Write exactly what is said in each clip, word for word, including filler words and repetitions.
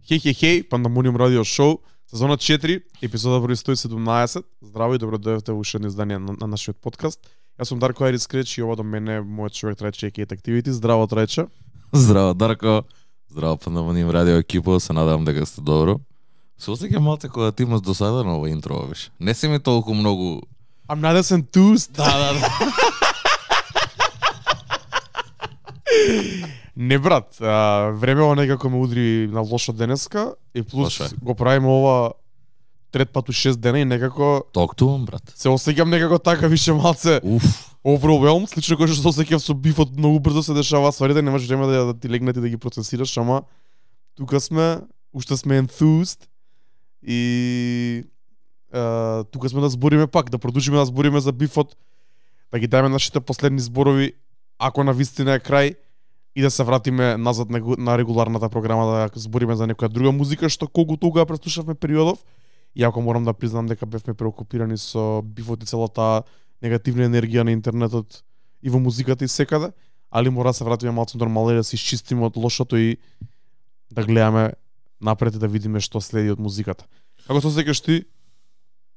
Хеј, хеј, хеј, Пандамониум радио шоу, сезона четири, епизода број сто и седумнаесет. Здраво и добро дојдовте во уште едно издание на, на нашиот подкаст. Јас сум Дарко Айрис Креч и ова до мене мојот човек Трајче Екейт Activity. Здраво, Трајче. Здраво, Дарко. Здраво, Пандамониум радио екипа, се надевам дека сте добро. Се осеќам малце кога ти имаш досадено ова интро, виш. Не се ми толку многу. I'm not as enthused. Да, да, да. Не брат, а, времево некако ме удри на лошо денеска и плюс Лошо е. го правиме ова трет пат у шест дена и некако Токтувам, брат. се осеќам некако така више малце Уф. overwhelmed, слично кој што се осеќав со бифот, многу брзо се дешава стварите, немаш време да, да ти легнете да ги процесираш, ама тука сме, уште сме enthused и а, тука сме да збориме пак, да продолжиме да збориме за бифот, да ги дајме нашите последни зборови, ако на вистина е крај, и да се вратиме назад на, на регуларната програма да збориме за некоја друга музика што колку тога преслушавме периодов. Иако морам да признам дека бевме преокупирани со бифот и целата негативна енергија на интернетот и во музиката и секаде, али мора да се вратиме малку нормално и да се исчистиме од лошото и да гледаме напред и да видиме што следи од музиката. Како се осеќаш ти?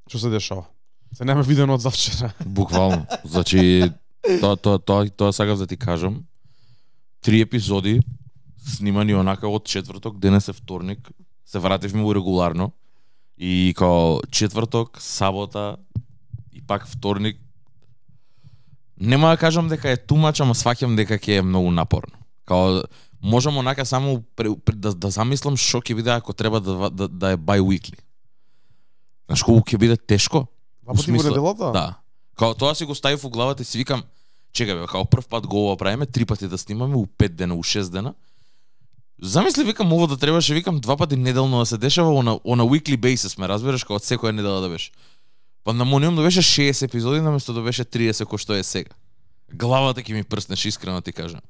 Што се дешава? Се нема видено од завчера. Буквално. Значи, тоа тоа тоа тоа сакав да ти кажам. Три епизоди снимани онака од четврток, денес е вторник, се вративме во регуларно и као четврток, сабота и пак вторник. Нема да кажам дека е тумач, ама сваќам дека ќе е многу напорно. Као можам онака само пре, пре, да, да замислам што ќе биде ако треба да, да, да е bi-weekly. Знаеш колку ќе биде тешко? Два пати во неделата? Да. Као тоа си го ставив во главата и си викам, чекај бе, као прв пат го ова правиме, три пати да снимаме, у пет дена, у шест дена. Замисли, викам, ово да требаше, викам, два пати неделно да се дешава, она, она weekly basis, ме разбираш, као од секоја недела да беше. Пандамониум да беше шеесет епизоди, наместо да беше триесет, кој што е сега. Главата ќе ми прснеш, искрено ти кажам.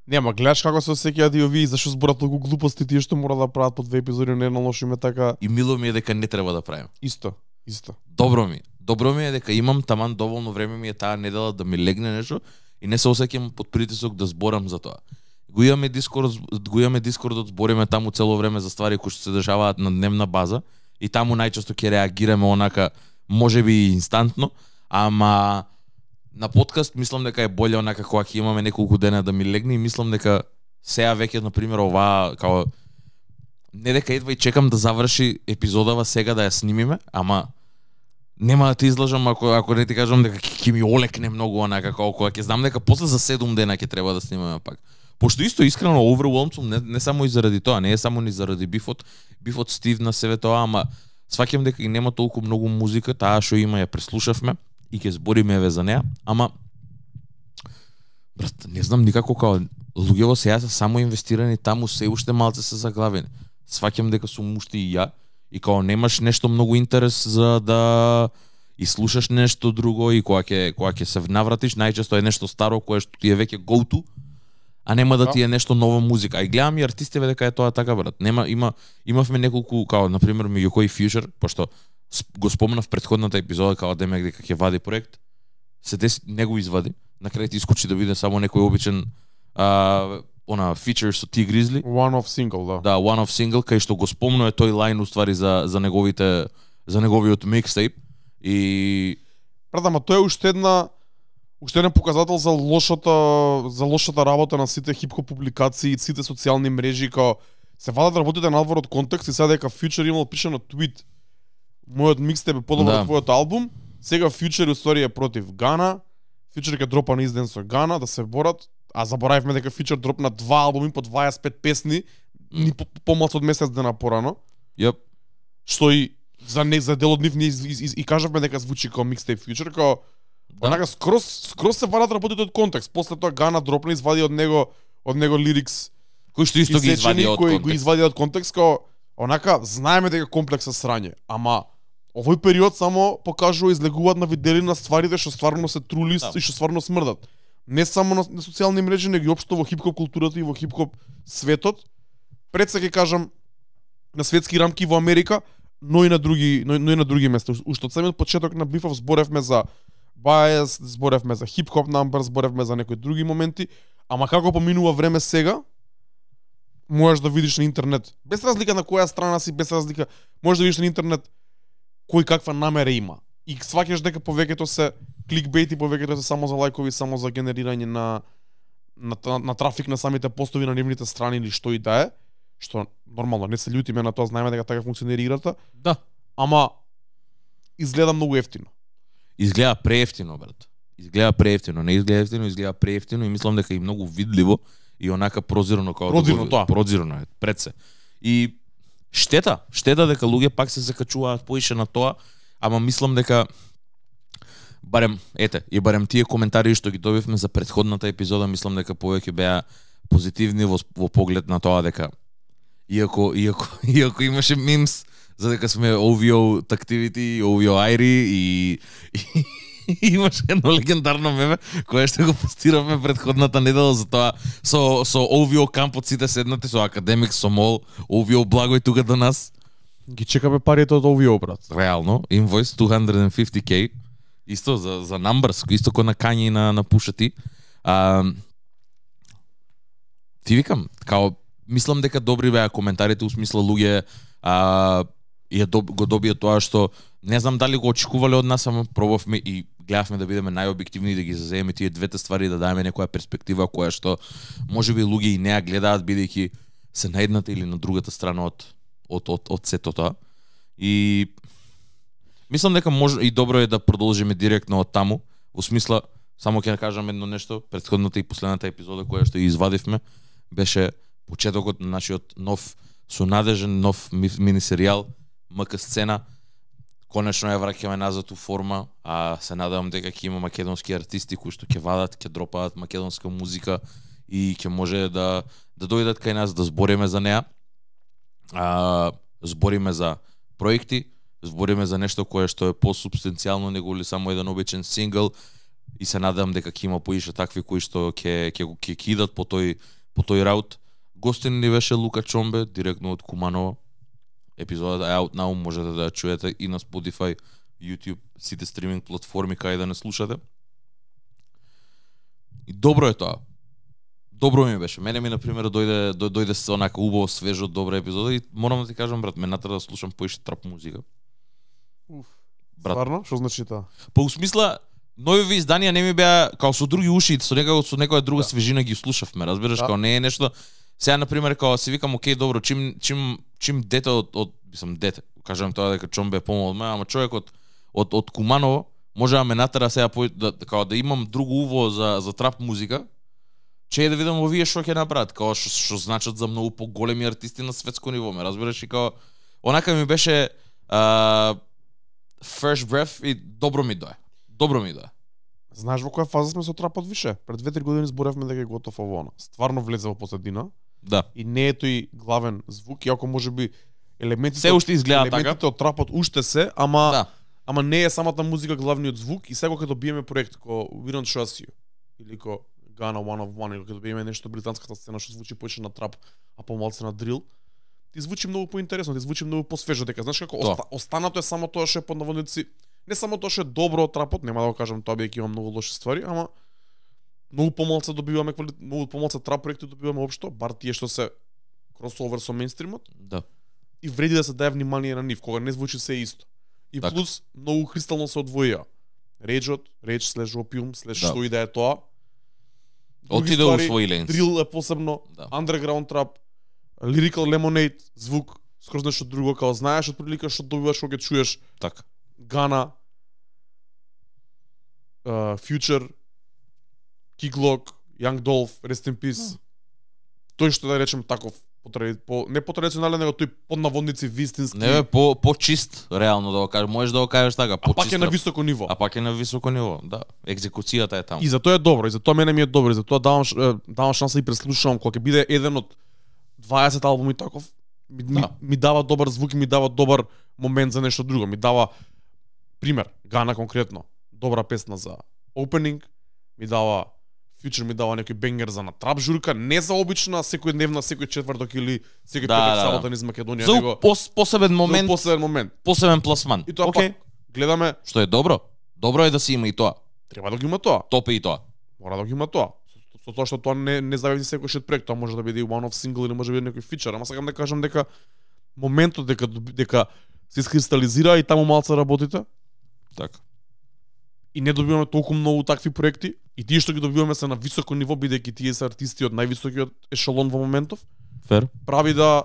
Нема, гледаш како се осеќаат и овие, зашто зборат толку глупости тие што мора да прават по две епизоди неделно, лошо име така. И мило ми е дека не треба да правим. Исто, исто. Добро ми. Добро ми е дека имам таман доволно време ми е таа недела да ми легне нешто и не се осеќам под притисок да зборам за тоа. Го имаме Дискорд, го имаме Дискордот, збориме таму цело време за ствари кои што се дешаваат на дневна база и таму најчесто ќе реагираме онака можеби инстантно, ама на подкаст мислам дека е боле онака кога ќе имаме неколку дена да ми легне и мислам дека сега веќе на пример оваа као не дека едва и чекам да заврши епизодава сега да ја снимиме, ама нема да ти излажам ако ако не ти кажам дека ќе ми олекне многу онака како кога ќе знам дека после за седум дена ќе треба да снимаме пак. Пошто исто искрено overwhelmed сум не, не само и заради тоа, не е само ни заради бифот, бифот стивна себе тоа, ама сваќам дека и нема толку многу музика, таа што има ја преслушавме и ќе збориме еве за неа, ама брат, не знам никако као луѓето сега се само инвестирани таму, се уште малце се заглавени. Сваќам дека сум уште и ја и као немаш нешто многу интерес за да и слушаш нешто друго и кога ќе кога ќе се навратиш, најчесто е нешто старо кое што ти е веќе go to, а нема да ти е нешто нова музика. А и гледам и артистите дека е тоа така, брат. Нема има имавме неколку као на пример меѓу кој Future, пошто го спомнав претходната епизода као демек дека ќе вади проект. Се деси не го извади. На крај ти искочи да биде само некој обичен а, она feature со T Grizzly. One off single, да. Да, one off single кај што го спомнува тој лајн уствари за за неговите за неговиот микстейп и Брат, ама тоа е уште една уште еден показател за лошата за лошата работа на сите хип-хоп публикации и сите социјални мрежи, као се вадат работите надвор од контекст и сега дека Future имал пишано твит. Мојот микстейп е подобар Да. од твојот албум, сега Future уствари е против Гана. Future ќе дропа на изден со Гана да се борат, а заборавивме дека Future дропна два албуми по дваесет и пет песни, ни по- помалку од месец дена порано. јап. Што и за не за дел од нив не из, из, из, и кажавме дека звучи како микстейп Future, како Да. онака скрос скрос се вадат работите од контекст. После тоа Гана дропна, извади од него од него лирикс Кој што исто ги извади од кои го контекст. извади од контекст, како онака знаеме дека комплекс е срање, ама овој период само покажува излегуваат на видели на стварите што стварно се трули Да. и што стварно смрдат. Не само на, на социјални мрежи, него и општо во хип-хоп културата и во хип-хоп светот. Пред се ќе кажам на светски рамки во Америка, но и на други, но, но и на други места. Уште од самиот почеток на бифов зборевме за bias, зборевме за хип-хоп number, зборевме за некои други моменти, ама како поминува време сега, можеш да видиш на интернет, без разлика на која страна си, без разлика, можеш да видиш на интернет кој каква намера има. И сваќаш дека повеќето се кликбейт и повеќето се само за лајкови, само за генерирање на на, на, на трафик на самите постови на нивните страни или што и да е, што нормално не се љутиме на тоа, знаеме дека така функционира играта. Да. Ама изгледа многу ефтино. Изгледа преевтино, брат. Изгледа преевтино, не изгледа ефтино, изгледа преевтино и мислам дека и многу видливо и онака прозирно како Прозирно тоа. Прозирно е пред се. И штета, штета дека луѓе пак се закачуваат поише на тоа, ама мислам дека барем ете, и барем тие коментари што ги добивме за претходната епизода, мислам дека повеќе беа позитивни во, во поглед на тоа дека иако иако иако имаше мимс за дека сме о ви о Activity, о ви о Айри и, и имаше едно легендарно меме кое што го постиравме претходната недела за тоа со со о ви о кампот сите седнати со академик, со мол, о ви о благој тука до нас. Ги чекаме парите од о ви о, брат. Реално, инвойс дваесет и пет кей, исто за за numbers, исто кој на Кањи на на Пушати. А ти викам, као мислам дека добри беа коментарите, у смисла луѓе а ја доб, го добија тоа што не знам дали го очекувале од нас, ама пробавме и гледавме да бидеме најобјективни и да ги зазееме тие двете ствари, да даеме некоја перспектива која што можеби луѓе и не ја гледаат бидејќи се на едната или на другата страна од од од од сето тоа. И мислам дека може и добро е да продолжиме директно од таму, во смисла само ќе кажам едно нешто, претходната и последната епизода која што ја извадивме беше почетокот на нашиот нов сонадежен нов мини серијал МК сцена. Конечно ја враќаме назад у форма, а се надевам дека ќе има македонски артисти кои што ќе вадат, ќе дропаат македонска музика и ќе може да да дојдат кај нас да збориме за неа. А, збориме за проекти, збориме за нешто кое што е посубстанцијално него ли само еден обичен сингл и се надевам дека ќе има поише такви кои што ќе ќе ќе ќе идат по тој по тој раут. Гостин ни беше Лука Чомбе, директно од Куманово. Епизодата е out now, можете да ја чуете и на Spotify, YouTube, сите стриминг платформи кај да не слушате. И добро е тоа. Добро ми беше. Мене ми на пример дојде до, дојде се онака убаво свежо добра епизода и морам да ти кажам брат, ме натера да слушам поише трап музика. Уф. Брат. Стварно? Што значи тоа? Па у смисла нови изданија не ми беа као со други уши, со некако со некоја друга Да. свежина ги слушавме, разбираш, Да. као не е нешто. Сега на пример као си викам окей, добро, чим чим чим дете од од мислам дете, кажам тоа дека Чомбе е помал од мене, ама човек од од од Куманово може да ме натера сега по, да као да имам друго уво за за трап музика. Че е да видам овие што ќе направат, као што што значат за многу поголеми артисти на светско ниво, ме разбираш, и као онака ми беше а, first breath и добро ми дое. Добро ми дое. Знаеш во која фаза сме со трапот више? Пред две-три години зборевме дека е готов овоно. Стварно влезе во позадина Да. и не е тој главен звук, иако можеби елементите Се уште изгледа елементите така. од трапот уште се, ама Да. ама не е самата музика главниот звук и сега кога добиеме проект ко We Don't Trust You или ко Ghana One of One или кога добиеме нешто британската сцена што звучи повеќе на трап, а помалку на дрил, ти звучи многу поинтересно, ти звучи многу посвежо, дека знаеш како Тоа. оста, останато е само тоа што е под наводници, не само тоа што е добро од трапот, нема да го кажам тоа бидејќи има многу лоши ствари, ама многу помалку добиваме квали... многу помалку трап проекти добиваме општо, бар тие што се кросовер со мејнстримот. Да. И вреди да се даде внимание на нив, кога не звучи се исто. И Така. плюс многу кристално се одвоија. Реджот, реч слеш опиум, слеш Да. што и да е тоа. Други Отиде во ствари, свој ленс. Дрил е посебно, Да. underground trap, lyrical lemonade, звук скроз нешто друго, као знаеш од прилика што добиваш кога ќе чуеш Така. Ghana, uh, Future, Kid Glock, Young Dolph, Rest in Peace. Тој што да речем таков по, тради- по не по традиционален, него тој под наводници вистински. Не бе по по чист, реално да го кажеш, можеш да го кажеш така, а по пак чист. е на високо ниво. А пак е на високо ниво, да. Екзекуцијата е таму. И затоа е добро, и затоа мене ми е добро, и затоа давам ш- е, давам шанса и преслушувам кога ќе биде еден од дваесет албуми таков. Ми, ми, Да. ми дава добар звук и ми дава добар момент за нешто друго. Ми дава пример, Гана конкретно, добра песна за opening, ми дава Future ми дава некој бенгер за на трап журка, не за обична секојдневна, секој четврток или секој Да, петок да, сабота да. низ Македонија, За него пос, посебен момент, за посебен момент. посебен пласман. И тоа Океј, пак гледаме, што е добро. Добро е да се има и тоа. треба да го има тоа. Топе и тоа. Мора да го има тоа. со тоа што тоа не не зависи секој шет проект, тоа може да биде и one off single или може да биде некој фичер, ама сакам да кажам дека моментот дека дека се искристализира и таму малце работите. Така. И не добиваме толку многу такви проекти, и тие што ги добиваме се на високо ниво, бидејќи тие се артисти од највисокиот ешелон во моментов. Фер. Прави да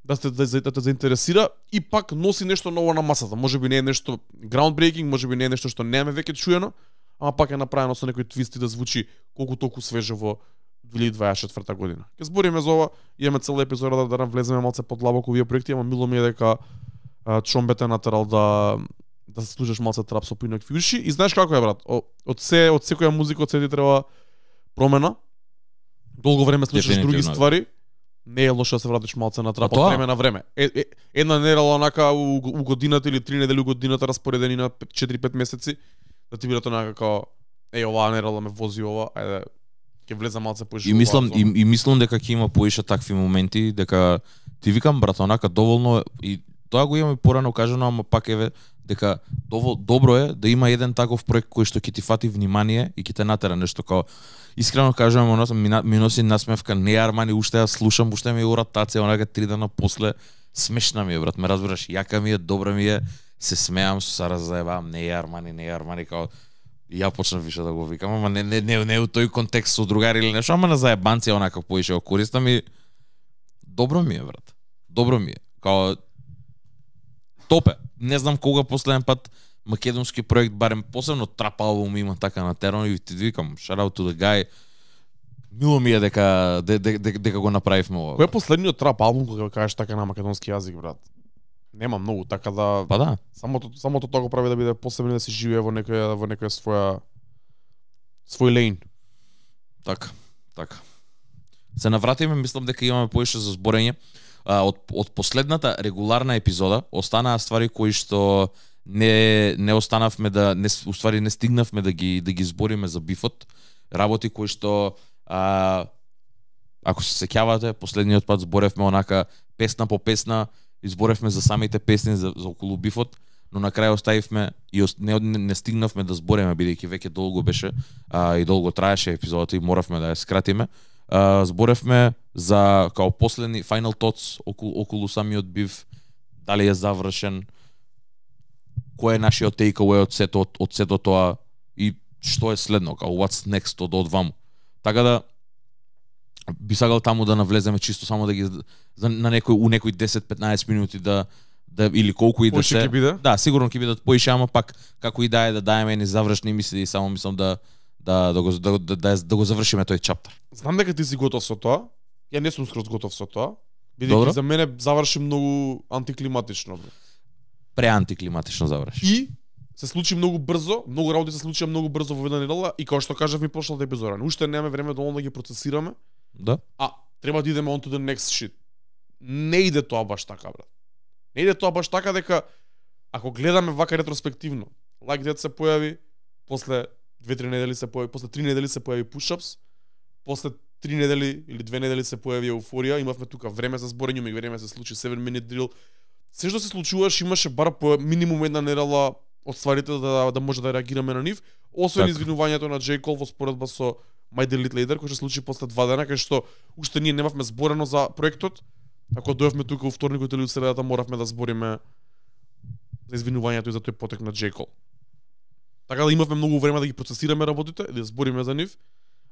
да те да, да те заинтересира и пак носи нешто ново на масата. Можеби не е нешто groundbreaking, можеби не е нешто што немаме веќе чуено, ама пак е направено со некој твист и да звучи колку толку свежо во две илјади дваесет и четврта година. Ке збориме за ова, имаме цела епизода да, да навлеземе малце подлабоко овие проекти, ама мило ми е дека Чомбете натерал да да се слушаш малце трап со поинакви уши. И знаеш како е, брат? О, од се од секоја музика од се ти треба промена. Долго време слушаш други ствари. Не е лошо да се вратиш малце на трап од време на време. Е, е, една недела онака у, у годината или три недели у годината распоредени на четири-пет месеци да ти бидат онака како е оваа недела ме вози ова, ајде ќе влезам малце поише. И мислам и, и мислам дека ќе има поише такви моменти, дека ти викам брат, онака доволно и тоа го имаме порано кажано, ама пак еве дека довол добро е да има еден таков проект кој што ќе ти фати внимание и ќе те натера нешто како искрено кажувам, оно ми, ми носи насмевка, не Армани, уште ја слушам, уште ми е уратација, онака три дена после смешна ми е брат, ме разбираш, јака ми е, добра ми е, се смеам со Сара заебавам, не Армани, не Армани, као ја почнав више да го викам, ама не не не, не у тој контекст со другари или нешто, ама на заебанција онака поише го користам и добро ми е брат. Добро ми е. Као топе. Не знам кога последен пат македонски проект, барем посебно трап албум има така на терен и ти викам shout out to the guy. Мило ми е дека дека, дека, дека го направивме ова. Кој е последниот трап албум кога кажеш така на македонски јазик, брат? Нема многу, така да Па да. Самото самото тоа го прави да биде посебно да се живее во некоја во некоја своја свој лейн. Така, така. Се навратиме, мислам дека имаме поише за зборење. А, од од последната регуларна епизода останаа ствари кои што не не останавме да не уствари не стигнавме да ги да ги збориме за бифот, работи кои што а, ако се сеќавате, последниот пат зборевме онака песна по песна, изборевме за самите песни за, за околу бифот, но на крај оставивме и не, не, не стигнавме да збориме бидејќи веќе долго беше а, и долго траеше епизодата и моравме да ја скратиме. Uh, зборевме за као последни final thoughts околу, околу самиот бив, дали е завршен, кој е нашиот takeaway од сето од, од сето тоа и што е следно, као what's next од одваму. Така да би сакал таму да навлеземе чисто само да ги за, на некој у некој десет-петнаесет минути да да или колку и да се. Да, сигурно ќе бидат поише, ама пак како и да е да даеме ни завршни мисли и само мислам да да да го да, да, да, да го завршиме тој чаптер. Знам дека ти си готов со тоа. Ја не сум скроз готов со тоа. Бидејќи за мене заврши многу антиклиматично. Преантиклиматично заврши. И се случи многу брзо, многу работи се случија многу брзо во една недела и како што кажав ми прошлата епизода, уште немаме време доволно да ги процесираме. Да. А треба да идеме on to the next shit. Не иде тоа баш така, брат. Не иде тоа баш така дека ако гледаме вака ретроспективно, Like That се појави, после две-три недели се појави, после три недели се појави Push-Ups, после три недели или две недели се појави Еуфорија, имавме тука време за зборење, имаме време се случи seven minute drill. Се што се случуваше, имаше бар по минимум една недела од стварите да да може да реагираме на нив, освен так. Извинувањето на J. Cole во споредба со My Delete Later, кој се случи после два дена, кај што уште ние немавме зборено за проектот. Ако дојавме тука во вторникот или средата, моравме да збориме за извинувањето и за тој потек на J. Cole. Така да имавме многу време да ги процесираме работите, да збориме за нив,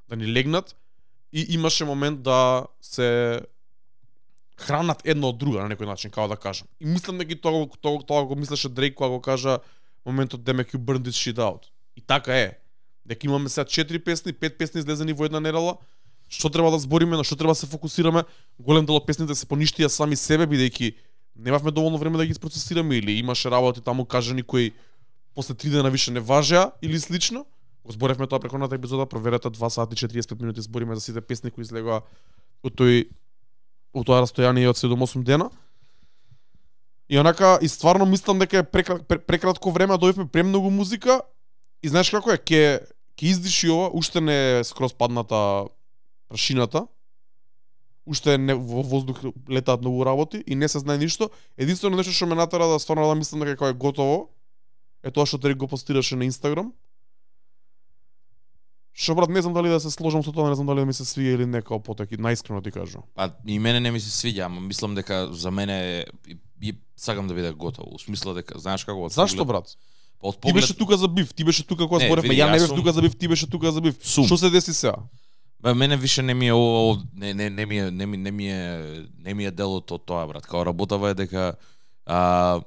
да ни легнат и имаше момент да се хранат едно од друга на некој начин, како да кажам. И мислам дека тоа тоа тоа го мислеше Дрейк кога го кажа моментот Damn you burn this shit out. И така е. Дека имаме сега четири песни, пет песни излезени во една недела. Што треба да збориме, на што треба да се фокусираме? Голем дел од песните се поништија сами себе бидејќи немавме доволно време да ги процесираме или имаше работи таму кажани кои после три дена више не важеа или слично. Го зборевме тоа преходната епизода, проверете два сати и четириесет и пет минути збориме за сите песни кои излегоа од тој од тоа растојание од седум-осум дена. И онака и стварно мислам дека е прекра, прекратко време, дојдовме премногу музика и знаеш како е, ќе ќе издиши ова, уште не е скроз падната прашината. Уште не во воздух летаат многу работи и не се знае ништо. Единствено нешто што ме натера да стварно да мислам дека е готово е тоа што Терик го постираше на Инстаграм. Што брат, не знам дали да се сложам со тоа, не знам дали да ми се свија или не, као потеки, наискрено ти кажувам. Па и мене не ми се свиѓа, ама мислам дека за мене и, и сакам да биде готово. У смисла дека знаеш како од Зашто поглед- брат? Па од Ти поглед беше тука за бив, ти беше тука кога Не, зборевме, види, ја не јас бев сум- тука за бив, ти беше тука за бив. Сум. Што се деси сега? Бе, мене више не ми е ово, не не не ми е не ми не ми е не ми е делот од тоа брат. Као работава е дека а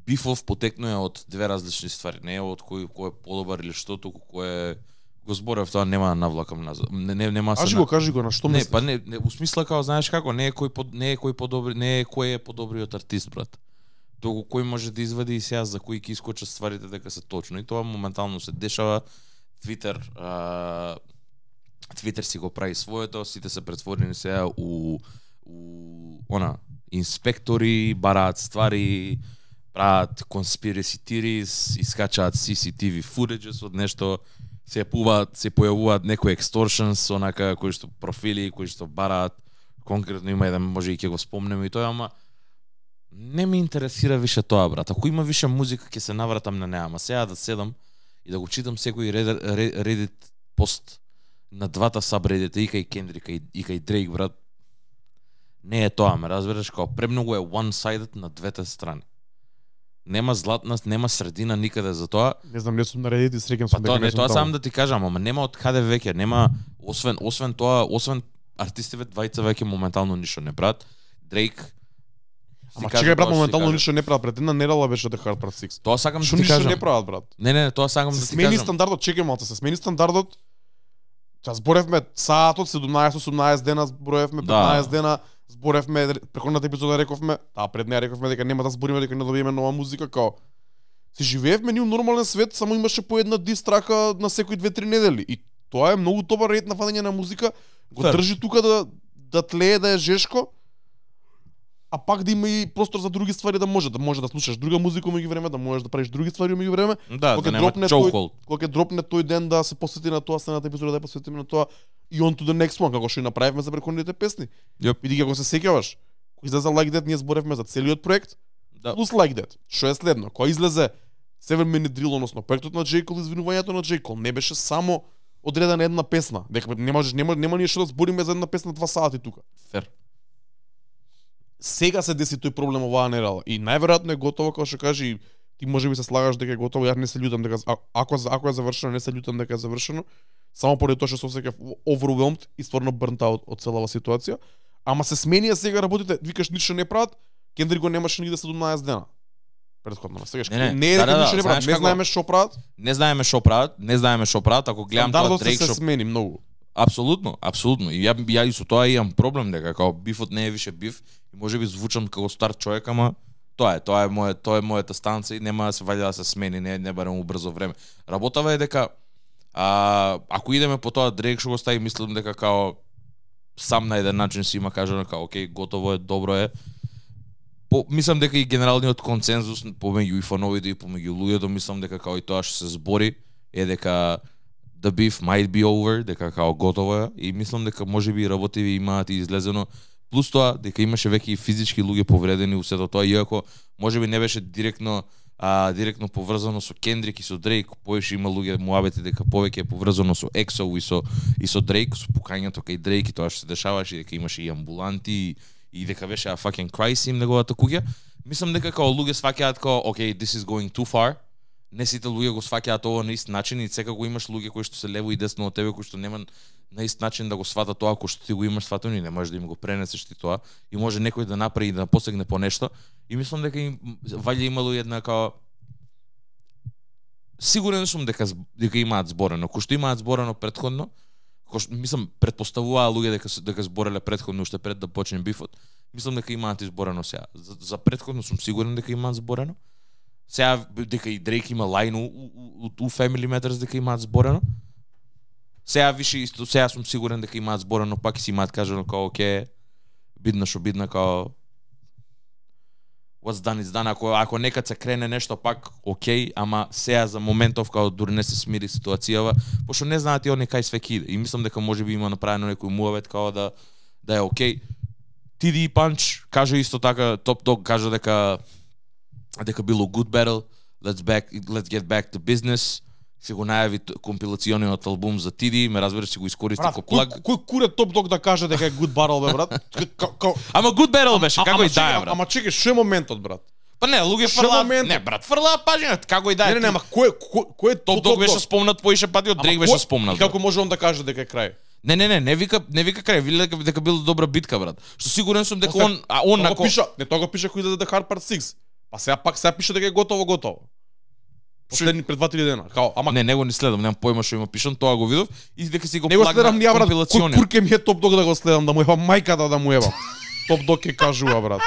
бифов потекнува од две различни ствари, не е од кој кој е подобар или што, туку кој е го зборев тоа нема да навлакам назад. Не не нема се Кажи на- го, кажи го, на што Не, мислиш? па не, не, у смисла као знаеш како, не е кој под, не е кој подобри, не е кој е подобриот артист брат. Туку кој може да извади и сега за кој ќе искочат стварите дека се точно и тоа моментално се дешава. Твитер а, Твитер си го прави своето, сите се претворени сега у у она инспектори, бараат ствари, прават conspiracy theories, искачаат си си ти ви footages од нешто, се појавуваат, се појавуваат некои extortions, онака кои што профили, кои што бараат, конкретно има еден, може и ќе го спомнеме и тоа, ама не ме интересира више тоа, брат. Ако има више музика, ќе се навратам на неа, ама сега да седам и да го читам секој Reddit, Reddit пост на двата сабредите, и кај Кендрика и, и кај Дрейк, брат, не е тоа, ме разбереш, као премногу е one-sided на двете страни. Нема златна, нема средина никаде за тоа. Не знам, не сум наредит и среќам Па сум тоа дека не не сум тоа таму. сам да ти кажам, ама нема од каде веќе, нема освен освен тоа, освен артистиве двајца веќе моментално ништо не прават. Дрейк Ама чекај брат, моментално ништо не прават, пред една недела беше The Hard Part шест. Тоа сакам да Што ти ништо кажам. не прават брат? Не, не, не, тоа сакам Се да ти смени кажам. стандардот, чекај малце, се смени стандардот. Ја зборевме саатот седумнаесет осумнаесет дена, зборевме Да. петнаесет дена, зборевме пrekоната епизода рековме, таа пред неа рековме дека нема да збориме дека не добиеме нова музика, као си живеевме ние у нормален свет, само имаше по една дистрака на секои две-три недели. И тоа е многу добар ред на фаќање на музика, го Фер. држи тука да да тлее, да е жешко, а пак да има и простор за други ствари, да може да може да слушаш друга музика меѓу време, да можеш да правиш други ствари меѓу време. Да, Кога да нема дропне тој- чоукол. Кога ќе дропне тој ден да се посвети на тоа, следната епизода да ја посветиме на тоа и on to the next one, како што и направивме за претходните песни. Јоп. Види како се сеќаваш. Кога излезе Like That, ние зборевме за целиот проект, Да. плюс Like That. Што е следно? Кога излезе Seven Minute Drill, односно проектот на J. Cole, извинувањето на J. Cole, не беше само одредена една песна. Дека не можеш, нема, нема ние што да збориме за една песна два сати тука. Фер. Сега се деси тој проблем оваа недела и најверојатно е готово, како што кажи, и ти можеби се слагаш дека е готово, ја не се љутам дека а- ако ако е завршено, не се љутам дека е завршено, само поради тоа што се осеќав overwhelmed и стварно burnt out од целава ситуација, ама се сменија сега работите, викаш ништо не прават, Кендрик го немаше нигде седумнаесет дена. Предходно, сега Не, не, не е да, дека да, ништо да, не прават, знаеш не како? знаеме што прават. Не знаеме што прават, не знаеме што прават, ако гледам тоа Стандардот се, Дрейк се што смени многу. апсолутно, апсолутно. И ја ја и со тоа имам проблем дека како бифот не е више биф и можеби звучам како стар човек, ама тоа е, тоа е моје, тоа е мојата станца и нема да се ваѓа да се смени, не не барем убрзо време. Работава е дека а, ако идеме по тоа Дрейк што го стави, мислам дека као сам на еден начин си има кажано као окей, готово е, добро е. По, мислам дека и генералниот консензус помеѓу и фановите и помеѓу луѓето, мислам дека као и тоа што се збори е дека the beef might be over, дека као готово е и мислам дека можеби и работиви имаат и излезено. Плюс тоа дека имаше веќе и физички луѓе повредени у сето тоа, иако можеби не беше директно а, директно поврзано со Кендрик и со Дрейк, поише има луѓе муабети дека повеќе е поврзано со Ексо и со и со Дрейк, со пукањето кај Дрейк и тоа што се дешаваше, дека имаше и амбуланти и, и дека беше a fucking crisis им неговата куќа. Мислам дека као луѓе сваќаат као okay, this is going too far. Не сите луѓе го сваќаат ова на ист начин и секако имаш луѓе кои што се лево и десно од тебе кои што нема на ист начин да го сватат тоа кој што ти го имаш сватено и не можеш да им го пренесеш ти тоа и може некој да направи и да посегне по нешто и мислам дека им ваља имало една као сигурен сум дека дека имаат зборено, кој што имаат зборено претходно, кој што мислам претпоставуваа луѓе дека дека збореле претходно уште пред да почне бифот. Мислам дека имаат изборено сега. За, за претходно сум сигурен дека имаат зборено. Сега дека и Дрейк има лајн у, у, у, у Family Matters дека имаат зборено. Сега више исто, сега сум сигурен дека имаат зборено, пак и си имаат кажано као оке, бидна шо бидна као what's done is done, ако ако некад се крене нешто пак окей, ама сега за моментов као дури не се смири ситуацијава, пошто не знаат и они кај све ќе иде. И мислам дека можеби има направено некој муавет као да да е окей. Ти Ди Панч кажа исто така, Top Dog кажа дека дека било good battle, let's back let's get back to business. си го најави т- компилациониот албум за Тиди, ме разбереш, си го искористи Брат, ко кој, плаг. кој куре Топ Дог да каже дека е good battle, бе, брат? Ка- ка- Ама good battle беше, како ама и чекай, да е, брат. Ама чекай, што е моментот, брат? Па не, луѓе Шо фрлаат. моментот? Не, брат, фрлаат пажината, како и да е. Не, не, не, Ти- ама кој кој кој е Топ Дог беше спомнат поише пати, од Дрейк беше спомнат. И како може он да каже дека е крај? Не, не, не, не вика, не вика крај, вели дека дека била добра битка, брат. Што сигурен сум дека После- он, а он Тоа на го пиша, не тоа го пиша кој издаде The Hard Part шест. Па сега пак сега пише дека е готово, готово. Последни пред два-три дена. Као, ама Не, него не следам, немам појма што има пишан, тоа го видов и дека си го не го плагна следам ни ја, брат. Кој компилациониот. курке ми е Топ Дог да го следам, да му ебам мајката да му ебам. Топ Дог ќе кажува, брат.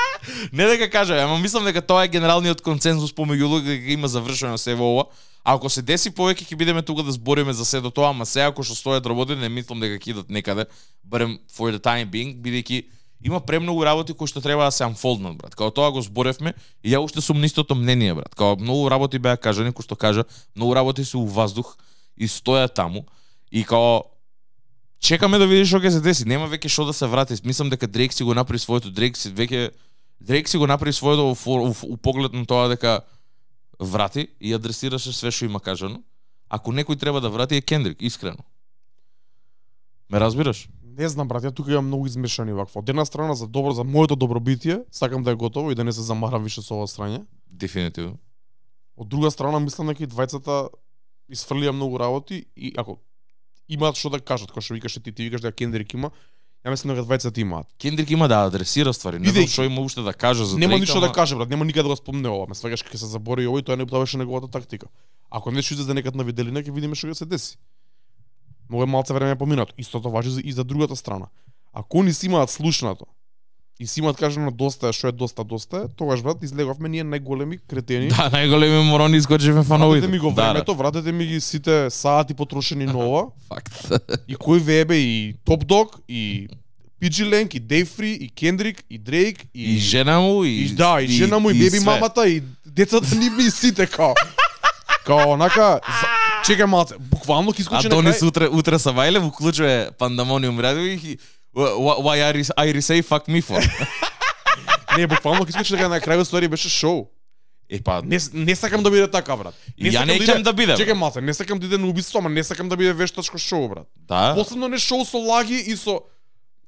Не дека кажа, ама мислам дека тоа е генералниот консензус помеѓу луѓе дека има завршено се во ова. А ако се деси повеќе ќе бидеме тука да збориме за се до тоа, ама сега ако што стојат работи, не мислам дека ќе идат некаде, барем for the time being, бидејќи има премногу работи кои што треба да се unfoldнат, брат. Као тоа го зборевме и ја уште сум на истото мнение, брат. Као многу работи беа кажани, кои што кажа, многу работи се у ваздух и стојат таму и као чекаме да видиш што ќе се деси. Нема веќе што да се врати. Мислам дека Дрейк си го направи своето, Дрейк си веќе Дрейк си го направи своето у, у, у, у поглед на тоа дека врати и адресираше све што има кажано. Ако некој треба да врати е Кендрик, искрено. Ме разбираш? Не знам, брат, ја тука имам многу измешани вакво. Од една страна за добро, за моето добробитие, сакам да е готово и да не се замарам више со ова страње. Дефинитивно. Од друга страна, мислам дека и двајцата изфрлија многу работи и ако имаат што да кажат, кој што викаш ти, ти викаш дека Кендрик има, ја мислам дека двајцата имаат. Кендрик има да адресира ствари. Не знам Бидејќи- што има уште да каже за Нема Дрейк, ништо да ама- каже, брат, нема никаде да го спомне ова. Ме сваќаш ќе се забори ово и тоа не тоа беше неговата тактика. Ако нешто излезе некад на виделина, ќе видиме што ќе се деси. Многу е малце време поминато. Истото важи за- и за другата страна. Ако они си имаат слушнато и си имаат кажано доста е, што е доста доста е, тогаш, брат, излеговме ние најголеми кретени. Да, најголеми морони изгодживме фановите. Вратете ми го Да, да. времето, вратете ми ги сите сати потрошени на ова. Факт. И кој вебе и Топ Дог и пи джи Ленг и Дейв Фри и Кендрик и Дрейк И жена му и и да, и жена му и беби све. мамата и децата ни ми сите као. Као онака, за... чекај малце, буквално ќе искочи на Адонис крај. утре утре са вајле уклучува Пандамониум радио и Wh- why I I say fuck me for. Не, буквално ќе искочи дека на крај ствари беше шоу. Е па Не, не сакам да биде така, брат. И ја сакам не иде- ќам да биде, Чекај малце, не сакам да иде на убиство, ама не сакам да биде вештачко шоу, брат. да, Последно не шоу со лаги и со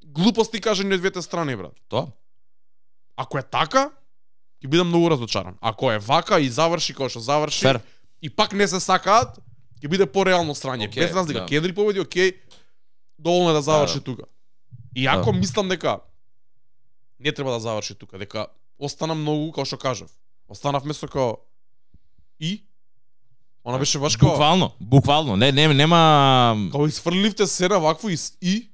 глупости кажани од двете страни, брат. тоа. Ако е така, ќе бидам многу разочаран. Ако е вака и заврши како што заврши, Фер. и пак не се сакаат, ќе биде пореално страње. Окей, Без разлика, да. Кендрик победи, окей, доволно е да заврши Да, да. тука. И ако Да. мислам дека не треба да заврши тука, дека остана многу, како што кажав. Останавме со као и она беше баш као Буквално, буквално. Не, не, нема као изфрливте се на вакво и с- и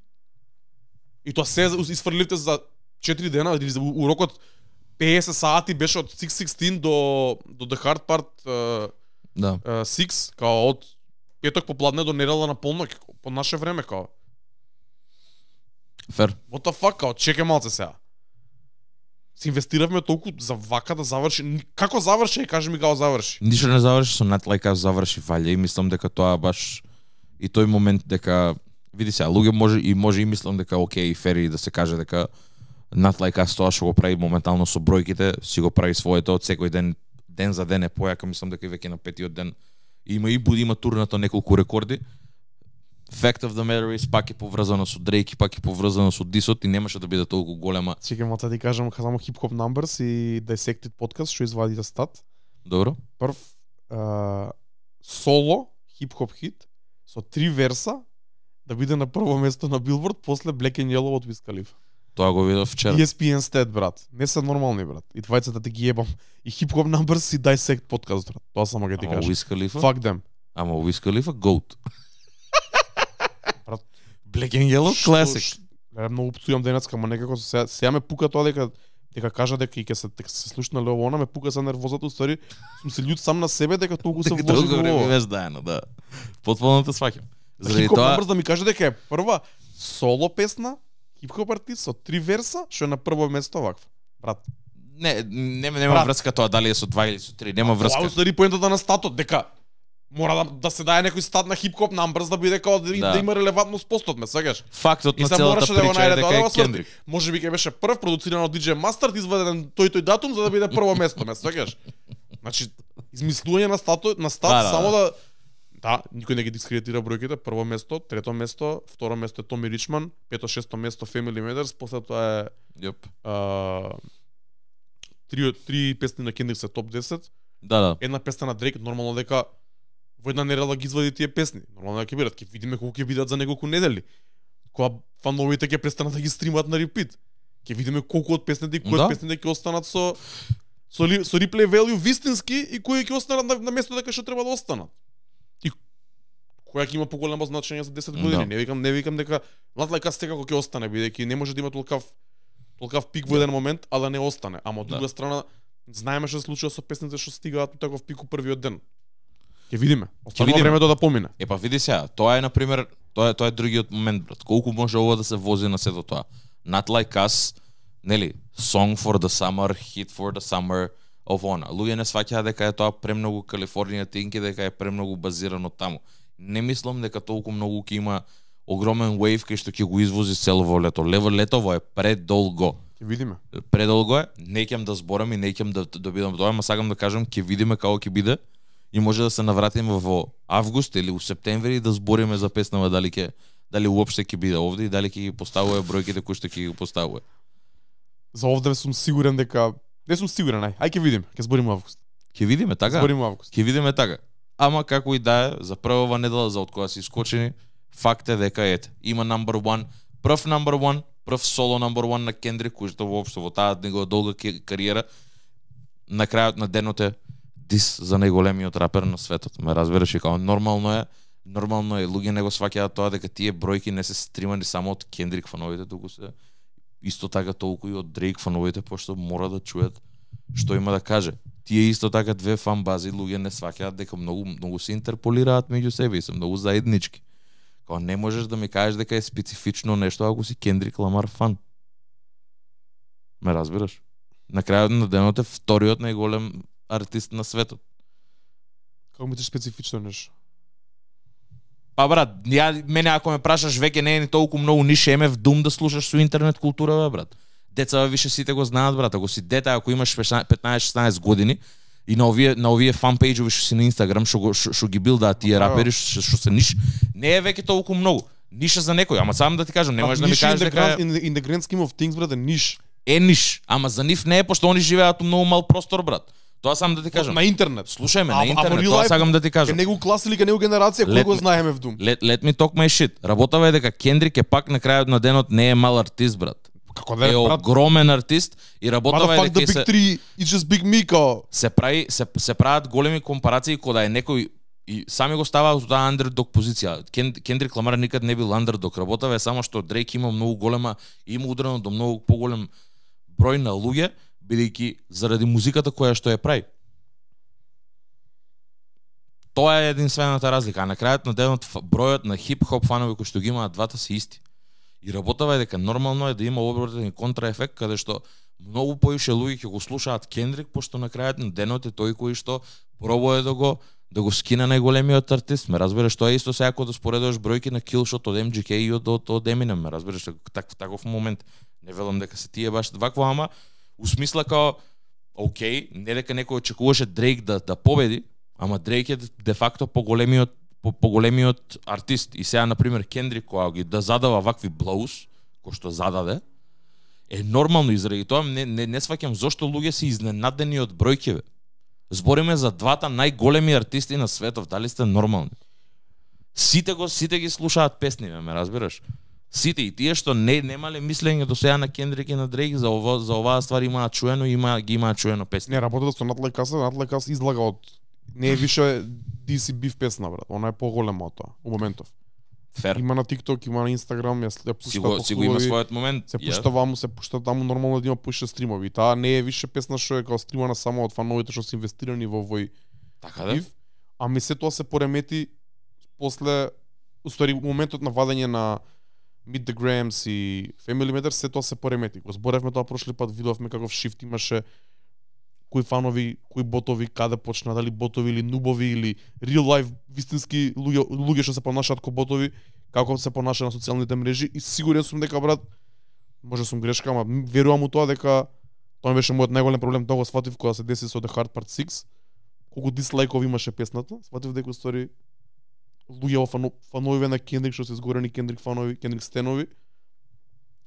и тоа се изфрливте за четири дена или за- у рокот петдесет сати беше од шест шеснаесет до до The Hard Part uh, да. uh, шест, као од петок попладне до недела на полноќ по наше време као. Фер. What the fuck, као чекај малце сега. Се инвестиравме толку за вака да заврши. Ни- Како заврши? Кажи ми како заврши. Ништо не заврши со Not Like Us заврши валја и мислам дека тоа баш и тој момент дека види сега луѓе може и може и мислам дека окей фери да се каже дека Not Like Us тоа што го прави моментално со бројките си го прави своето од секој ден ден за ден е појака, мислам дека и веќе на петиот ден има и буди има турнато неколку рекорди. Fact of the matter is пак е поврзано со Дрейк и пак е поврзано со Дисот и немаше да биде толку голема. Чекај малце да ти кажам само Hip Hop Numbers и Dissected Podcast што извадите стат. Добро? Прв а, соло хип-хоп хит со три верса да биде на прво место на Билборд после Black and Yellow од Wiz Khalifa. Тоа го видов вчера. И ес пи ен Stat, брат. Не се нормални, брат. И двајцата те ги ебам. И Hip Hop Numbers и Dissect Podcast, брат. Тоа само ќе ти Ама кажам. Wiz Khalifa? Fuck them. Ама Wiz Khalifa GOAT. Брат, Black and Yellow Што- classic. ш- Не многу пцујам денеска, ама некако сега, сега ме пука тоа дека дека кажа дека и ќе се дека се слушна ле она ме пука за нервозата, уствари сум се љут сам на себе дека толку се вложи Толку во време ова. беше заедно, да. Потполно те сваќам. Заради Хип-хоп тоа, Numbers да ми каже дека е прва соло песна, хип-хоп артист со три верса, што е на прво место вакво. Брат, не, нема нема Брат. врска тоа дали е со два или со три, нема Тоа врска. уствари поентата на статот, дека мора да, да се даде некој стат на хип-хоп Numbers да биде као да, Да. да има релевантност постот, ме сеќаш? Фактот И на се целата мораше да го прича е најде дека тоа да е го сврти. Кендрик. Може би ќе беше прв продуциран од ди џеј Mustard, изведен тој тој датум за да биде прво место, ме сеќаш? Значи, измислување на статот, на стат Да, да, само да Да, никој не ги дискредитира бројките. Прво место, трето место, второ место е Томи Ричман, пето шесто место Family Matters, после тоа е Јоп. а, три три песни на Kendrick се топ десет. Да, да. Една песна на Дрейк, нормално дека во една недела ги извади тие песни. Нормално дека ќе бидат, ќе видиме колку ќе бидат за неколку недели. Кога фановите ќе престанат да ги стримат на репит. Ќе видиме колку од песните и кои Да. од песните ќе останат со со, ли, со реплей value вистински и кои ќе останат на, на место дека што треба да останат. И која ќе има поголемо значење за десет години. Да. Не викам, не викам дека Not Like Us секако ќе остане, бидејќи не може да има толкав толкав пик во еден момент, а да не остане. Ама од друга Да. страна знаеме што се случува со песните што стигаат на таков пик у првиот ден. Ќе видиме. Останува видиме. времето да помине. Е па види сега, тоа е на пример, тоа е тоа е другиот момент, брат. Колку може ова да се вози на сето тоа? Not Like Us, нели, Song for the Summer, Hit for the Summer of Ona. Луѓе не сваќаат дека е тоа премногу Калифорнија тинки, дека е премногу базирано таму. Не мислам дека толку многу ќе има огромен wave кај што ќе го извози целово лето. Лево летово е предолго. Ќе видиме. Предолго е, не ќе да зборам и не ќе да добидам тоа, ама сакам да кажам ќе видиме како ќе биде и може да се навратиме во август или во септември и да збориме за песнава дали ќе дали уопште ќе биде овде и дали ќе ги поставува бројките кои што ќе ги поставува. За овде сум сигурен дека не сум сигурен, ај, ај ќе видиме, ќе збориме август. Ќе видиме така? Збориме август. Ќе видиме така. Ама како и да е, за првава недела за од која се искочени, факт е дека ете, има number one, прв number one, прв соло number one на Кендрик, кој што воопшто во таа негова долга ке- кариера на крајот на денот е дис за најголемиот рапер на светот. Ме разбираш, и као нормално е, нормално е, луѓе не го сваќаат тоа дека тие бројки не се стримани само од Кендрик фановите, туку се исто така толку и од Дрейк фановите, пошто мора да чуят што има да каже. Тие исто така две фан бази луѓе не сваќаат дека многу многу се интерполираат меѓу себе и се многу заеднички. Као не можеш да ми кажеш дека е специфично нешто ако си Кендрик Ламар фан. Ме разбираш? На крајот на денот е вториот најголем артист на светот. Како мислиш специфично нешто? Па брат, ја мене ако ме прашаш веќе не е ни толку многу ни шеме в дум да слушаш со интернет култура, бе, брат. Деца више сите го знаат, брат. Ако си дете, ако имаш петнаесет-шеснаесет години и на овие на овие фан пејџови што си на Инстаграм, што го што, што ги билдаат тие Да. рапери што, што се ниш, не е веќе толку многу. Ниша за некој, ама само да ти кажам, не можеш да ми кажеш дека дека in the, in the grand scheme of things, брат, е ниш. е ниш, ама за нив не е пошто они живеат у многу мал простор, брат. Тоа сам да ти кажам. На интернет. Слушај ме, А, на а во интернет, real тоа life, сакам да ти Ке кажам. него клас или ке него генерација кој Let го me- знаеме в дум. Let, let me talk my shit. Работава е дека Кендрик е пак на крајот на денот не е мал артист, брат. Како да Е е, брат? огромен артист и работава е Motherfuck дека the и big се, three, it's just big me, као. се прави се се прават големи компарации кога е некој и сами го ставаат во таа андердог позиција. Кен, Кендрик Ламар никад не бил андердог, работава е само што Дрейк има многу голема и има удрено до многу поголем број на луѓе, бидејќи заради музиката која што ја прави. Тоа е единствената разлика, а на крајот на денот ф- бројот на хип-хоп фанови кои што ги имаат двата се исти. И работава е дека нормално е да има обратен и контраефект каде што многу поише луѓе ќе го слушаат Кендрик, пошто на крајот на денот е тој кој што пробува да го да го скина најголемиот артист. Ме разбираш, тоа е исто сега кога да споредуваш бројки на Killshot од Ем Џи Кей и од од, од Eminem, ме разбираш, так, таков момент. Не велам дека се тие баш вакво, ама у смисла као окей, не дека некој очекуваше Дрейк да да победи, ама Дрейк е де факто поголемиот по, поголемиот артист. И сега на пример Кендрик кога ги да задава вакви блоус, кој што зададе, е нормално и заради тоа не не, не сваќам зошто луѓе се изненадени од бројки, бе. Збориме за двата најголеми артисти на светот, дали сте нормални? Сите го сите ги слушаат песни, бе, ме разбираш? Сите и тие што не немале мислење до сега на Кендрик и на Дрейк за ова за оваа ствар имаат чуено, има ги имаат чуено песни. Не, работата со Not Like Us, Not Like Us излага од не е више Ди Си Биф песна, брат. Она е поголема од тоа, у моментов. Фер. Има на TikTok, има на Instagram, ја ја пушта Си го, по си го има клубови, својот момент. се ја. пушта ваму, се пушта таму, нормално да има пуша стримови. И таа не е више песна што е као стримана само од фановите што се инвестирани во овој Така да? биф, ами се тоа се поремети после, устари, моментот на вадење на Meet the Grams и Family Matters, се тоа се поремети. Го зборевме тоа прошли пат, видовме каков шифт имаше, кои фанови, кои ботови, каде почна, дали ботови или нубови или real life вистински луѓе, луѓе што се понашаат ко ботови, како се понаша на социјалните мрежи и сигурен сум дека, брат, може сум грешка, ама верувам у тоа дека тоа беше мојот најголем проблем, тоа го сватив кога се деси со The Hard Part шест, колку дислайкови имаше песната, сватив дека устори луѓе во фано, фанови на Кендрик што се изгорени Кендрик фанови, Кендрик стенови.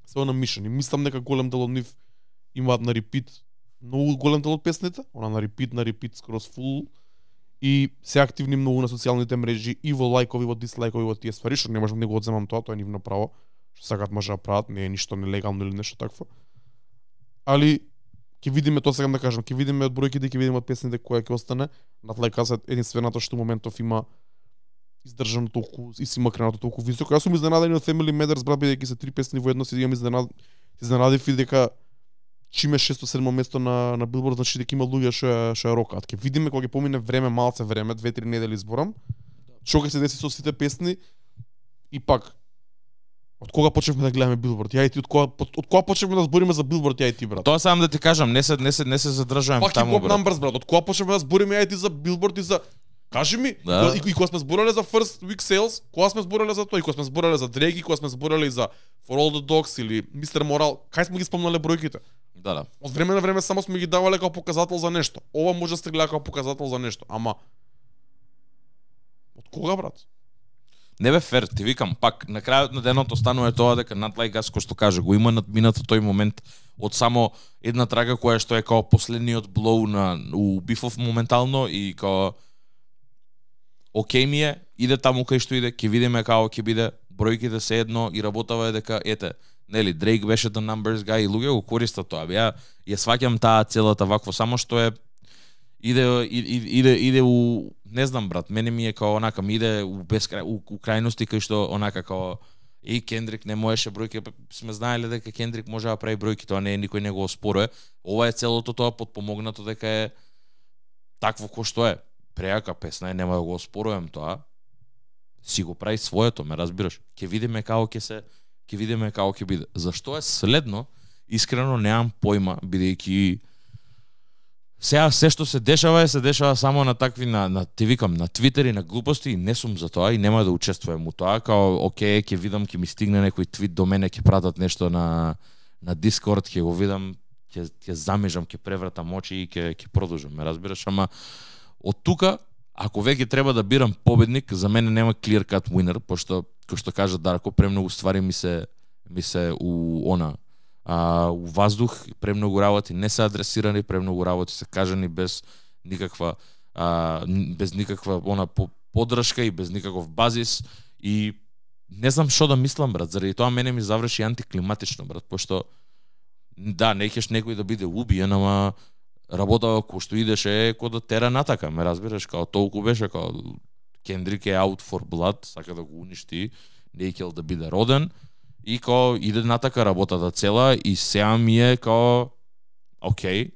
Се на мишани. Мислам дека голем дел од нив имаат на репит многу голем дел од песните, она на репит, на репит скроз фул и се активни многу на социјалните мрежи и во лајкови, во дислајкови, во тие ствари, што не можам да го одземам тоа, тоа е нивно право, што сакаат може да прават, не е ништо нелегално или нешто такво. Али ќе видиме, тоа сакам да кажам, ќе видиме од бројките, ќе видиме од песните која ќе остане. Над лајкасот единственото што моментов има издржано толку и си макренато толку високо. Јас сум изненаден од Family Matters, брат, бидејќи се три песни во едно, си имам изненад изненадив и дека чиме шесто седмо место на на Билборд, значи дека има луѓе што ја што ја рокаат. Ќе видиме кога ќе помине време, малце време, две три недели зборам. Што ќе се деси со сите песни и пак од кога почнавме да гледаме Билборд? Ја и ти од кога од кога почнавме да збориме за Билборд, ја и ти, брат? Тоа сам да ти кажам, не се не се не се задржувам таму, брат. Numbers, брат. Од кога почнавме да збориме ја и ти за Билборд и за кажи ми, да. и, и кога сме збореле за First Week Sales, кога сме збореле за тоа, и кога сме збореле за Drake, и кога сме збореле за For All the Dogs или Мистер Moral, кај сме ги спомнале бројките? Да, да. Од време на време само сме ги давале како показател за нешто. Ова може да се гледа како показател за нешто, ама од кога, брат? Не бе фер, ти викам, пак на крајот на денот останува тоа дека над лајгас кој што каже, го има надминато тој момент од само една трага која што е као последниот блоу на у Бифов моментално и као окей ми е, иде таму кај што иде, ќе видиме како ќе биде, бројките се едно и работава е дека ете, нели, Дрейк беше the numbers guy и луѓе го користат тоа. Ја ја сваќам таа целата вакво, само што е иде иде иде, иде у не знам, брат, мене ми е као онака ми иде у бескрај у, у крајности кај што онака као и Кендрик не можеше бројки, сме знаеле дека Кендрик може да прави бројки, тоа не е никој не го оспорува. Ова е целото тоа потпомогнато дека е такво кој што е. Преака песна е, нема да го оспорувам тоа. Си го прави своето, ме разбираш. Ќе видиме како ќе се, ќе видиме како ќе биде. Зашто е следно? Искрено немам појма, бидејќи сега се што се дешава е се дешава само на такви на на ти викам на Твитер и на глупости и не сум за тоа и нема да учествувам у тоа, као окей, ќе видам, ќе ми стигне некој твит до мене, ќе пратат нешто на на Discord, ќе го видам, ќе ќе замижам, ќе превратам очи и ќе ќе продолжам, ме разбираш, ама од тука, ако веќе треба да бирам победник, за мене нема clear cut winner, пошто кој што кажа Дарко, премногу ствари ми се ми се у она а, у ваздух, премногу работи не се адресирани, премногу работи се кажани без никаква а, без никаква она поддршка и без никаков базис и не знам што да мислам, брат, заради тоа мене ми заврши антиклиматично, брат, пошто да, не кеш некој да биде убиен, ама работава кој што идеше кој да тера натака, ме разбираш, као толку беше, као Кендрик е out for blood, сака да го уништи, не е да биде роден, и као иде натака работата цела, и сега ми е као, окей,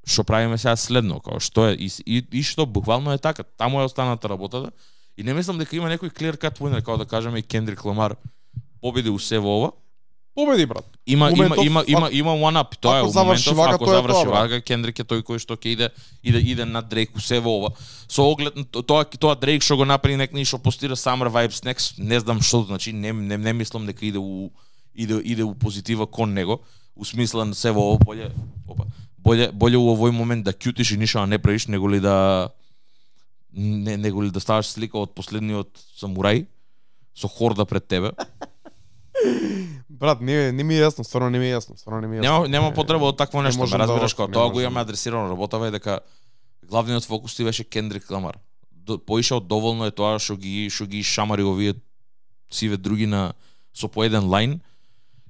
што правиме сега следно, као што е, и, и, и што буквално е така, таму е останата работата, и не мислам дека има некој clear cut winner, као да кажеме и Кендрик Ламар победи усе во ова. Победи, брат. Има моментов, има има има има one up, тоа е у моментов, вака, ако заврши вака, Кендрик е тој кој што ќе иде иде иде на Дрейк усе во ова. Со оглед тоа тоа Дрейк што го направи некни што постира Summer Vibes Next, не знам што значи, не не не мислам дека иде у иде иде у позитива кон него, у смисла на се во ова боле, опа, боле боле у овој момент да кјутиш и ништо не правиш, него ли да не него ли да ставаш слика од последниот самурај со хорда пред тебе. Брат, не не ми е јасно, стварно не ми е јасно, стварно не ми е јасно. Нема нема потреба од такво нешто, ме разбираш, кога тоа го имаме адресирано, работава е дека главниот фокус ти беше Кендрик Ламар. Поишao доволно е тоа што ги што ги шамари овие сиве други на со по еден лајн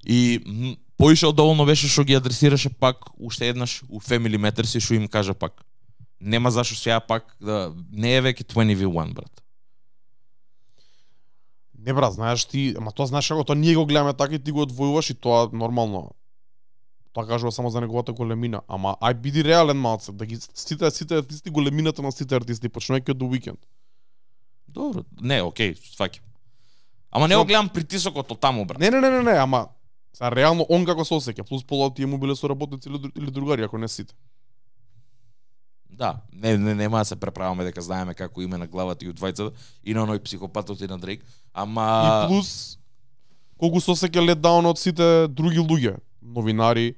и поишao доволно беше што ги адресираше пак уште еднаш у Family Matters и што им кажа пак. Нема зашто сега пак да не е веќе дваесет ви еден, брат. Не, брат, знаеш ти, ама тоа знаеш како тоа ние го гледаме така и ти го одвојуваш и тоа нормално. Тоа кажува само за неговата големина, ама ај биди реален малце, да ги сите сите артисти големината на сите артисти, почнувајќи од The Weeknd. Добро, не, окей, сваќам. Ама не го гледам притисокот од таму, брат. Не, не, не, не, не, ама са реално он како се осеќа, плюс пола тие му биле соработници или, или другари, ако не сите. Да, не, не, нема да се преправаме дека знаеме како име на главата и од двајцата и на оној психопатот и на Дрейк, ама и плюс колку се осеќа лет даун од сите други луѓе, новинари,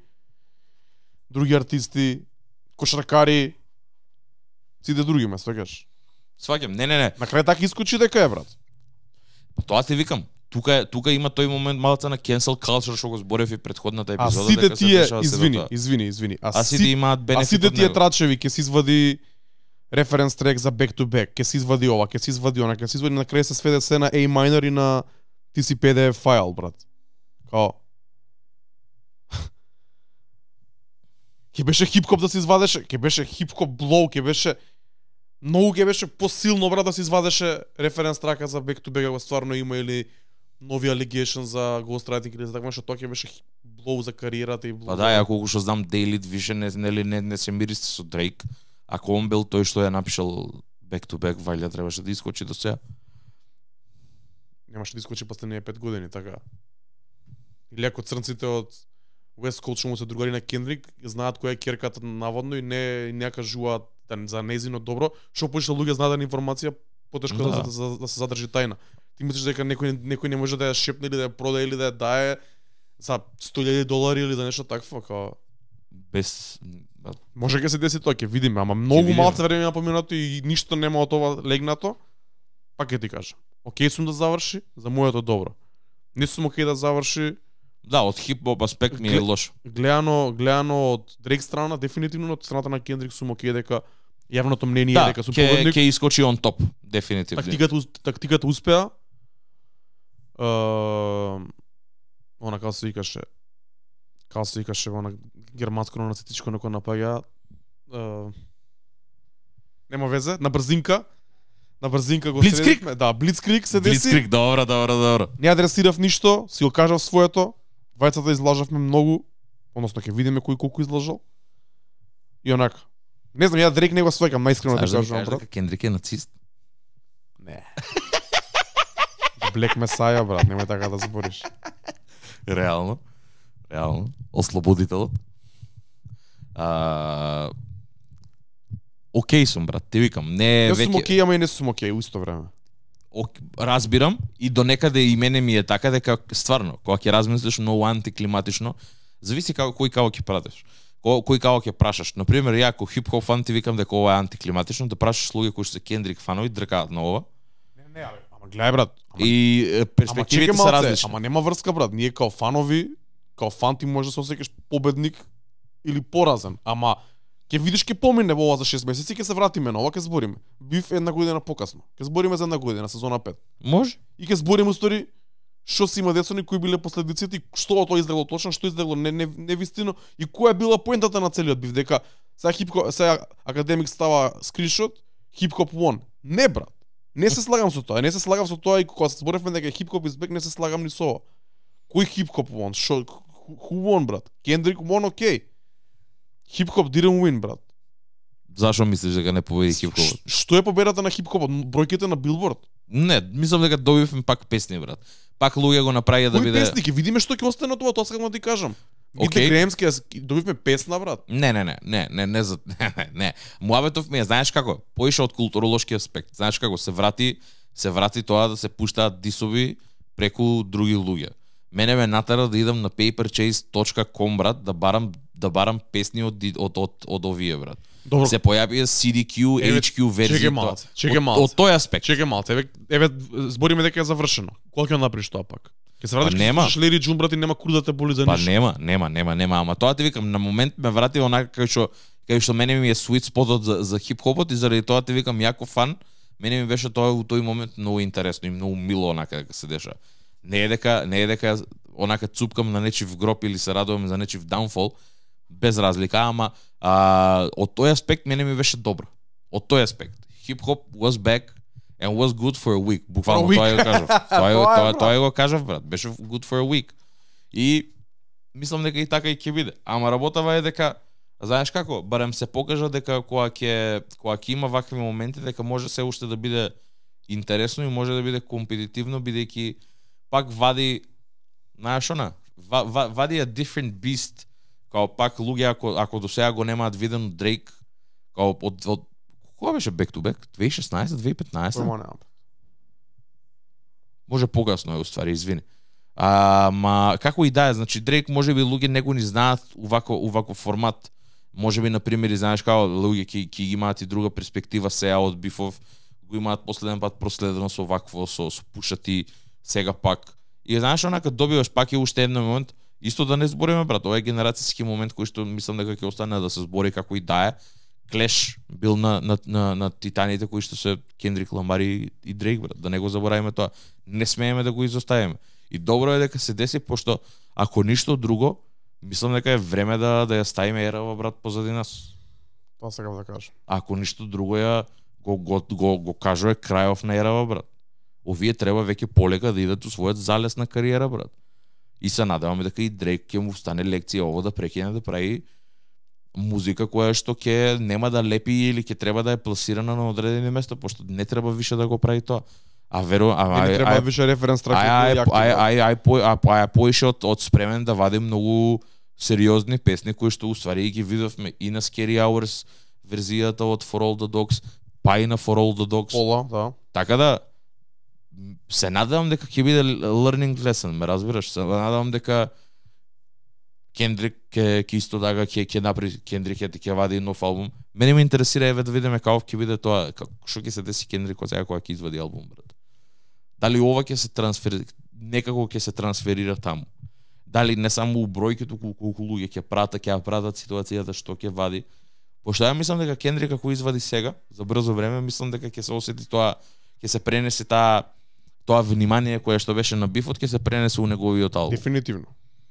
други артисти, кошаркари, сите други ме свегаш. Сваќам. Не, не, не. На крај така искочи дека е брат. Па тоа ти викам. Тука е, тука има тој момент малку на cancel culture што го зборев и претходната А епизода. сите дека се тие, дешава извини, седото. извини, извини. А А, сите си, имаат а бенефит сите од тие него. трачеви ќе се извади референс трек за back to back, ќе се извади ова, ќе се извади она, ќе се извади на крај се сведе се на A minor и на ти си пи ди еф файл, брат. Као ќе беше хип-хоп да се извадеше, ќе беше хип-хоп блоу, ќе беше многу ќе беше посилно брат да се извадеше референс трака за back to back, ако стварно има или нови allegation за ghostwriting или за такво нешто, тоа ќе беше блоу за кариерата и блоу. Па да, ја колку што знам Дейлит више не нели не, не се миристи со Дрейк. Ако он бил тој што ја напишал back to back, вајле требаше да искочи до сега. Немаше да искочи последниве пет години, така. Или ако црнците од West Coast што му се другари на Кендрик, знаат која е керката наводно и не и не ја кажуваат да, за незино добро, што повеќе луѓе знаат да информација потешко да. Да. Да, да, да се задржи тајна. Ти мислиш дека некој некој не може да ја шепне или да ја продаде или да ја дае за сто илјади долари или за нешто такво, као Без може ќе се деси тоа, ќе видиме, ама многу видиме. малце време на поминато и ништо нема од ова легнато. Пак ќе ти кажам. Океј сум да заврши, за моето добро. Не сум океј да заврши да, од хип-хоп аспект ми е Гле- лошо. гледано гледано од Дрейк страна, дефинитивно од страната на Кендрик сум океј дека јавното мнение Да, е дека сум ќе победник. ќе искочи он топ, дефинитивно. Тактиката ус- тактиката успеа. Е, она како се викаше, како се викаше она германско нацистичко некој напаѓа. Е, нема везе, на брзинка. На брзинка го Блицкриг? средивме. Да, Блицкриг се деси. Блицкриг, добро, добро, добро. Не адресирав ништо, си го кажав своето. Двајцата излажавме многу, односно ќе видиме кој колку излажал. И онака. Не знам, ја Дрейк не го сваќам, најискрено да Знаеш да ми кажам, кажеш брат. дека Кендрик е нацист? Не. Блек Месаја, брат, немој така да збориш. Реално. Реално. Ослободителот. А... Океј сум, брат, ти викам. Не Јас сум веќе... окей, ама и не сум окей, у исто време. Ок, разбирам и до некаде и мене ми е така дека стварно кога ќе размислиш многу антиклиматично, зависи како кој као ќе пратиш. Кој кој као ќе прашаш. На пример, ја ако хип-хоп фан ти викам дека ова е антиклиматично, да прашаш луѓе кои што се Кендрик фанови дркаат на ова. Не, не, абе, ама гледај брат. Ама, И е, ама перспективите чекай се малце, различни. ама нема врска брат. Ние као фанови, као фан ти може да се осеќаш победник или поразен, ама ќе видиш ќе помине во ова за шест месеци, ќе се вратиме на ова, ќе збориме. Бив една година покасно. Ќе збориме за една година, сезона пет. Може? И ќе збориме устори што си има децони, кои биле последиците и што од тоа излегло точно, што излегло не не невистино и која е била поентата на целиот бив, дека сега хип сега академик става скриншот, хип-хоп won. Не брат. Не се слагам со тоа, не се слагам со тоа и кога се зборевме дека хип-хоп избег, не се слагам ни со ова. Кој хип-хоп won? Шо who won, брат? Kendrick won, окей. Хип-хоп didn't win, брат. Зашо мислиш дека не победи Ш- хип-хопот? Што е победата на хип-хопот? Бројките на Билборд. Не, мислам дека добивме пак песни, брат. Пак луѓе го направија да Кои биде... песни? Ќе видиме што ќе остане од тоа, тоа сакам да ти кажам. Мите Окей. Греемски, добивме песна, брат. Не, не, не, не, не, не, за... не, не, не. Муабетов ми е, знаеш како, поише од културолошки аспект. Знаеш како, се врати, се врати тоа да се пуштаат дисови преку други луѓе. Мене ме натера да идам на paperchase точка com, брат, да барам да барам песни од ди- од од, од овие, брат. Добро. Се појавија си ди кју, Еве, еич кју верзии. чекај тоа. малце, чекај Од- малце. Од тој аспект. Чекај малце, еве, еве збориме дека е завршено. Кога ќе направиш тоа пак? Ќе се вратиш, Па ќе нема. слушаш Лери Джун, брат, и нема кур да те боли за Па ништо. нема, нема, нема, нема, ама тоа ти викам, на момент ме врати онака кај што кај што мене ми е sweet спотот за за хип-хопот и заради тоа ти викам јако фан, мене ми беше тоа у тој момент многу интересно и многу мило онака дека се деша. Не е дека не е дека онака цупкам на нечив гроб или се радувам за нечив downfall, без разлика, ама а, од тој аспект мене ми беше добро. Од тој аспект. Хип-хоп was back and was good for a week. Буквално For a тоа week. го кажав. Тоа е Тоа е, тоа брат. тоа го кажав, брат. Беше good for a week. И мислам дека и така и ќе биде. Ама работава е дека знаеш како, барем се покажа дека кога ќе кога ќе има вакви моменти дека може се уште да биде интересно и може да биде компетитивно бидејќи пак вади знаеш она, ва, ва, вади a different beast. Као пак луѓе ако ако до сега го немаат видено Дрейк као од, од кога беше back to back? две илјади и шеснаесета, две илјади и петнаесета? Кој ма нема. Може погасно е уствари, извини. А, ма како и да е, значи Дрейк можеби луѓе не го ни знаат увако увако формат. Можеби на пример, знаеш како луѓе ќе ќе имаат и друга перспектива сега од бифов го имаат последен пат проследено со вакво, со, со пушати, сега пак. И знаеш, онака добиваш пак и уште еден момент, исто да не збориме, брат, ова е генерацијски момент кој што мислам дека ќе остане да се збори како и да е. Клеш бил на, на, на, на титаните кои што се Кендрик Ламар и, и Дрейк, брат, да не го забораваме тоа. Не смееме да го изоставиме. И добро е дека се деси, пошто ако ништо друго, мислам дека е време да да ја ставиме ерава, брат, позади нас. Тоа сакам да кажам. Ако ништо друго ја го го го, го кажува крајов на ерава, брат. Овие треба веќе полека да идат у својот залез на кариера, брат. И се надеваме дека и Дрейк ќе му стане лекција ово да прекине да прави музика која што ќе нема да лепи или ќе треба да е пласирана на одредени места, пошто не треба више да го прави тоа. А веро, а не треба више референс трак. Ај ај ај ај ај по ај поише од од спремен да вади многу сериозни песни кои што уствари ги видовме и на Scary Hours верзијата од For All the Dogs, па и на For All the Dogs. Пола, да. Така да се надевам дека ќе биде learning lesson, ме разбираш? Се надевам дека Кендрик ќе ќе исто така ќе ќе направи Кендрик ќе ќе вади нов албум. Мене ме интересира еве да видиме каков ќе биде тоа, што ќе се деси Кендрик кога сега кога ќе извади албум, брат. Дали ова ќе се трансферира, некако ќе се трансферира таму. Дали не само у бројки, туку колку луѓе ќе прата, ќе ја пратат ситуацијата што ќе вади. Пошто ја мислам дека Кендрик како извади сега за брзо време, мислам дека ќе се осети тоа, ќе се пренесе таа тоа внимание кое што беше на бифот, ќе се пренесе у неговиот албум. Дефинитивно.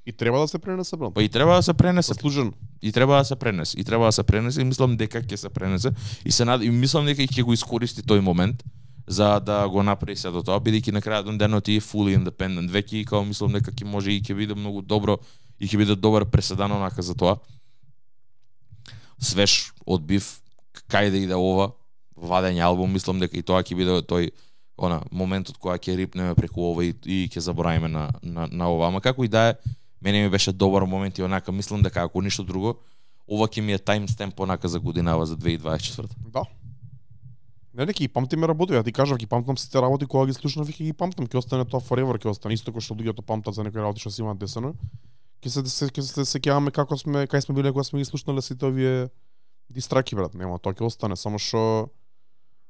И треба да се пренесе, брат. Па и треба да се пренесе. Заслужено. И треба да се пренесе. И треба да се пренесе и мислам дека ќе се пренесе. И се над... и мислам дека ќе го искористи тој момент за да го направи се до тоа, бидејќи на крајот на денот и fully independent веќе и као мислам дека ќе може и ќе биде многу добро и ќе биде добар преседан онака за тоа. Свеж од биф, кај да иде ова вадење албум, мислам дека и тоа ќе биде тој она моментот кога ќе рипнеме преку ова и, и ќе заборавиме на, на на ова. Ама како и да е, мене ми беше добар момент и онака мислам дека ако ништо друго, ова ќе ми е таймстемп онака за годинава за две илјади дваесет и четврта. Да. Не, не, ќе ги памтиме работи, ја ти кажав, ќе памтам сите работи кога ги слушнав и ќе ги памтам, ќе остане тоа forever, ќе остане исто кој што луѓето памтат за некои работи што си имаат десено. Ќе се се ќе се сеќаваме како сме, кај сме биле кога сме ги слушнале сите овие дистраки, брат, нема, тоа ќе остане, само што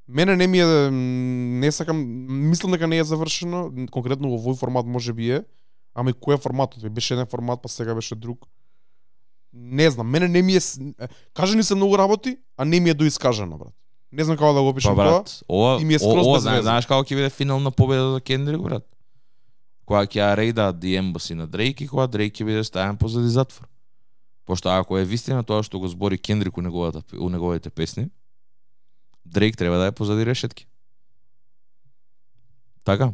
мене не ми е, не сакам, мислам дека не е завршено, конкретно во овој формат можеби е, ама и кој е форматот? Беше еден формат, па сега беше друг. Не знам, мене не ми е, кажани се многу работи, а не ми е доискажано, брат. Не знам како да го опишам па, тоа. Ова, и ми е скроз ова, без веза. знаеш како ќе биде финална победа за Кендрик, брат? Кога ќе ја рейдаат The Embassy на Дрейк и кога Дрейк ќе биде ставен позади затвор. Пошто ако е вистина тоа што го збори Кендрик у неговата у неговите песни, Дрейк треба да е позади решетки. Така.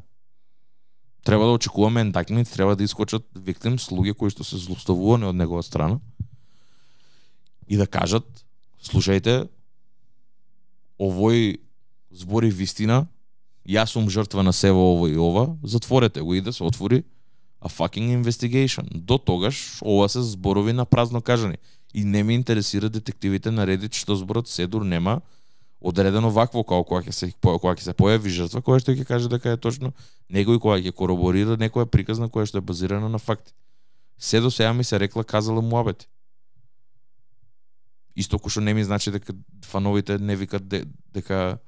Треба да очекуваме ендакмент, треба да искочат виктимс, луѓе кои што се злоставувани од негова страна и да кажат, слушајте, овој збори вистина, јас сум жртва на себе ово и ова, затворете го и да се отвори a fucking investigation. До тогаш ова се зборови на празно кажани. И не ме интересира детективите на Reddit што зборот седур нема одредено вакво како кога ќе се кога ќе се појави жртва, која што ќе каже дека е точно некој која ќе кораборира некоја приказна која што е базирана на факти. Се до сега ми се рекла казала муабети. Исто кој што не ми значи дека фановите не викат де, дека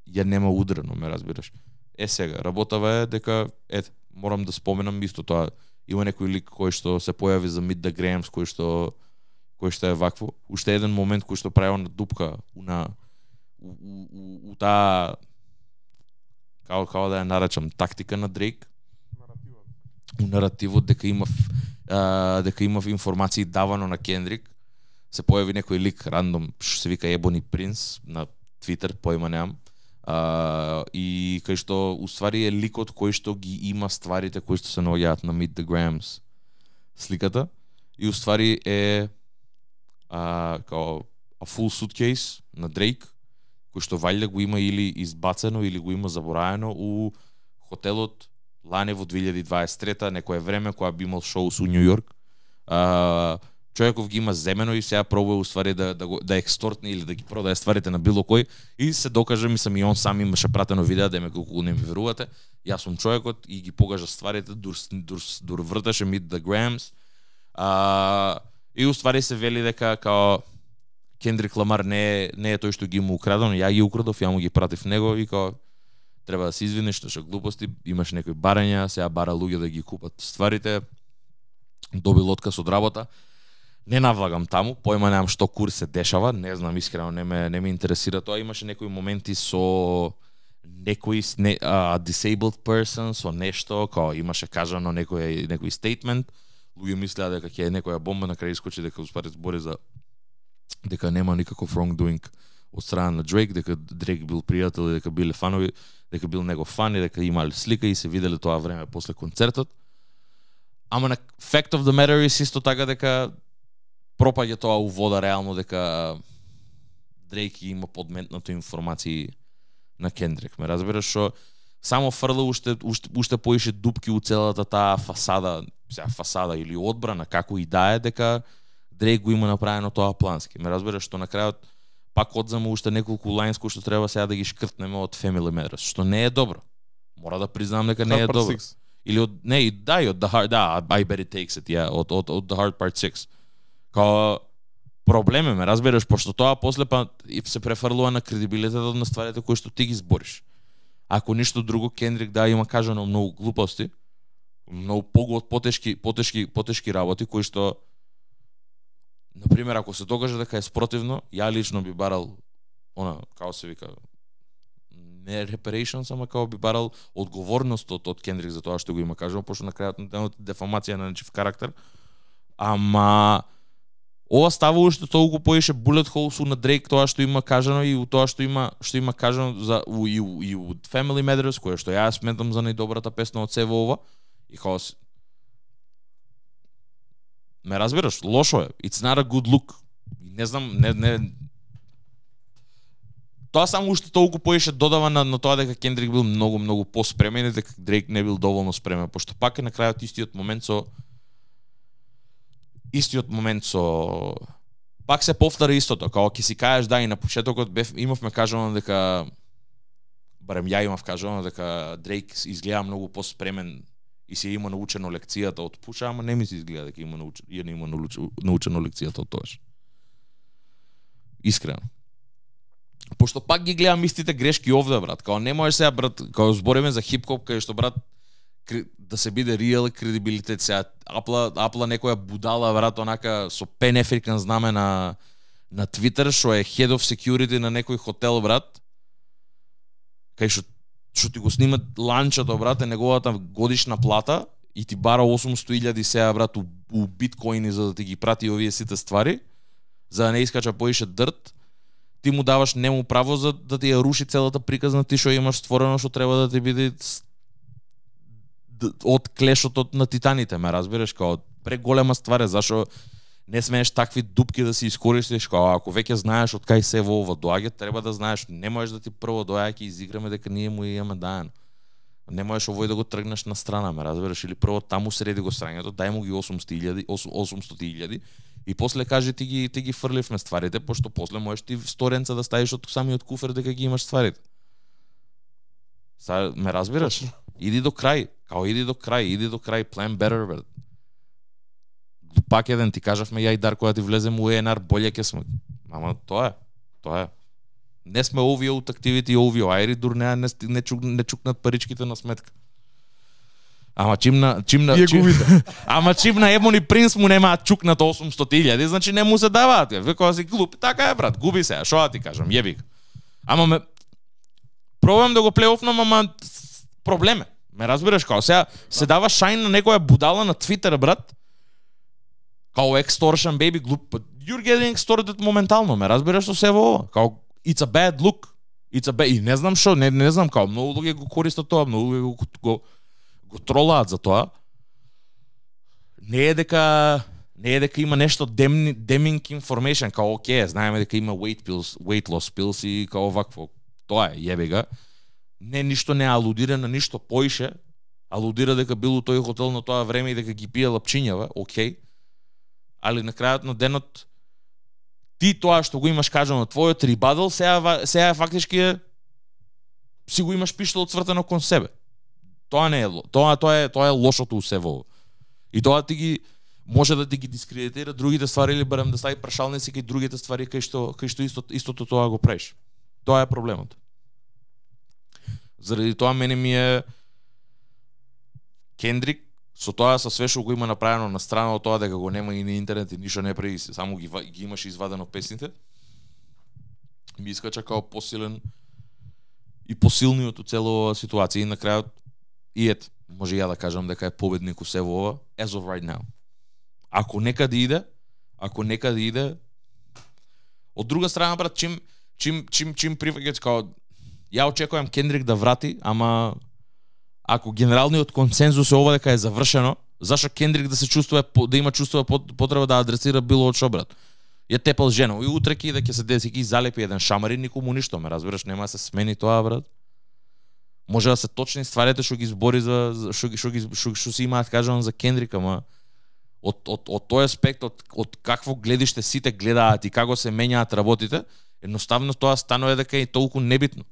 ја нема удрено, ме разбираш. Е сега, работава е дека ете, морам да споменам исто тоа. Има некој лик кој што се појави за Meet the Grahams, кој што кој што е вакво. Уште еден момент кој што прави на дупка на у, у, у, у таа како како да ја наречам тактика на Дрейк. Наративот. У наративот дека има а, дека има информации давано на Кендрик. Се појави некој лик рандом што се вика Ebony Prince на Twitter, појма немам. Uh, и кај што уствари е ликот кој што ги има стварите кои што се наоѓаат на Meet the Grahams сликата и уствари е uh, као a full suitcase на Дрейк кој што валјда го има или избацено или го има забораено у хотелот лане во две илјади дваесет и трета некое време кога би имал шоу со Њу Јорк. Uh, човеков ги има земено и сега пробува уствари да да го да екстортне или да ги продае стварите на било кој и се докаже, мислам и он сам имаше пратено видео да ме колку не ми верувате. Јас сум човекот и ги покажа стварите дур дур дур врташе Meet the Grahams. А и уствари се вели дека као Кендрик Ламар не е не е тој што ги му украдено, ја ги украдов, ја му ги пратив него и као треба да се извиниш, што што глупости, имаш некои барања, сега бара луѓе да ги купат стварите. Добил отказ од работа. Не навлагам таму, појма немам што курс се дешава, не знам искрено, не ме не ме интересира тоа. Имаше некои моменти со некои не, uh, disabled person со нешто, као имаше кажано некој некој statement. Луѓе мислеа дека ќе е некоја бомба, на крај искочи дека успари збори за дека нема никаков wrongdoing од страна на Дрейк, дека Дрейк бил пријател, дека биле фанови, дека бил негов фан и дека имале слика и се виделе тоа време после концертот. Ама на fact of the matter is исто така дека пропаѓа тоа у вода реално, дека Дрейк има подметнато информации на Кендрик. Ме разбираш, што само фрла уште уште уште поише дупки у целата таа фасада, сега фасада или одбрана, како и да е, дека Дрейк го има направено тоа плански. Ме разбираш, што на крајот пак одзема уште неколку лајнс кои што треба сега да ги шкртнеме од Family Matters, што не е добро. Мора да признам дека не е добро. Или од не, да, и од The Hard, да, I Bet It Takes It, ја, yeah, од од од The Hard Part six. Као проблем е, ме разбираш, пошто тоа после па се префрлува на кредибилитетот на стварите кои што ти ги збориш. Ако ништо друго, Кендрик да има кажано многу глупости, многу погод потешки потешки потешки работи кои што на пример ако се докаже дека е спротивно, ја лично би барал она како се вика не reparations, ама како би барал одговорност од, од Кендрик за тоа што го има кажано, пошто на крајот на денот дефамација на нечив карактер. Ама ова става уште толку поише bullet holes на Дрейк, тоа што има кажано и у тоа што има што има кажано за у, и, у, и у Family Matters, кое што ја сметам за најдобрата песна од сево ова. И као ме разбираш, лошо е. It's not a good look. Не знам, не не тоа само уште толку поише додава на, на тоа дека Кендрик бил многу многу поспремен и дека Дрейк не бил доволно спремен, пошто пак е на крајот истиот момент со истиот момент со пак се повтора истото, као ќе си кажеш да и на почетокот бев имавме кажано дека барем ја имав кажано дека Дрейк изгледа многу поспремен и си има научено лекцијата од пуша, ама не ми се изгледа дека има научено, ја не има научено лекцијата од тоаш. Искрено. Пошто пак ги гледам истите грешки овде, брат. Као не можеш сега, брат, као збориме за хип-хоп, кај што, брат, да се биде реал кредибилитет сега. Апла, апла некоја будала, брат, онака со Pan African знаме на на Twitter, што е head of security на некој хотел, брат. Кај што што ти го снимат ланчето, брат, е неговата годишна плата и ти бара осумсто илјади сега, брат, у, у биткоини за да ти ги прати овие сите ствари, за да не искача поише дрт. Ти му даваш нему право за да ти ја руши целата приказна, ти што имаш створено што треба да ти биде од клешот на титаните, ме разбираш, као преголема ствар е, зашо не смееш такви дупки да си искористиш, као ако веќе знаеш од кај се во ова доаѓа, треба да знаеш, не можеш да ти прво доаѓа ќе изиграме дека ние му имаме дајано. Не можеш овој да го тргнеш на страна, ме разбираш, или прво таму среди го срањето, дај му ги осумсто илјади и после кажи ти ги ти ги фрливме стварите, пошто после можеш ти сторенца да ставиш од самиот куфер дека ги имаш стварите. Са ме разбираш? Иди до крај, као иди до крај, иди до крај, plan better, брат. Пак еден ти кажавме ја и Дарко да ти влезем у Е Ен Ар, болje ќе сме. Ама тоа е, тоа е. Не сме овие от активити, овие ајри, дур не не, не, чук, не чукнат паричките на сметка. Ама чимна, чимна, чим, ама чимна Ебони Принц му немаат чукнат осумсто илјади, значи не му се даваат. Векога си глуп, така е, брат, губи се, шо да ти кажам, јеби го. Ама ме пробам да го плейофнам, ама проблеме. Ме разбираш, као сега се дава шајн на некоја будала на Твитер, брат. Као extortion, baby, глуп. You're getting extorted моментално, ме разбираш со се во ова. Као it's a bad look. It's a bad... И не знам шо, не, не знам, као многу луѓе го користат тоа, многу луѓе го, го, го тролаат за тоа. Не е дека не е дека има нешто демни, deming information, као окей, знаеме дека има weight pills, weight loss pills и као вакво. Тоа е, јебе га. Не, ништо не алудира на ништо поише. Алудира дека бил у тој хотел на тоа време и дека ги пие лапчињава, окей. Али на крајот на денот ти тоа што го имаш кажано твојот рибадл, сега сега фактички е си го имаш пиштол цвртено кон себе. Тоа не е тоа тоа е тоа е лошото у се во. И тоа ти ги може да ти ги дискредитира другите ствари или барем да стави прашалници кај другите ствари кај што кај што исто истото тоа го правиш. Тоа е проблемот. Заради тоа мене ми е Кендрик со тоа со све што го има направено на страна од тоа дека го нема и на интернет и ништо не прави, само ги ги имаш извадено песните. Ми искача као посилен и посилниот од целова ситуација и на крајот и ет, може ја да кажам дека е победник у се во ова as of right now. Ако некаде иде, ако некаде иде, од друга страна брат, чим чим чим чим приваѓаат као ја очекувам Кендрик да врати, ама ако генералниот консензус е ова дека е завршено, зашо Кендрик да се чувствува да има чувствува потреба да адресира било од шо брат? Ја тепал жена и утре ки да ќе се деси ки залепи еден шамарин, никому ништо, ме разбираш, нема да се смени тоа брат. Може да се точни стварите што ги збори за што што ги што што си имаат кажано за Кендрик, ама од од од тој аспект од од какво гледиште сите гледаат и како се менјаат работите, едноставно тоа станува дека е толку небитно.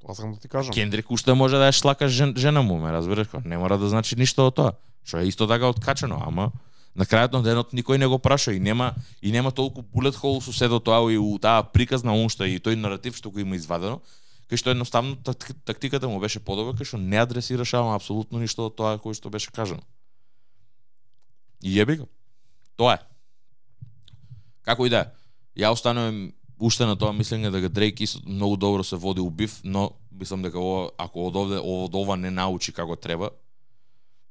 Тоа сакам да ти кажам. Кендрик уште може да ја шлака жен, жена му, ме разбираш, не мора да значи ништо од тоа, што е исто така откачено, ама на крајот на денот никој не го праша и нема и нема толку bullet hole со сето тоа и у таа приказна он што и тој наратив што го има извадено, кај што едноставно тактиката му беше подобра, кај што не адресираше ама апсолутно ништо од тоа кој што беше кажано. И јеби го. Тоа е. Како и да е. Ја останувам уште на тоа мислење дека Дрейк многу добро се води у биф, но мислам дека ова, ако од овде од ова не научи како треба,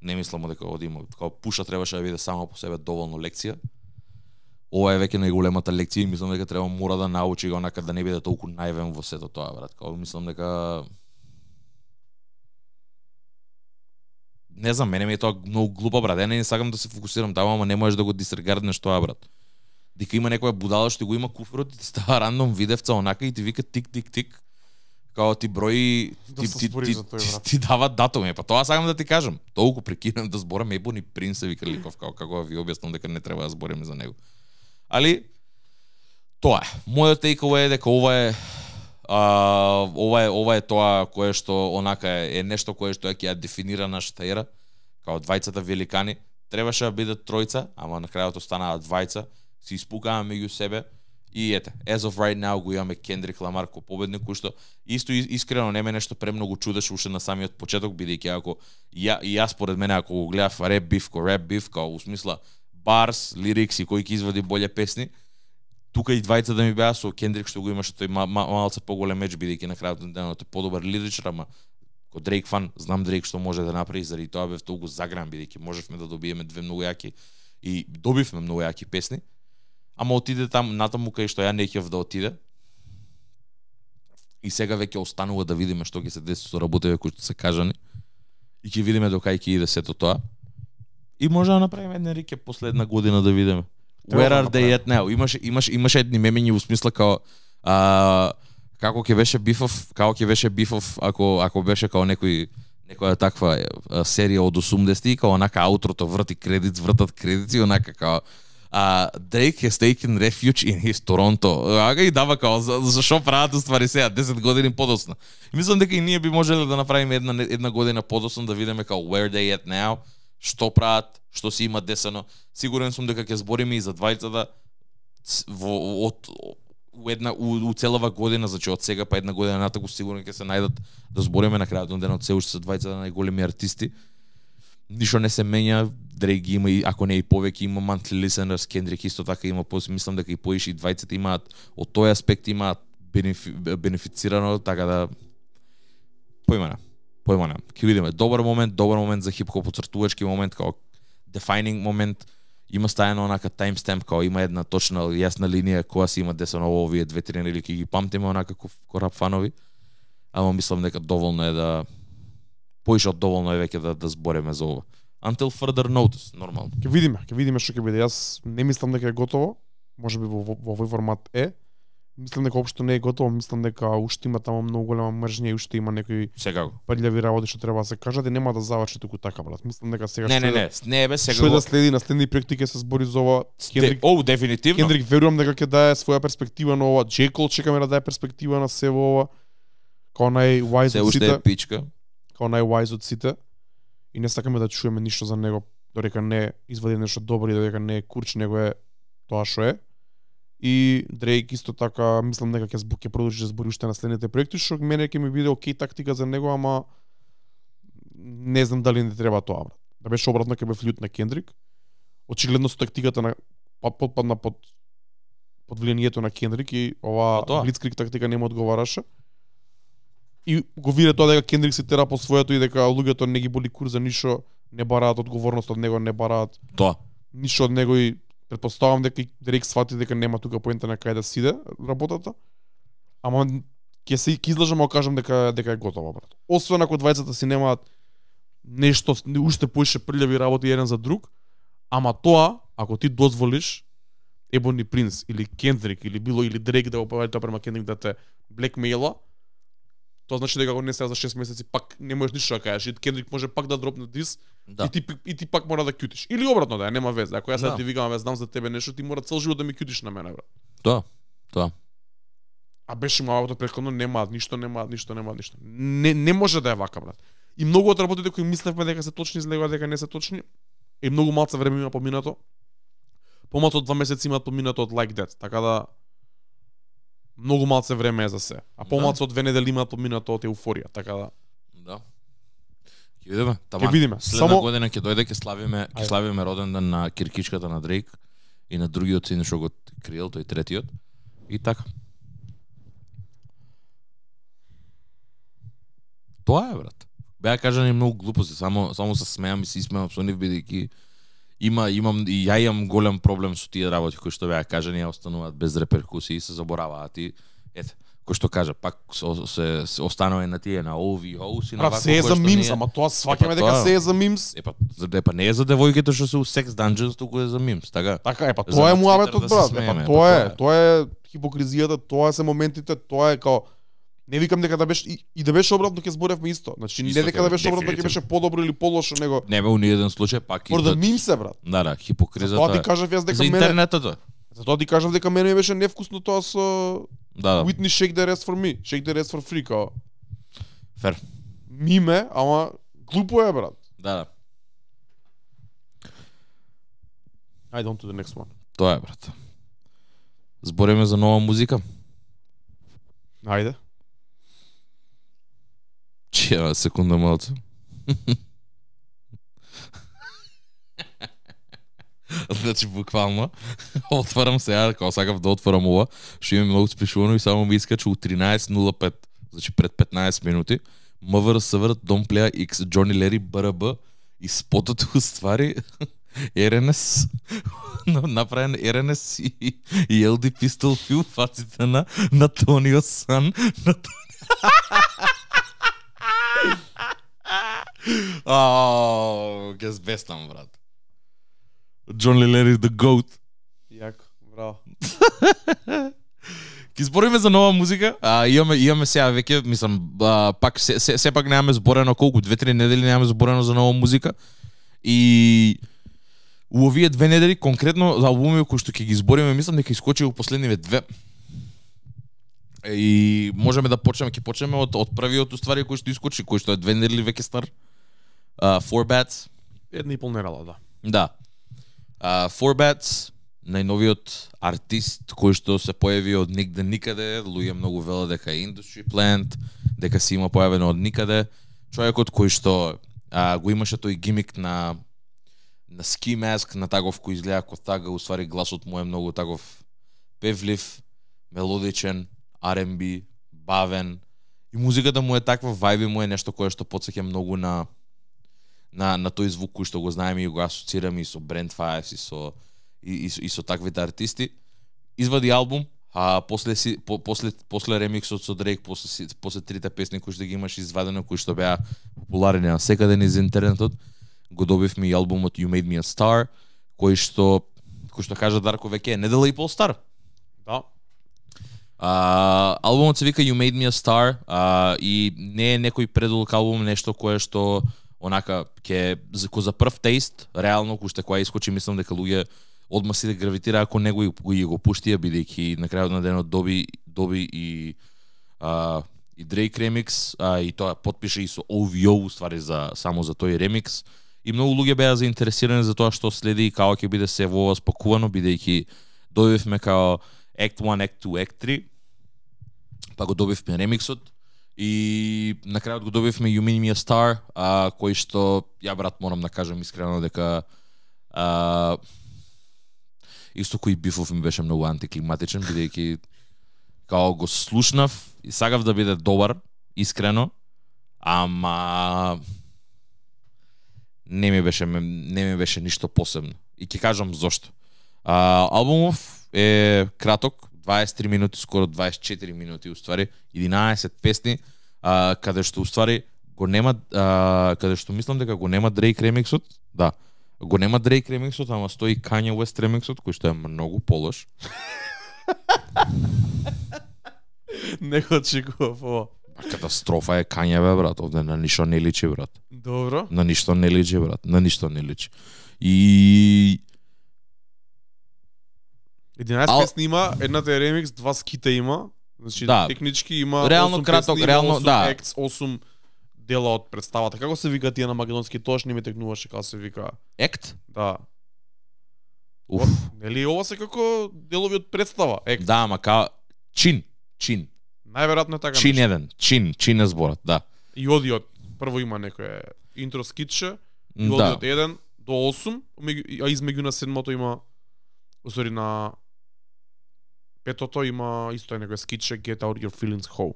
не мислам дека од има, како Пуша требаше да биде само по себе доволно лекција. Ова е веќе најголемата лекција и мислам дека треба мора да научи го онака да не биде толку наивен во сето тоа, брат. Како мислам дека не знам, мене ми е тоа многу глупо, брат. Ја не сакам да се фокусирам таму, ама не можеш да го дисрегарднеш тоа, брат. Дека има некоја будала што го има куфрот и ти става рандом видевца онака и ти вика тик тик тик. Као ти брои ти ти, ти, ти, ти дава датуми, па тоа сакам да ти кажам. Толку прекинам да зборам Ебони Принц вика ликов, како како ви објаснам дека не треба да збориме за него. Али тоа е. Мојот takeaway е дека ова е а, ова е ова е тоа кое што онака е, е нешто кое што ќе ја дефинира нашата ера, као двајцата великани. Требаше да бидат тројца, ама на крајот останаа двајца. Се испукаа меѓу себе и ете, as of right now го имаме Кендрик Ламар ко победник, кој што исто искрено не ме нешто премногу чудеше уште на самиот почеток, бидејќи ако ја и јас според мене ако го гледав реп биф ко реп биф, као усмисла барс, лирикс и кој ќе извади боле песни, тука и двајца да ми беа со Кендрик што го имаше тој ма, ма, малце поголем меч, бидејќи на крајот на денот е подобар лиричар, ама ко Дрейк фан, знам Дрейк што може да направи, заради тоа бев толку загран, бидејќи можевме да добиеме две многу јаки и добивме многу јаки песни. Ама отиде там натаму кај што ја не ќев да отиде. И сега веќе останува да видиме што ќе се деси со работите кои што се кажани. И ќе видиме до кај ќе иде сето тоа. И може да направиме една рекеп после една година да видиме. Where are they at now? Имаше имаше имаше едни мемињи во смисла као а, како ќе беше бифов, како ќе беше бифов ако ако беше као некој некоја таква а, серија од осумдесети, као онака аутрото врти кредит, вртат кредити, онака као Uh, Drake has taken refuge in his Toronto. Ага и дава као за, за шо прават ствари сега десет години подоцна. И мислам дека и ние би можеле да направиме една една година подоцна да видиме као where they at now, што прават, што си има десено. Сигурен сум дека ќе збориме и за двајцата во од у една у, у целава година, значи од сега па една година натаму сигурно ќе се најдат да збориме на крајот на денот се уште се двајцата најголеми артисти. Ништо не се менја, Дрейк има и ако не и повеќе има monthly listeners, Кендрик исто така има, мислам дека и поише и двајцата имаат од тој аспект имаат бенефи, бенефицирано, така да појма не, појма не. Ќе видиме добар момент, добар момент за хип-хоп, поцртувачки момент, као defining момент, има стајано онака timestamp, као има една точна јасна линија која си има десено овие две-три недели ќе ги памтиме онака ко рап фанови. Ама мислам дека доволно е да поише од доволно е веќе да да збориме за ова. Until further notice, нормално. Ќе видиме, ќе видиме што ќе биде. Јас не мислам дека е готово. Можеби во, во, во овој формат е. Мислам дека општо не е готово, мислам дека уште има таму многу голема мржња и уште има некои секако прљави работи што треба да се кажат и нема да заврши туку така, брат. Мислам дека сега не, што не, да, не, не, бе, сега што да следи на следни проекти ќе се збори за ова. Кендрик, о, дефинитивно. Кендрик верувам дека ќе дае своја перспектива на ова. J. Cole чекаме да дае перспектива на се во ова. Као најwise од сите. Се уште е пичка. Као најwise од сите. И не сакаме да чуеме ништо за него додека не извади нешто добро и додека не е курч, него е тоа што е. И Дрейк исто така, мислам нека ќе збу, ќе продолжи да збори уште на следните проекти, што мене ќе ми биде окей тактика за него, ама не знам дали не треба тоа, брат. Да беше обратно ќе бе флют на Кендрик. Очигледно со тактиката на подпадна под под влијанието на Кендрик и ова блицкриг тактика не му одговараше. И го виде тоа дека Кендрик се тера по своето и дека луѓето не ги боли кур за ништо, не бараат одговорност од него, не бараат тоа ништо од него и претпоставам дека Дрейк свати дека нема тука поента на кај да сиде работата. Ама ќе се ќе излажам, ако кажам дека дека е готово, брат. Освен ако двајцата си немаат нешто уште поише прљави работи еден за друг, ама тоа ако ти дозволиш Ебони Принц или Кендрик или било или Дрейк да го поведе тоа према Кендрик да те блекмеила, тоа значи дека го не се за шест месеци пак не можеш ништо да кажеш. И Кендрик може пак да дропне дис да. и ти и ти пак мора да кјутиш. Или обратно да, нема веза. Ако јас да. ти викам, знам за тебе нешто, ти мора цел живот да ми кјутиш на мене, брат. Тоа, тоа. А беше малото претходно немаат ништо, немаат ништо, немаат ништо. Не не може да е вака, брат. И многу од работите кои мислевме дека се точни, излегува дека не се точни. И многу малце време има поминато. Помалку од два месеци имаат поминато од Like That, така да многу малце време е за се. А помалку да. од две недели имаат поминато од Еуфорија, така да. Да. Ќе видиме. Ќе видиме. Следна Само... година ќе дојде, ќе славиме, ќе славиме роден ден на киркичката на Дрейк и на другиот син што го криел, тој третиот. И така. Тоа е, брат. Беа кажани многу глупости, само само се смеам и се смеам со нив бидејќи има имам и ја имам голем проблем со тие работи кои што беа кажани, ја остануваат без реперкусии, се забораваат и ете, кој што кажа, пак со, се, се останува на тие на о ви о и на вако. Се е за мимс, ама тоа сваќаме дека се е за мимс. Епа, за депа не е за девојките што се у секс данџенс, туку е за мимс, така? Така е, па тоа е муабетот, брат. Епа тоа е, тоа е хипокризијата, тоа се моментите, тоа е као не викам дека да беше и, и да беше обратно ќе зборевме исто. Значи не дека да беше обратно ќе беше подобро или полошо, него не бе у ни еден случај пак и да мим се, брат. Да, да, хипокризата. Тоа ти кажав јас дека мене за интернетот. Затоа ти кажав дека мене ми беше невкусно тоа со да, да. Whitney Shake the Rest for Me, Shake the Rest for Free као. Фер. Миме, ама глупо е, брат. Да, да. Ајде on to the next one. Тоа е, брат. Збориме за нова музика. Ајде. Чева секунда малце. Значи буквално отварам сега, кога сакав да отворам ова, што имам многу спишувано и само ми искача у тринаесет нула пет, значи пред петнаесет минути, МВР Север Don't Play X Johnny Larry Б Р Б и спотот уствари Р Н С направен Р Н С и, и Л Ди Пистол фил фаците на на Тонио Сан на Ааа, ке збестам, брат. Джон Лелери the GOAT. Јако, браво. Ке збориме за нова музика. А, имаме имаме сега веќе, мислам, а, пак се, се, се пак немаме зборено колку две-три недели немаме зборено за нова музика. И у овие две недели конкретно за албуми кои што ќе ги збориме, мислам дека искочи у последниве две. И можеме да почнеме, ќе почнеме од од првиот уствари кој што искочи, кој што е две недели веќе стар. Uh, Four Bats. Една и пол недела, да. Да. Uh, Four Bats, најновиот артист кој што се појави од нигде никаде, луѓе многу велат дека е Industry Plant, дека си има појавено од никаде. Човекот кој што uh, го имаше тој гимик на на ski mask, на таков кој изгледа како тага, уствари гласот му е многу таков певлив, мелодичен, Ар енд Би, бавен. И музиката му е таква, вајби му е нешто кое што потсеќа многу на на на тој звук кој што го знаеме и го асоцираме и со Brent Faiyaz и со и, и, и со таквите артисти. Извади албум, а после си по, после после ремиксот со Дрейк, после после трите песни кои што ги имаш извадено, кои што беа популарни на секаде низ интернетот, го добивме и албумот You Made Me a Star, кој што кој што кажа Дарко веќе е недела и пол стар. Да. Uh, албумот се вика You Made Me a Star uh, и не е некој предолг албум, нешто кое што онака ќе за за прв тест, реално кој што кога искочи, мислам дека луѓе одма си да гравитира ако него и, и го пуштија, бидејќи на крајот на денот доби доби и uh, и Drake ремикс, uh, и тоа потпише и со о ви о ствари за само за тој ремикс и многу луѓе беа заинтересирани за тоа што следи и како ќе биде се во ова спакувано, бидејќи добивме као Act one, Act two, Act three, па го добивме ремиксот и на крајот го добивме You Mean Me a Star, а, кој што ја брат морам да кажам искрено дека а, исто кој бифов ми беше многу антиклиматичен, бидејќи као го слушнав и сакав да биде добар, искрено, ама не ми беше не ми беше ништо посебно. И ќе кажам зошто. А, албумов е краток, дваесет и три минути, скоро дваесет и четири минути уствари, единаесет песни, а, каде што уствари го нема, а, каде што мислам дека го нема Drake ремиксот, да. Го нема Drake ремиксот, ама стои Kanye West ремиксот, кој што е многу полош. Не го очекував ова. Катастрофа е Kanye, бе, брат, овде на ништо не личи, брат. Добро. На ништо не личи, брат, на ништо не личи. И единаесет Ал... песни има, едната е ремикс, два скита има. Значи да. Технички има реално осум краток, песни, реално осум да. екс, осум дела од представата. Како се вика тие на македонски? Тоаш не ми текнуваше како се вика. Ект? Да. Уф. Нели ова се како делови од представа? Ект. Да, ама као чин, чин. Најверојатно е така. Чин нешто. еден, чин, чин е зборот, да. И одиот прво има некое интро скитче, и Да. одиот еден до осум, а измеѓу на седмото има усори на петото има исто е некое скитче Get Out Your Feelings How.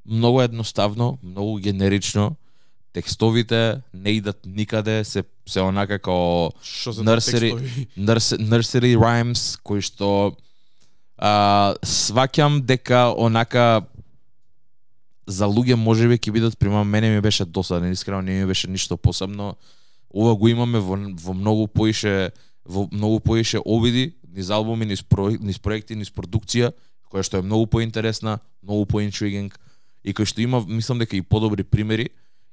Многу едноставно, многу генерично. Текстовите не идат никаде, се се онака како Што се nursery, текстови? nursery, nursery rhymes кои што а, сваќам дека онака за луѓе можеби ќе бидат, прима мене ми беше досаден, искрено не ми беше ништо посебно. Ова го имаме во, во многу поише во многу поише обиди, низ албуми, низ, про, низ проекти, низ продукција, која што е многу поинтересна, многу поинтригинг и кој што има, мислам дека и подобри примери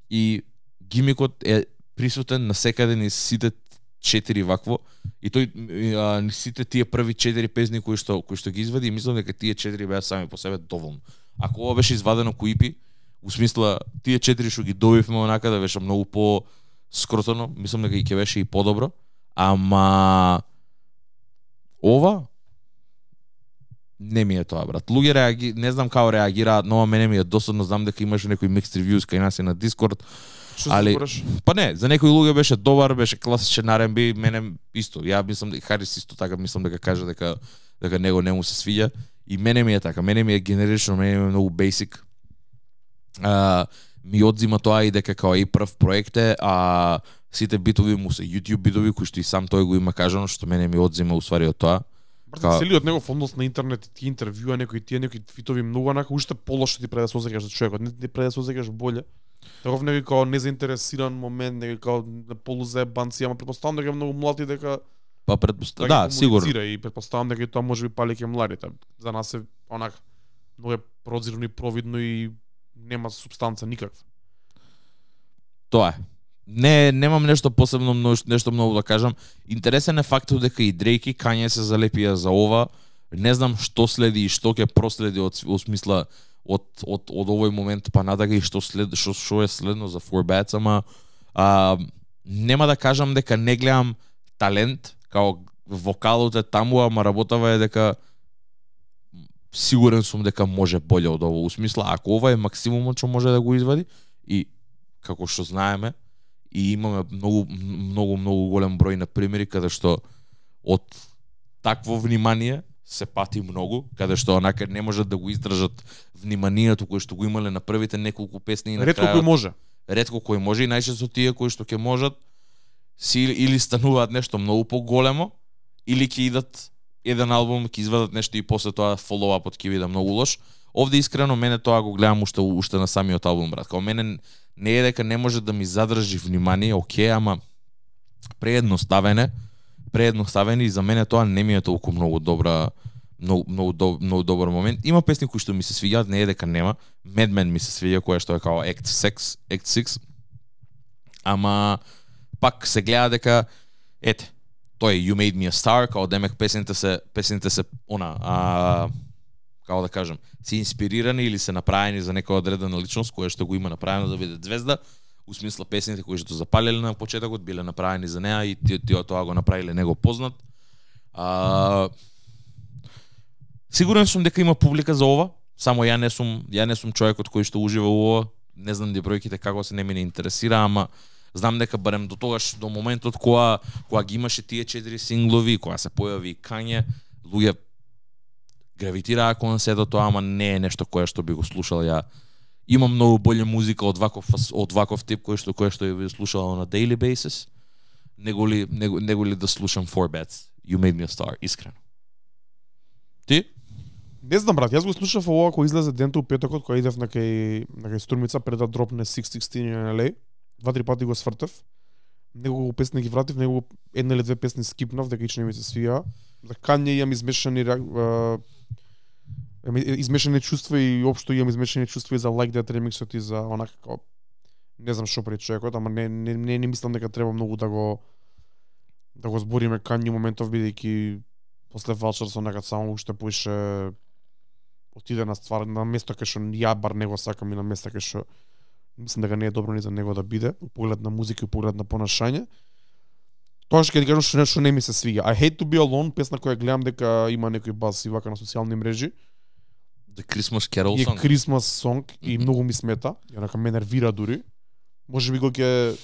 и гимикот е присутен насекаде низ сите четири вакво и тој а, низ сите тие први четири песни кои што кои што ги извади, мислам дека тие четири беа сами по себе доволно. Ако ова беше извадено кој ипи, у смисла тие четири што ги добивме онака да беше многу по скротено, мислам дека и ќе беше и подобро, ама ова не ми е тоа, брат. Луѓе реаги, не знам како реагираат, но мене ми е досадно, знам дека имаше некои mixed reviews кај нас и на Discord. Што али збориш? па не, за некои луѓе беше добар, беше класичен ар енд би, мене исто. Ја мислам дека Харис исто така мислам дека каже дека дека него не му се свиѓа и мене ми е така, мене ми е генерично, мене ми е многу basic. А, ми одзима тоа и дека као и прв проект е, а сите битови му се YouTube битови кои што и сам тој го има кажано, што мене ми одзима усвари од тоа. Брат, целиот негов однос на интернет, тие интервјуа, некои тие некои твитови многу онака уште полошо ти пред да се осеќаш за човекот, не ти пред да се осеќаш боле. Таков некој као незаинтересиран момент, некој као на полузаебанци, ама претпоставам дека е многу млад и дека Па предпоставам, да, сигурно. И претпоставам дека и тоа можеби пали ке младите. За нас е онака многу е прозирно и провидно и нема супстанца никаква. Тоа е. Не, немам нешто посебно, нешто многу да кажам. Интересен е фактот дека и Дрейк и Kanye се залепија за ова. Не знам што следи и што ќе проследи од, од смисла од, од, од овој момент па надага и што след што што е следно за Four Bats, ама а, нема да кажам дека не гледам талент, као вокалот е таму, ама работава е дека сигурен сум дека може боле од ово. У смисла, ако ова е максимумот што може да го извади и како што знаеме, и имаме многу многу многу голем број на примери каде што од такво внимание се пати многу, каде што онака не можат да го издржат вниманието кое што го имале на првите неколку песни и на Ретко крајот, кој може. ретко кој може и најчесто тие кои што ќе можат си или стануваат нешто многу поголемо или ќе идат еден албум, ќе извадат нешто и после тоа фоллоуапот ќе биде многу лош. Овде искрено мене тоа го гледам уште уште на самиот албум, брат. Као мене не е дека не може да ми задржи внимание, окей, ама преедноставене, преедноставени и за мене тоа не ми е толку многу добра, многу многу, доб, многу добар момент. Има песни кои што ми се свиѓаат, не е дека нема. Mad Men ми се свиѓа, која што е као Act six, Act six. Ама пак се гледа дека ете, тој You Made Me a Star, као демек песните се песните се она, а како да кажам, се инспирирани или се направени за некоја одредена личност која што го има направено да биде звезда. у смисла песните кои што запалеле на почетокот биле направени за неа и тие тие тоа го направиле него познат. А, сигурен сум дека има публика за ова, само ја не сум ја не сум човекот кој што ужива у ова. Не знам ди бројките како се не ме не интересира, ама знам дека барем до тогаш, до моментот кога кога ги имаше тие четири синглови, кога се појави Kanye, луѓе гравитираа кон сето тоа, ама не е нешто кое што би го слушал ја. Имам многу болја музика од ваков од ваков тип кој што кој што ја би слушал на daily basis. Него ли него, него ли да слушам Four Bets, You Made Me a Star, искрено. Ти? Не знам брат, јас го слушав ова кој излезе денту петокот кога идев на кај на кај Струмица пред да дропне шест шестнаесет in L A. Два-три пати го свртев. Неколку песни ги вратив, него една или две песни скипнав дека ич не ми се свија. За Kanye имам измешани измешани чувства и општо имам измешани чувства и за Like That ремиксот и за онака како не знам што прави човекот, ама не не не, не мислам дека треба многу да го да го збориме Kanye моментов бидејќи после Vulture со некад само уште поише отиде на ствар на место кај што ја бар него сакам и на место кај што мислам дека не е добро ни за него да биде, у поглед на музика и у поглед на понашање. Тоа што ќе ти кажам што нешто не ми се свиѓа. I Hate to Be Alone, песна која гледам дека има некој бас и вака на социјални мрежи. The Christmas Carol Song. song. Е Christmas song и mm -hmm. многу ми смета. Ја нака ме нервира дури. Можеби кога ќе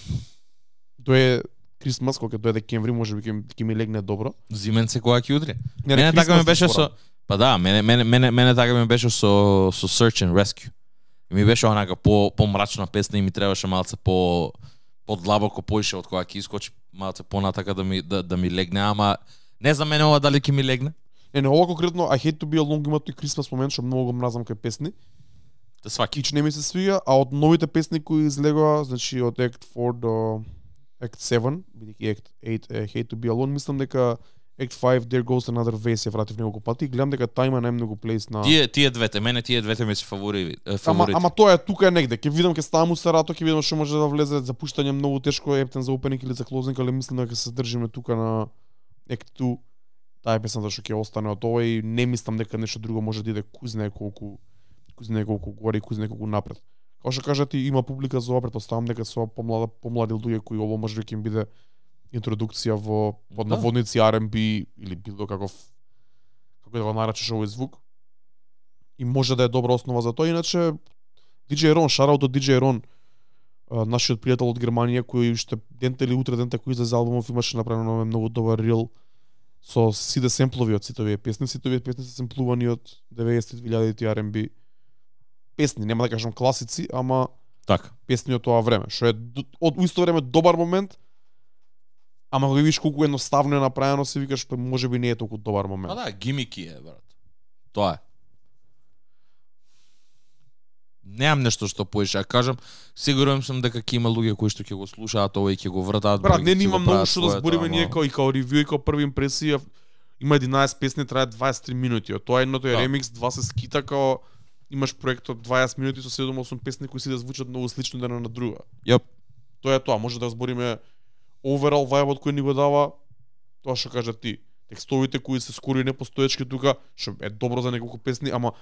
дое Christmas, кога ќе дое декември, можеби ќе ќе ми легне добро. Зименце кога ќе удри. Не, мене така ми беше со па да, мене мене мене мене така ми беше со со Search and Rescue. И ми беше онака по помрачна песна и ми требаше малце по подлабоко поише од кога ќе искочи малце понатака да ми да, да ми легне, ама не за мене ова дали ќе ми легне. Не, не, ова конкретно I Hate to Be Alone има тој Christmas момент што многу го мразам кај песни. Те сваки. Ич не ми се свија, а од новите песни кои излегоа, значи од Act four до Act seven, бидејќи Act eight I Hate to Be Alone, мислам дека Act five There Goes Another Vase ја вратив неколку пати и гледам дека таа има најмногу плейс на Тие тие двете, мене тие двете ми се фаворити. Ама ама тоа е тука е негде. Ќе видам ќе ставам у Сарато, ќе видам што може да влезе за пуштање многу тешко ептен за опенинг или за клозинг, али мислам дека се држиме тука на Act two. Таа е песната што ќе остане од ова и не мислам дека нешто друго може да иде кузне колку кузне колку горе и кузне колку напред. Како што кажати, има публика за ова, претпоставам дека со помлада помлади луѓе кои ова може да ќе им биде интродукција во под Да. наводници Ар енд Би или било каков како да го наречеш овој звук. И може да е добра основа за тоа. Иначе диџеј Рон, шараут од диџеј Рон, нашиот пријател од Германија кој уште денте или утре денте кој излезе албумов имаше направено многу добар рил со сите семплови од сите овие песни. Сите овие песни се семплувани од деветдесетти двилјадити Ар енд Би песни, нема да кажам класици, ама така песни од тоа време, што е од исто време добар момент. Ама кога видиш колку едноставно е направено, се викаш па можеби не е толку добар момент. А да, гимики е, брат. Тоа е. Немам нешто што поише, а кажам, сигурен сум дека ќе има луѓе кои што ќе го слушаат ова и ќе го вртаат. Брат, не нема многу што да збориме ние као и као ревју и као први импресија. Има единаесет песни, трае дваесет и три минути. Од тоа едното е да. ремикс, два се скита као имаш проект од дваесет минути со седум-осум песни кои сите звучат многу слично една на друга. Јап. Тоа е тоа, може да збориме overall vibe кој ни го дава тоа што кажа ти. Текстовите кои се скоро и непостоечки тука, што е добро за неколку песни, ама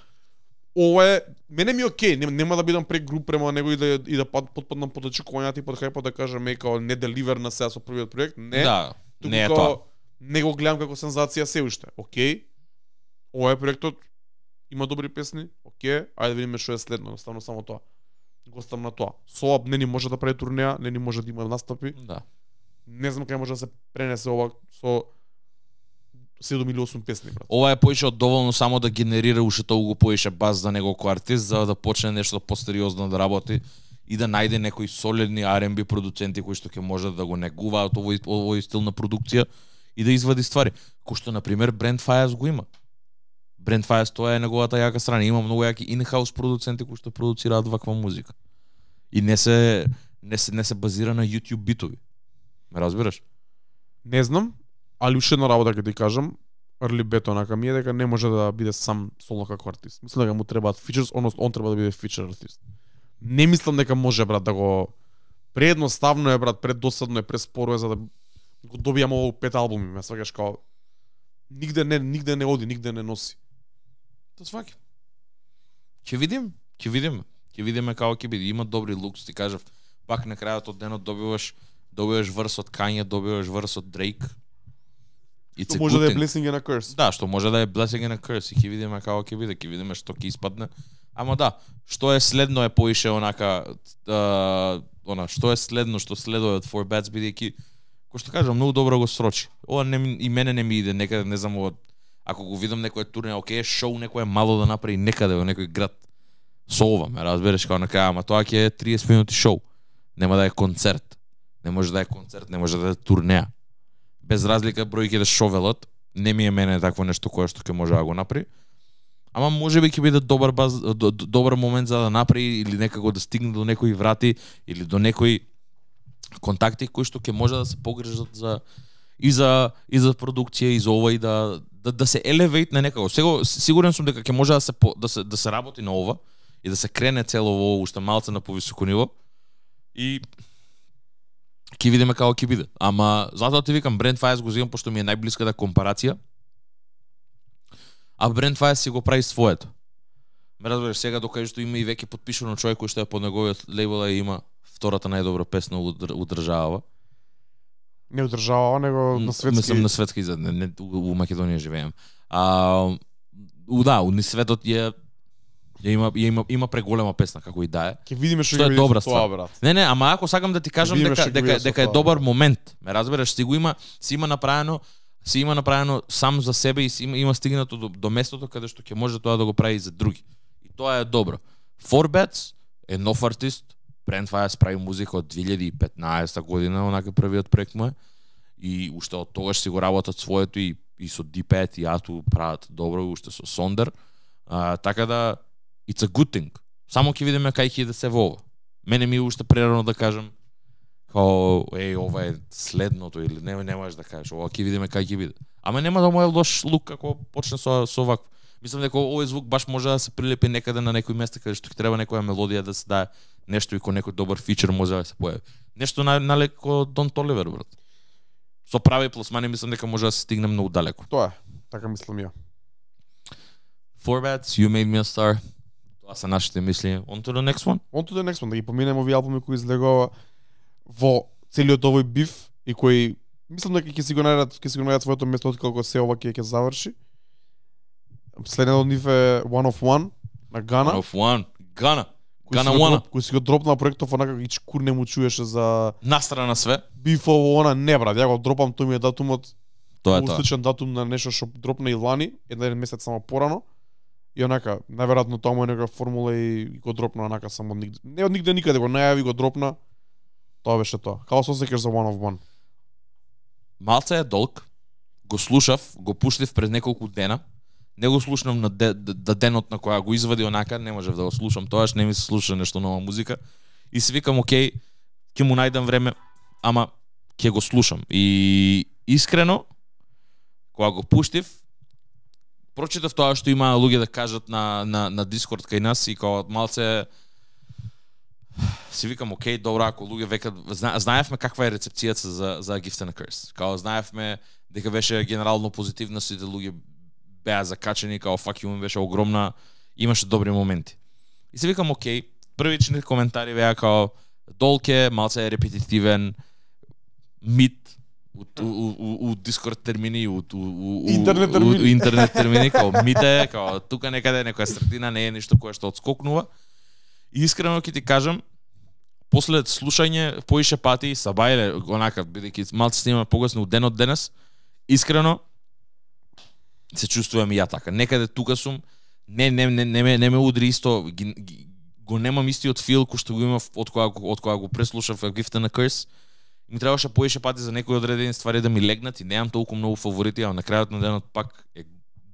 ова е мене ми е окей, нема, нема да бидам прегруп према него и да и да потпаднам под очекувањата и под хајпот да кажам е као не деливер на сега со првиот проект. Не. Да, не е као, тоа. Не го гледам како сензација се уште. Окей. Ова е проектот, има добри песни. Окей, ајде да видиме што е следно, едноставно само тоа. Го оставам на тоа. Соап не ни може да прави турнеја, не ни може да има настапи. Да. Не знам кај може да се пренесе ова со седум или осум песни, брат. Ова е поише од доволно само да генерира уште толку поише баз за него кој артист, за да почне нешто посериозно да работи и да најде некои солидни Ар енд Би продуценти кои што ќе можат да го негуваат овој овој стил на продукција и да извади ствари. Кој што на пример Brent Faiyaz го има. Brent Faiyaz тоа е неговата јака страна. Има многу јаки in-house продуценти кои што продуцираат ваква музика. И не се не се не се базира на YouTube битови. Ме разбираш? Не знам, али уште една работа ќе ти кажам, Early Bet онака ми е дека не може да биде сам соло како артист. Мислам дека му требаат фичерс, односно он треба да биде фичер артист. Не мислам дека може, брат, да го преедноставно е, брат, преддосадно е, преспоро е за да го добијам овој пет албуми, ме сваќаш као нигде не нигде не оди, нигде не носи. Тоа сваќам. Ќе видим, ќе видиме. Ќе видиме како ќе биде. Има добри лукс, ти кажав. пак на крајот од денот добиваш добиваш врс од Kanye, добиваш врс од Drake. Што може да е blessing and a curse. Да, што може да е blessing and a curse. И ќе видиме како ќе биде, ќе видиме што ќе испадне. Ама да, што е следно е поише онака а, она што е следно што следува од Four Bats бидејќи кој што кажам многу добро го срочи. Ова не и мене не ми иде некаде, не знам од ако го видам некој турне, окей, шоу некој мало да направи некаде во некој град. Со ова, ме разбереш како на крај, ама тоа ќе е триесет минути шоу. Нема да е концерт. Не може да е концерт, не може да е турнеа. Без разлика бројки да шовелот, не ми е мене такво нешто кое што ќе може да го направи. Ама можеби ќе биде добар баз, добар момент за да направи или некако да стигне до некои врати или до некои контакти кои што ќе може да се погрижат за и за и за продукција и за ова и да да, да се елевејт на некако. Сега сигурен сум дека ќе може да се да се да се работи на ова и да се крене цело во уште малце на повисоко ниво и ќе видиме како ќе биде. Ама затоа ти викам Brent Faiyaz го зимам пошто ми е најблиската компарација. А Brent Faiyaz си го прави своето. Ме разбереш сега докај што има и веќе потпишано човек кој што е под неговиот лейбл и има втората најдобра песна у државава. Не одржава, него на светски. Мислам на светски за не, не у Македонија живеем. А у да, у светот е ја има ја има има преголема песна како и да е. Ќе видиме што е добра тоа, брат. Не, не, ама ако сакам да ти кажам дека дека дека е добар момент, ме разбереш, си го има, си има направено, си има направено сам за себе и си има, има стигнато до, до местото каде што ќе може тоа да го прави и за други. И тоа е добро. Four Bats е нов артист. Brent Faiyaz прави музика од две илјади и петнаесета година, онака првиот проект му е. И уште од тогаш си го работат своето и и со Ди пет и Ату прават добро, уште со Сондер. А, така да it's a good thing. Само ќе видиме кај ќе да се во ова. Мене ми е уште прерано да кажам као еј ова е следното или не не можеш да кажеш, ова ќе видиме кај ќе биде. Ама нема да му е лош лук ако почне со со вакво. Мислам дека овој звук баш може да се прилепи некаде на некој место каде што ќе треба некоја мелодија да се дае, нешто и кој некој добар фичер може да се појави. Нешто на налеко Don Toliver, брат. Со прави пласмани мислам дека може да се стигне многу далеко. Тоа е, така мислам ја. Four Bats, You Made Me a Star. Тоа се нашите мисли. On to the next one? On to the next one, да ги поминеме овие албуми кои излегува во целиот овој биф и кои мислам дека ќе си го најдат, ќе си го најдат своето место откако се ова ќе ќе заврши. Следен од нив е One of One на Гана. One of One, Гана. Гана One. Кој си го дропнал проектов онака и чкур не му чуеше за настрана све. Бифово она не брат, ја го дропам, тој ми е датумот. Тоа е тоа. Сличен датум на нешто што дропна и лани, еден месец само порано. И онака, најверојатно тоа му е некаква формула и го дропна онака само од нигде. Не од нигде никаде го најави, го дропна. Тоа беше тоа. Како се осеќаш за One of One? Малце е долг. Го слушав, го пуштив пред неколку дена. Не го слушнам на де, де, денот на која го извади онака, не можев да го слушам тоаш, не ми се слуша нешто нова музика. И си викам, окей, ќе му најдам време, ама ќе го слушам. И искрено, кога го пуштив, прочитав тоа што има луѓе да кажат на, на, на Дискорд кај нас и кога малце си викам, окей, добро, ако луѓе векат, зна, знаевме каква е рецепцијата за, за Gift and a Curse. Као знаевме дека беше генерално позитивна, сите луѓе беа закачени, као fuck you, беше огромна, имаше добри моменти. И си викам, окей, првичните коментари беа као долке, малце е репетитивен, мит, у, у, у, у Discord термини, у, у, у, интернет термини, у, у интернет термини, као мите, као тука некаде некоја средина не е ништо кое што отскокнува. И искрено ќе ти кажам, после слушање поише пати и сабајле, онака, бидејќи малце снима погасно у ден од денес, искрено се чувствувам и ја така. Некаде тука сум, не не не не ме не ме удри исто, ги, ги, го немам истиот фил кој што го имав од кога од кога го преслушав Gift and a Curse. Ми требаше поише пати за некои одредени ствари да ми легнат и немам толку многу фаворити, а на крајот на денот пак е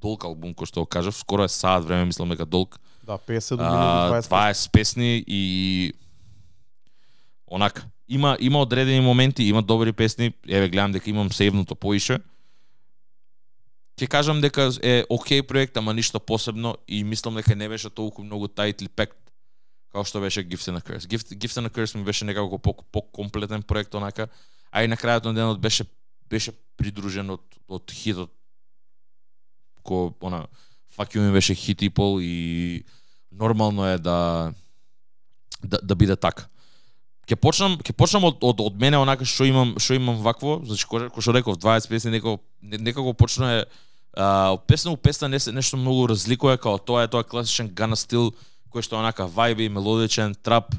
долг албум кој што го кажав, скоро е саат време, мислам дека долг. Да, петдесет минути, дваесет песни и онака. Има има одредени моменти, има добри песни, еве гледам дека имам сејвното поише. Ќе кажам дека е окей проект, ама ништо посебно и мислам дека не беше толку многу tightly packed како што беше Gift and a Curse. Gift, Gift and a Curse ми беше некако по, по-комплетен проект онака, а и на крајот на денот беше беше придружен од од хитот кој она fuck you ми беше хит и пол и нормално е да да, да биде така. Ќе почнам, ќе почнам од, од од мене онака што имам, што имам вакво, значи кој што реков дваесет песни некако некако почна е а, од песна у песна не се нешто многу разликува, као тоа е тоа класичен Гана стил кој што онака вајби, мелодичен, трап,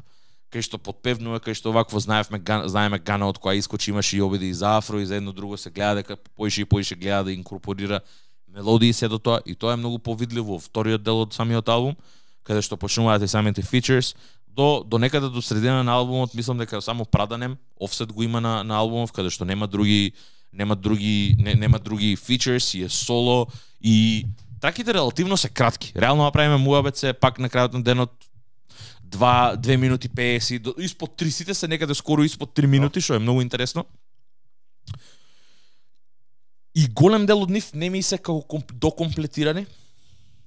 кај што подпевнува, кај што вакво знаевме знаеме Гана од која искочи, имаше и обиди и за афро и за едно друго се гледа дека поише и поише гледа да инкорпорира мелодии се до тоа и тоа е многу повидливо во вториот дел од самиот албум, каде што почнуваат и самите features. До, до некаде до средина на албумот мислам дека само Праданем, Offset го има на, на албумов, каде што нема други нема други не, нема други features и е соло и траките релативно се кратки. Реално направиме муабет се пак на крајот на денот два две минути песет, испод три сите се некаде скоро испод три минути, што е многу интересно. И голем дел од нив не ми се како комп, докомплетирани.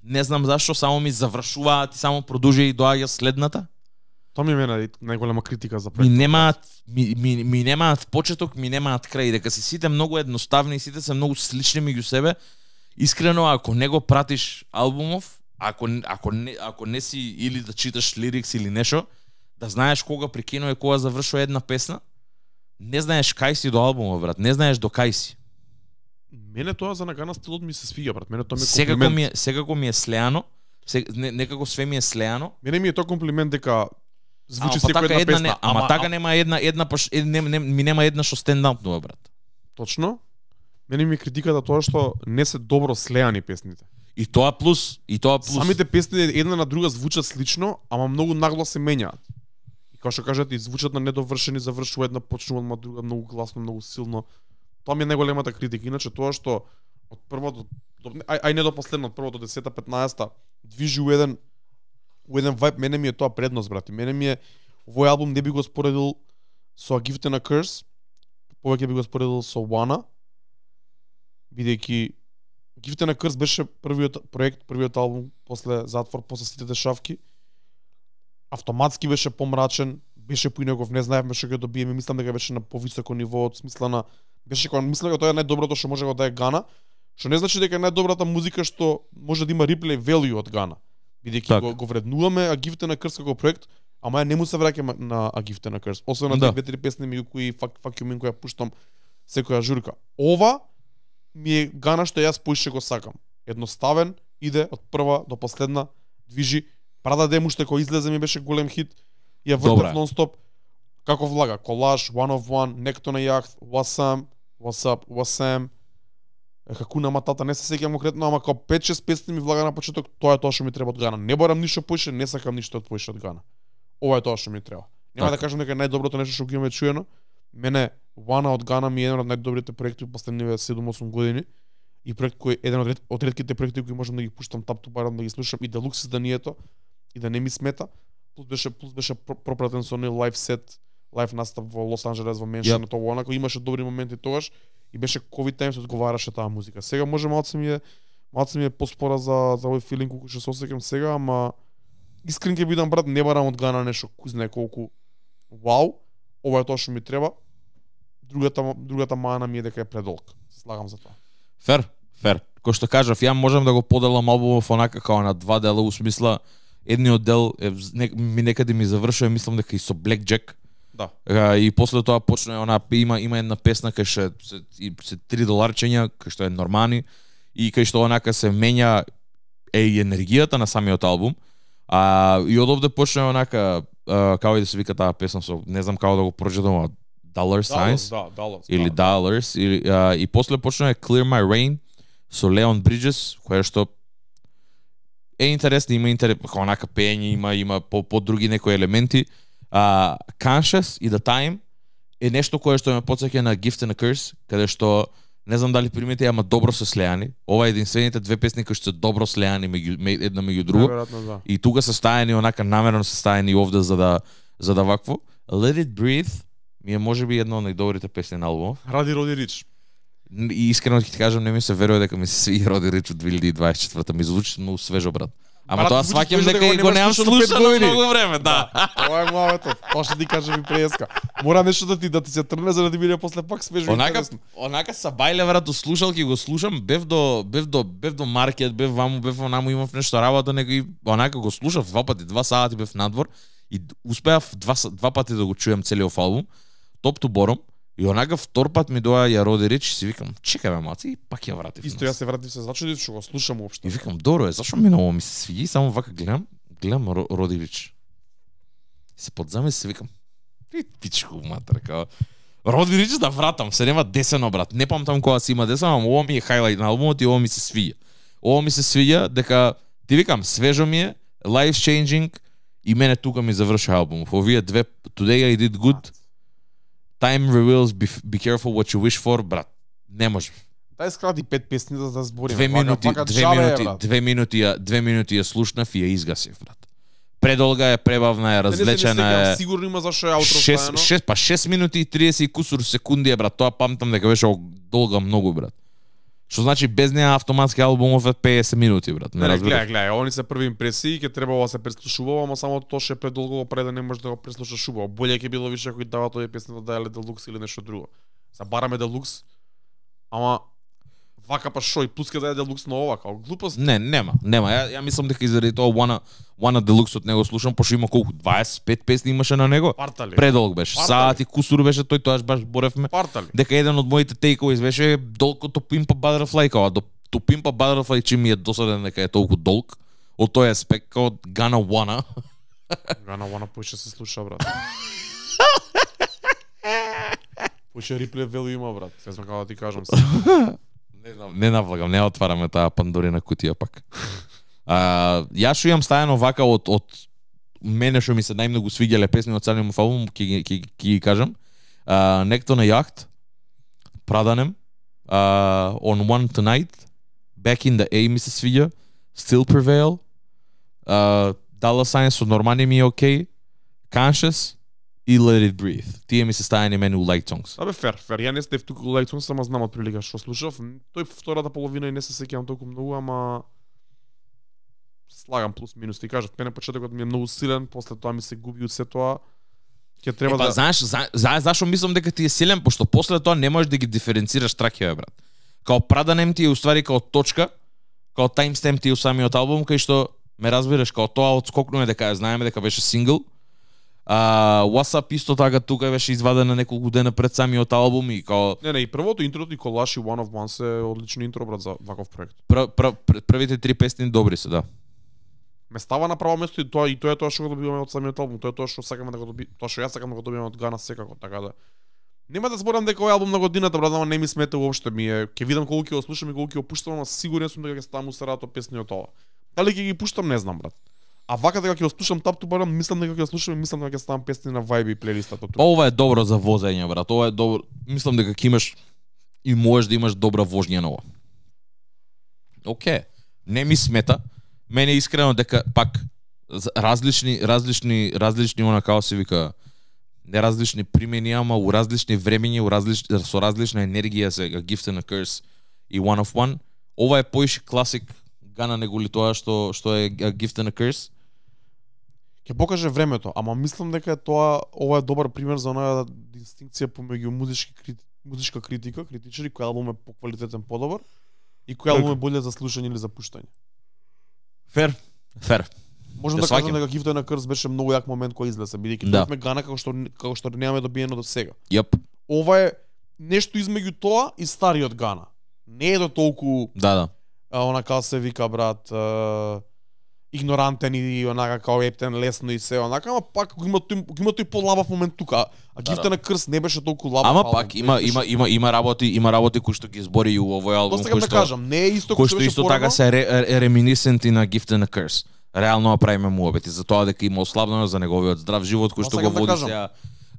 Не знам зашто, само ми завршуваат и само продолжи и доаѓа следната. Тоа ми е мене најголема критика за проектот. Ми немаат ми, ми, ми немаат почеток, ми немаат крај, дека се сите многу едноставни, сите се многу слични меѓу себе. Искрено, ако не го пратиш албумов, ако ако не ако не си или да читаш лирикс или нешто, да знаеш кога прекинува и кога завршува една песна, не знаеш кај си до албумот, брат, не знаеш до кај си. Мене тоа за Гана стилот ми се свиѓа, брат. Мене тоа ми е секако комплимент. ми е, секако ми е слеано, се, не, некако све ми е слеано. Мене ми е тоа комплимент дека звучи ама, секоја една, една песна. Не, ама, ама така а... нема една една пош, не, не, ми нема една што стендаутнува, брат. Точно. Мене ми е критиката тоа што не се добро слеани песните. И тоа плюс, и тоа плюс. Самите песни една на друга звучат слично, ама многу нагло се менјаат. И како што кажете, звучат на недовршени, завршува една, почнува на друга многу гласно, многу силно. Тоа ми е најголемата критика. Иначе тоа што од првото до, ај, ај не до последно, од првото десета петнаесета движи у еден у еден вајб, мене ми е тоа предност, брати. Мене ми е овој албум не би го споредил со A Gift and a Curse, повеќе би го споредил со Wanna, бидејќи Gift and a Curse беше првиот проект, првиот албум после затвор, после сите дешавки. Автоматски беше помрачен, беше поинаков, не знаевме што ќе добиеме, мислам дека беше на повисоко ниво од смисла на беше кога мислам дека тоа е најдоброто што може да е Гана, што не значи дека е најдобрата музика што може да има реплей value од Гана. Бидејќи го, го вреднуваме A Gift and a Curse како проект, ама ја не му се враќаме на A Gift and a Curse. Освен на да. две-три песни меѓу кои Fuck, fuck You Mean која пуштам секоја журка. Ова ми е Гана што јас поише го сакам. Едноставен, иде од прва до последна, движи. Прада Дем уште кој излезе ми беше голем хит. Ја вртев нон-стоп. Како влага? Колаж, One of One, Некто на јахт, Wasam, What's Up, Wasam, Хакуна Матата, не се сеќавам конкретно, ама како пет-шест песни ми влага на почеток, тоа е тоа што ми треба од Гана. Не барам ништо поише, не сакам ништо од поише од Гана. Ова е тоа што ми треба. Нема да кажам дека е најдоброто нешто што го имаме чуено. Мене Wanna од Гана ми е еден од најдобрите проекти во последниве седум-осум години. И проект кој еден од, ред, од ретките проекти кои можам да ги пуштам тап ту барам да ги слушам и делукс изданието и да не ми смета. Плюс беше плюс беше пропратен со нив лайв сет, лайв настап во Лос Анџелес во Меншен, yep. Тоа онако имаше добри моменти тогаш и беше ковид тајм се одговараше таа музика. Сега може малце ми е малце ми е поспора за за овој филинг кој што се осеќам сега, ама искрен ќе бидам, брат, не барам од Гана нешто кој знае колку вау. Ова е тоа што ми треба. Другата другата мана ми е дека е предолг. Се слагам за тоа. Фер, фер. Кој што кажав, ја можам да го поделам албумов онака како на два дела, у смисла едниот дел е, не, ми некаде ми завршува, мислам дека и со Blackjack. Да. А, и после тоа почна она има има една песна кај што се, се три доларчења, кај што е нормални и кај што онака се менја е и енергијата на самиот албум. А и од овде почна онака а, како и да се вика таа песна со не знам како да го прочитам, Dollar Signs. Да, Dollars. Или да, Dollars или а, и после почна е Clear My Rain со Leon Bridges, која што е интересно, има интерес, онака пење, има има по по други некои елементи. Uh, Conscious и The Time е нешто кое што ме потсеќа на Gift and a Curse, каде што не знам дали примете, ама добро се слеани. Ова е единствените две песни кои што се добро слеани меѓу една меѓу друга. Да. И тука се стаени онака намерно се стаени овде за да за да вакво. Let It Breathe ми е можеби една од најдобрите песни на албумот. Ради Роди Рич. И искрено ќе ти кажам, не ми се верува дека ми се свиѓа Роди Рич од две илјади и дваесет и четврта, ми звучи многу свежо, брат. Ама тоа сваќам дека и го немам слушано многу време, да. Ова е муавето. Тоа што ти кажа ми преска. Мора нешто да ти да ти се трне за да ти биде после пак свежо и интересно. Онака са бајле врат до слушалки го слушам, бев до бев до бев до маркет, бев ваму, бев онаму, имав нешто работа, некој онака го слушав два пати, два сати бев надвор И успеав два два пати да го чуем целиот албум, Top to Bottom, и онака втор пат ми доа ја роди реч и си викам, чекај ме маци, и пак ја вратив. Исто јас се вратив се зачудив што го слушам уопшто. И викам, добро е, зашо ми ново ми се свиѓа, само вака гледам, гледам роди реч. Се подзаме се викам, и пичку матер, као Роди Рич да вратам, се нема десено брат. Не памтам кога си има десено, ама ово ми е хайлайт на албумот и ово ми се свиѓа. Ово ми се свиѓа дека ти викам свежо ми е, life changing и мене тука ми заврши албумов. Овие две Today I Did Good, Time Reveals, Be, be Careful What You Wish For, брат. Не може. Дај скрати пет песни да да збориме. Две минути, вака, две вака минути, е, две минути, ја, две минути ја слушнав и ја изгасив, брат. Предолга е, пребавна е, развлечена е. Сигурно има зашо е аутро ставено. шест па шест минути и триесет и кусур секунди е, брат. Тоа памтам дека беше долга многу, брат. Што значи без неа автоматски албумов е педесет минути, брат. Не, не разбираш. Гледај, гледај, они се први импресии, ќе требало да се преслушувало, ама само тоа ше предолго пред да не можеш да го преслушаш убаво. Боле ќе било више ако дава тој песни да даеле Делукс или нешто друго. Са бараме Делукс, ама вака па шо и плюс ќе даде Делукс на ова, као глупост. Не, нема, нема. Ја, ја мислам дека заради тоа Wanna Wanna Deluxe од него слушам, пошто има колку дваесет и пет песни имаше на него. Партали. Предолг беше. Саат и кусур беше тој, тоаш баш боревме. Партали. Дека еден од моите тейкови беше долго To Pimp a Butterfly, као до To Pimp a Butterfly че ми е досаден дека е толку долг. Од тој аспект као Gonna Wanna. Gonna Wanna поише се слуша, брат. Поише реплей велу има, брат. Се знам како да ти кажам се. Не знам, не навлагам, не отвараме таа Пандорина кутија пак. А, ја што имам стајано вака од од мене што ми се најмногу свиѓале песни од царниот албум, ќе ќе ќе ги кажам. А, Некто на јахт, Праданем, а, On One Tonight, Back in the A ми се свиѓа, Still Prevail, а, Dollar Sign со Нормани ми е окей, Conscious и Let It Breathe. Тие ми се стајани мене у Light Songs. Абе фер, фер. Ја не стев туку Light Songs, ама знам од прилика што слушав. Тој втората половина и не се сеќавам толку многу, ама слагам плюс минус. Ти кажав, мене почетокот ми е многу силен, после тоа ми се губи од се тоа. Ќе треба е, па, да знаеш, за, за, зашо мислам дека ти е силен, пошто после тоа не можеш да ги диференцираш траките, брат. Као Праданем ти е уствари као точка, као таймстемп ти е у самиот албум, кај што ме разбираш, као тоа одскокнува дека ја знаеме дека беше сингл. А, What's Up исто така тука беше извадена неколку дена пред самиот албум и као Не, не, и првото интрото и Колаш и One of One се одлично интро, брат, за ваков проект. пр, пр, пр, првите три песни добри се, да. Ме става на право место и тоа и тоа е тоа што го добиваме од самиот албум, тоа е тоа што сакаме да го доби, тоа што јас сакам да го добиеме од Гана секако, така да. Нема да зборам дека овој албум на годината, брат, ама не ми смета уопште, ми е, ќе видам колку ќе го слушам и колку ќе го пуштам, ама сигурен сум дека ќе ставам усарато песни од ова. Дали ќе ги пуштам, не знам, брат. А вака дека ќе го слушам Top to Bottom, мислам дека ќе го слушам и мислам дека ќе ставам песни на Vibe и плейлистата тука. Ова е добро за возење, брат. Ова е добро. Мислам дека ќе имаш и можеш да имаш добра вожња на ова. Океј. Не ми смета. Мене искрено дека пак различни различни различни она као се вика не различни примени, ама у различни времења, у различни со различна енергија се A Gift and a Curse и One of One. Ова е поише класик Гана него ли тоа што што е A Gift and a Curse. Ќе покаже времето, ама мислам дека е тоа ова е добар пример за онаа дистинкција помеѓу музички крити, музичка критика, критичари кој албум е поквалитетен подобар и кој албум е боле за слушање или за пуштање. Фер, фер. Можам да кажам дека Gift and a Curse беше многу јак момент кој излезе, бидејќи да. Тоа Гана како што како што немаме добиено до сега. Јап. Ова е нешто измеѓу тоа и стариот Гана. Не е до толку Да, да. А, она као се вика, брат, а, игнорантен и онака као ептен лесно и се онака, ама пак го има тој го има тој полабав момент тука. А Gift and a Curse не беше толку лабав. Ама пак има има има има работи, има работи кои што ги збори и у овој албум, кои што да кажам, не е исто кои што исто така се реминисценти на Gift and a Curse. Реално правиме муабети за тоа дека има ослабнено за неговиот здрав живот кој што го води сега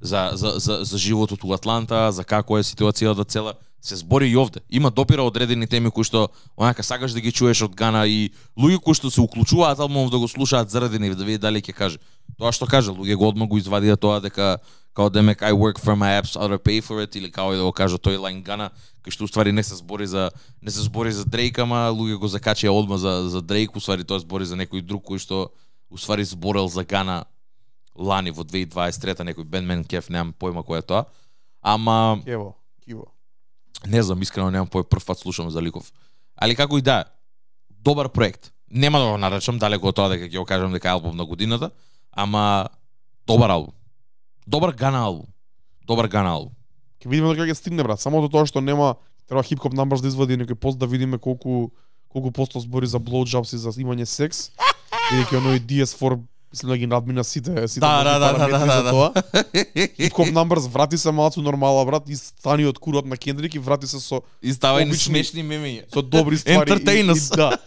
за за за за животот у Атланта, за како е ситуацијата цела. Се збори и овде. Има допира одредени теми кои што онака сакаш да ги чуеш од Гана и луѓе кои што се уклучуваат албумов да го слушаат заради нив, да види дали ќе каже. Тоа што каже, луѓе го одма го извадија тоа дека као да мек I work for my apps, other pay for it или као и да го каже тој лайн Гана, кој што уствари не се збори за не се збори за Дрейк, ама луѓе го закачија одма за за Дрейк, уствари тоа збори за некој друг кој што уствари зборел за Гана лани во две илјади дваесет и трета, некој бендмен кеф, немам појма кој е тоа. Ама Кево, киво. Не знам, искрено немам пој прв пат слушам за ликов. Али како и да, добар проект. Нема да го наречам далеко од тоа дека ќе го кажам дека е албум на годината, ама Добар албум. Добар Гана албум. Добар Гана албум. Ќе видиме докаде ќе стигне, брат. Само до тоа што нема треба хип-хоп numbers да извади некој пост да видиме колку колку посто збори за blowjobs и за имање секс. Бидејќи оној ди ес фор мислам да ги надмина сите сите Да, да, да, да, да, за да. тоа. Hip-hop numbers врати се малку нормала, брат, и стани од курот на Кендрик и врати се со И става и Обични- смешни мемиња. со добри ствари и, и, Entertainers. да.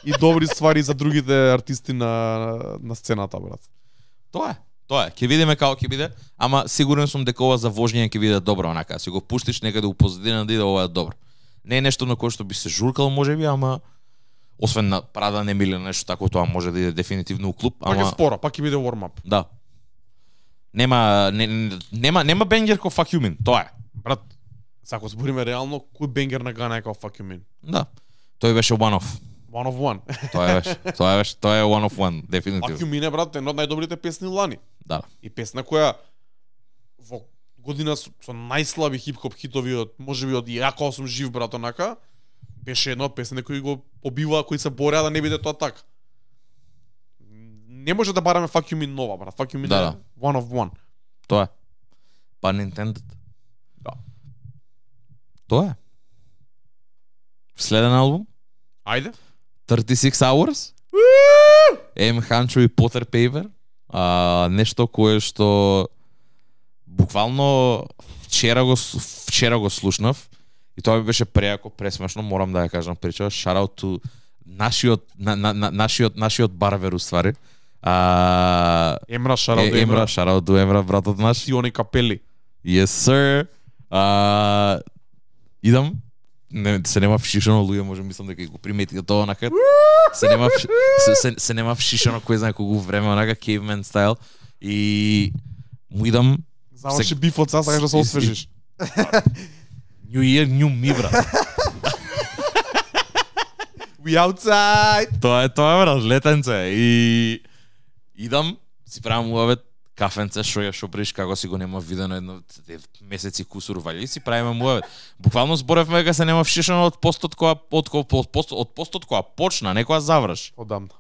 И добри ствари за другите артисти на на сцената, брат. Тоа е. Тоа е. Ќе видиме како ќе биде, ама сигурен сум дека ова за вожење ќе биде добро, онака. Си го пуштиш некаде у позадина да иде, ова е добро. Не е нешто на кое што би се журкал можеби, ама освен на Прада не миле нешто тако, тоа може да иде дефинитивно у клуб, Пак е ама спора, пак ќе биде warm-up. да. Нема не, нема нема бенгер ко Fuck You Mean, тоа е. Брат, се ако збориме реално, кој бенгер на Гана е како Fuck You Mean? Да. Тој беше one off. One of one. Тоа е беше. Тоа е беше, тоа е one of one, Fuck дефинитивно. You Mean е, брат, една од најдобрите песни лани. Да. И песна која во година со, со најслаби хип-хоп хитови од можеби од ја кога сум жив, брат, онака, беше една од песните кои го побива, кои се бореа да не биде тоа така. Не може да бараме Fuck You Mean нова, брат. Fuck You Mean Да, е да. one of one. Тоа е. Па Nintendo. Да. Тоа е. Следен албум Ајде. thirty-six hours. M Hancho и Potter Paper. А, нешто кое што буквално вчера го с- вчера го слушнав и тоа ми беше преако пресмешно, морам да ја кажам прича. Shout out to нашиот на, на, на, нашиот нашиот барбер уствари. А Емра Шарал е, Емра, shout out to Емра, братот наш. Сиони Капели. Yes sir. А идам. Не, се нема вшишано, луѓе може мислам дека го приметите тоа онака. Се нема вш- се, се, се нема вшишано кој знае колку време онака caveman style и му идам Заврши бифот, сега сакаш да се и- освежиш. New Year, New Me, брат. We outside. Тоа е тоа, брат, летенце. И идам, си правам муавет, кафенце, шо ја шо приш, како си го нема видено едно те месеци кусур вали, и си правиме муавет. Буквално зборевме дека се нема вшишано од постот која од кој од постот од постот која почна, не која заврши. Одамна.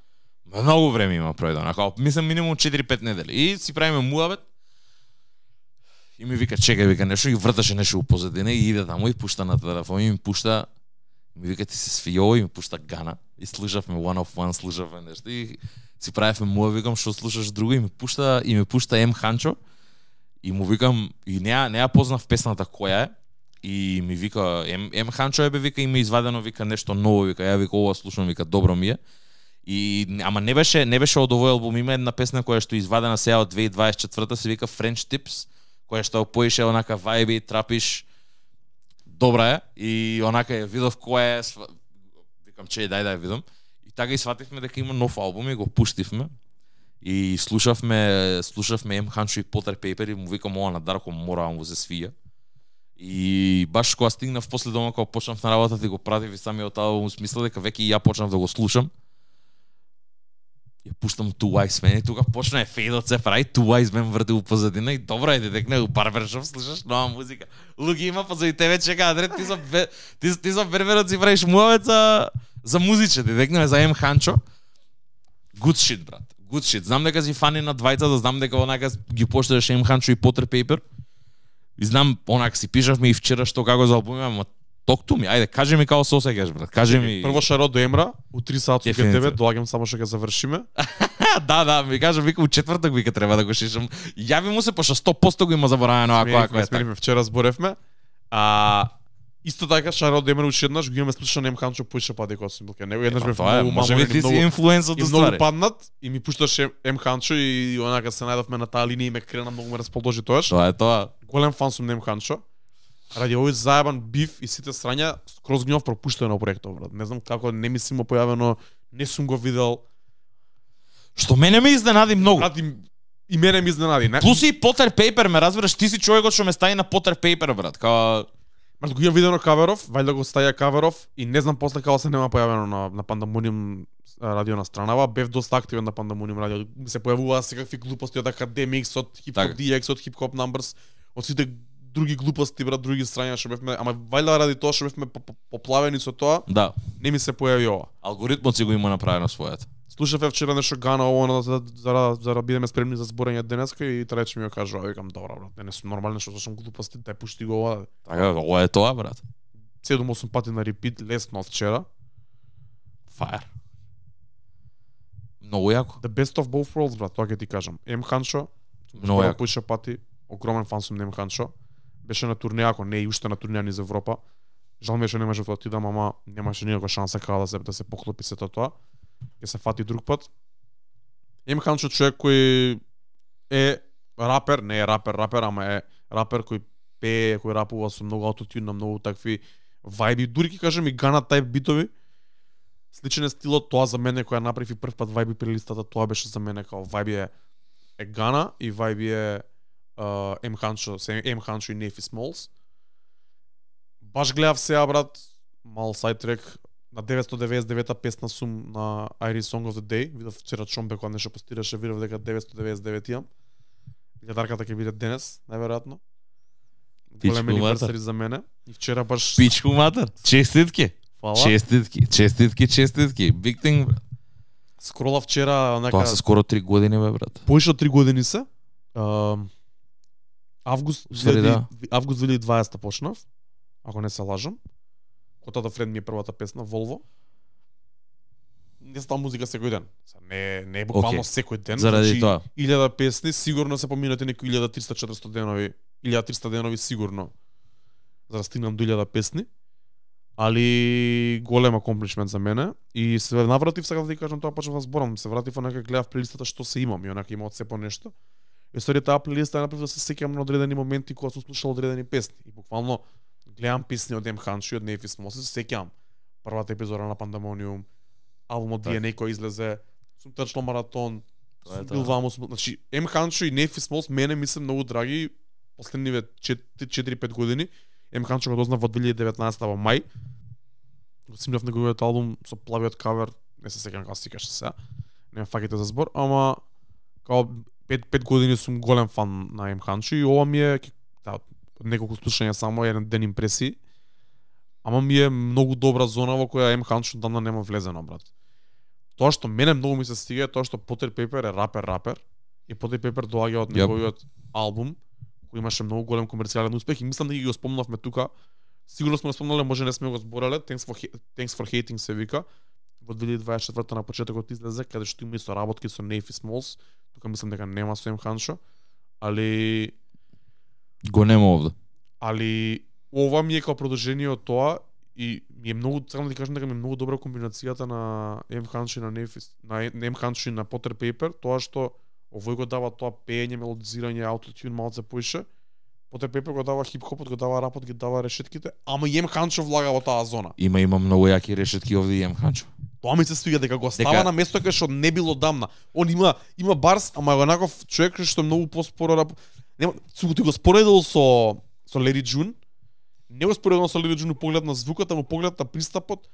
Многу време има пројдено, како мислам минимум четири-пет недели. И си правиме муавет. И ми вика чекај, вика нешто и врташе нешто у позадина и иде таму и пушта на телефон и ми пушта ми вика ти се свио и ми пушта Гана и слушавме one of one, слушавме нешто и си правевме муа, викам што слушаш друго и ми пушта и ми пушта M Hancho и му викам и неа неа познав песната која е и ми вика M, M Hancho е бе вика има извадено вика нешто ново, вика ја вика ова слушам, вика добро ми е. И ама не беше не беше од овој албум, има една песна која што е извадена сега од две тисячи дваесет и четврта, се вика French Tips, која што поише онака вајби, трапиш, добра е и онака ја видов која е, сва- викам че дај да ја видам. И така и свативме дека има нов албум и го пуштивме. И слушавме слушавме M Hancho и Potter Paper и му викам ова на Дарко мора да му се свија. И баш кога стигнав после дома кога почнав на работа да го пратив и самиот албум смисла дека веќе и ја почнав да го слушам. Ја пуштам Two Wise Men и тука почна е фейдот се прави Two Wise Men врти у позадина и добро е дедекне у барбершоп слушаш нова музика. Луѓе има позади тебе чека Адрет ти со бе- ти ти со берберот си правиш муавет за за музиче дедекне за M Hancho. Good shit брат. Good shit. Знам дека си фани на двајца, да знам дека онака ги поштедаш M Hancho и Potter Paper. И знам онака си пишавме и вчера што како за албумот, ама talk to me. Ајде, кажи ми како се осеќаш брат. Кажи ми. Прво шарот до Емра, у три саат со Дефинитивно. тебе, доаѓам само што ќе завршиме. Да, да, ми кажа вика у четвртак вика треба да го шишам. Јави му се пошто сто поsto го има заборавено ако ако е така. Сменивме, вчера зборевме. А исто така шарот до Емра уште еднаш го имаме слушано Ем Ханчо поише па дека сум билке. Него еднаш Па бев тоа е, многу може би маморен и ти си многу инфлуенс од и многу ствари. паднат и ми пушташе Ем Ханчо и онака се најдовме на таа линија и ме крена многу ме расположи тоаш. Тоа е тоа. Голем фан сум на Ем Ханчо. Ради овој заебан биф и сите страња скроз гнев пропуштено проектот, брат. Не знам како не ми си му појавено, не сум го видел. Што мене ме изненади многу. Брат, и, и мене ми изненади. Не? Плюс и Potter Paper, ме разбираш, ти си човекот што ме стави на Potter Paper, брат. Као Брат, го имам видено каверов, вајда го стаја каверов и не знам после како се нема појавено на на Пандамониум радио на странава, бев доста активен на Пандамониум радио. Ми се појавуваа секакви глупости од Academics, од Hip Hop Така. Ди Екс, од Hip Hop Numbers, од сите други глупости, брат, други страња што бевме, ама вајда ради тоа што бевме по- по- поплавени со тоа, да, не ми се појави ова. алгоритмот си го има направено својата. слушаве вчера нешто Гана ово за за за да бидеме спремни за зборење денеска и трече ми го кажува, викам добро брат, не сум нормално што слушам глупости, дај пушти го ова. Така, ова е тоа брат. седум-осум пати на репит, лесно од вчера. Fire. Многу јако. The best of both worlds, брат, тоа ќе ти кажам. Ем Ханчо, Многу јако. Пуша пати, огромен фан сум на Ем Ханчо. Беше на турнеја, ако не и уште на турнеја низ Европа. Жал ми е што не можев да отидам, ама немаше никаква шанса како да се да се поклопи сето тоа. Ќе се фати друг пат. Ем Ханчо човек кој е рапер, не е рапер, рапер, ама е рапер кој пее, кој рапува со многу аутотюн, на многу такви вајби, дури ќе кажем и Гана тајп битови. Сличен е стилот, тоа за мене која направи прв пат вајби при листата, тоа беше за мене као вајби е, е Гана и вајби е uh, Ем Ханчо, Ем Ханчо и Нефи Смолс. Баш гледав сега брат, мал сайтрек, на деветстотини деветдесет и девета песна сум на Irish Song of the Day, видов вчера Чомбе кога нешто постираше, видов дека деветстотини деветдесет и девет имам. Гледарката ќе биде денес, најверојатно. Голем аниверсари за мене. И вчера баш... Пичку матер, честитки. Фала. Честитки, честитки, честитки. Big thing, брат. Скрола вчера нека... Тоа се скоро три години, бе, брат. Поише од три години се. Uh, август, Устари, да. август две илјади и дваесета почнав, ако не се лажам. Котата Френд ми е првата песна, Волво. Не ставам музика секој ден. Не, не е буквално okay. секој ден. Заради значи, тоа. илјада песни, сигурно се поминати некои илјада триста четиристотини денови, илјада триста денови сигурно, за да стигнам до илјада песни. Али голем акомплишмент за мене. И се навратив, сега да ти кажам тоа, почнав да зборам. Се вратив, онака гледав плейлистата што се имам и онака има од се по нешто. И сори таа плейлиста е направив да се сеќавам на одредени моменти кога сум слушал одредени песни. И буквално гледам песни од Ем Ханчо и од Нефи Смолс, се сеќавам. Првата епизода на Пандемониум, албумот Ди Ен Ей кој излезе, сум трчал маратон, сум бил ваму, значи Ем Ханчо и Нефи Смолс мене ми се многу драги последниве четири-пет години. Ем Ханчо го дознав во две илјади и деветнаесета во мај. Го снимав неговиот албум со плавиот кавер, не се сеќавам како се викаше сега. Не ме фаќате за збор, ама као пет години сум голем фан на Ем Ханчо и ова ми е да, неколку слушања само еден ден импресии. Ама ми е многу добра зона во која Ем Ханчо дана нема влезено, брат. Тоа што мене многу ми се стига е тоа што Потер Пейпер е рапер-рапер и Потер Пейпер доаѓа од неговиот албум кој имаше многу голем комерцијален успех и мислам дека ги го спомнавме тука. Сигурно сме го спомнале, може не сме го збореле. Thanks for, Thanks for Hating се вика. Во две илјади и дваесет и четврта на почетокот излезе, каде што има и соработки со Нефи Смолс. Тука мислам дека нема со Ем Ханчо, али го нема овде. Али ова ми е како продолжение од тоа и ми е многу, сакам да ти кажам дека ми е многу добра комбинацијата на Ем Ханчо и на Нефи, на Ем Ханчо и на Потер Пейпер, тоа што овој го дава тоа пеење, мелодизирање, аутотюн малце поише. Потер Пейпер го дава хип-хопот, го дава рапот, ги дава решетките, ама и Ем Ханчо влага во таа зона. Има има многу јаки решетки овде и Ем Ханчо. Тоа ми се свига дека го става дека... на место кај што не било дамна. Он има има барс, ама е онаков човек што многу поспоро рап. Нема, сум ти го споредил со со Лери Джун. Не го споредил со Лери Джун поглед на звукот, ама поглед на пристапот.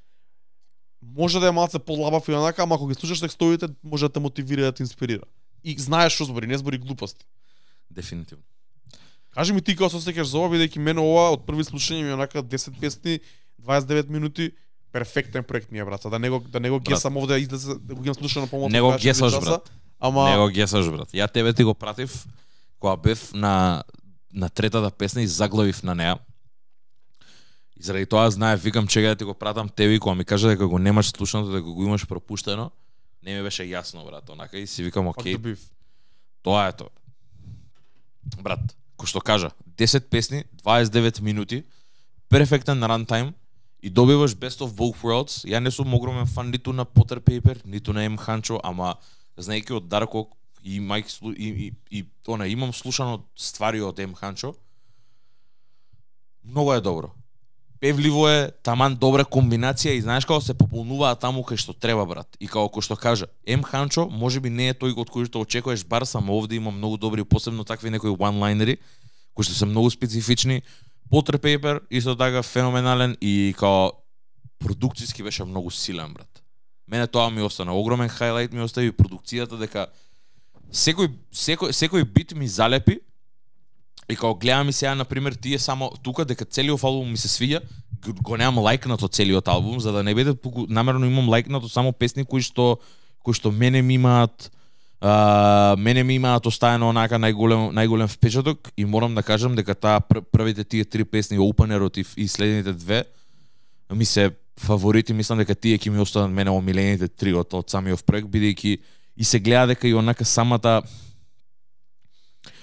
Може да е малце полабав и онака, ама ако ги слушаш текстовите, може да те мотивира, да те инспирира. И знаеш што збори, не збори глупости. Дефинитивно. Кажи ми ти како се сеќаш за ова, бидејќи мене ова од први слушање ми онака десет песни, дваесет и девет минути, перфектен проект ми е, брат. Да не го да не го гесам овде, излезе да го имам слушано помалку. Не го гесаш, брат. Ама не го гесаш, брат. Ја тебе ти го пратив кога бев на на третата песна и заглавив на неа. И заради тоа знаев, викам чека да ти го пратам тебе и кога ми кажа дека го немаш слушано, дека го имаш пропуштено, не ми беше јасно, брат, онака и си викам окей. Тоа е тоа. Брат, кој што кажа, десет песни, дваесет и девет минути, перфектен рантайм и добиваш Best of Both Worlds. Ја не сум огромен фан ниту на Потер Пейпер, ниту на Ем Ханчо, ама знаејќи од Дарко и Майк и, и, и она имам слушано ствари од Ем Ханчо. Многу е добро. Певливо е, таман добра комбинација и знаеш како се пополнуваат таму кај што треба, брат. И како кој што кажа, Ем Ханчо можеби не е тој од кој што очекуваш бар, само овде има многу добри, посебно такви некои one-lineri кои што се многу специфични. Потер Пейпер исто така феноменален и као продукцијски беше многу силен, брат. Мене тоа ми остана огромен хайлайт, ми остави продукцијата дека секој секој секој бит ми залепи. И као гледам и сега, например, тие само тука дека целиот албум ми се свиѓа, го немам лајкнато целиот албум, за да не биде намерно имам лајкнато само песни кои што кои што мене ми имаат а, мене ми имаат оставено онака најголем најголем впечаток и морам да кажам дека таа пр првите тие три песни Openerот и, и следните две ми се фаворити, мислам дека тие ќе ми останат мене омилените три од, од самиот проект, бидејќи и се гледа дека и онака самата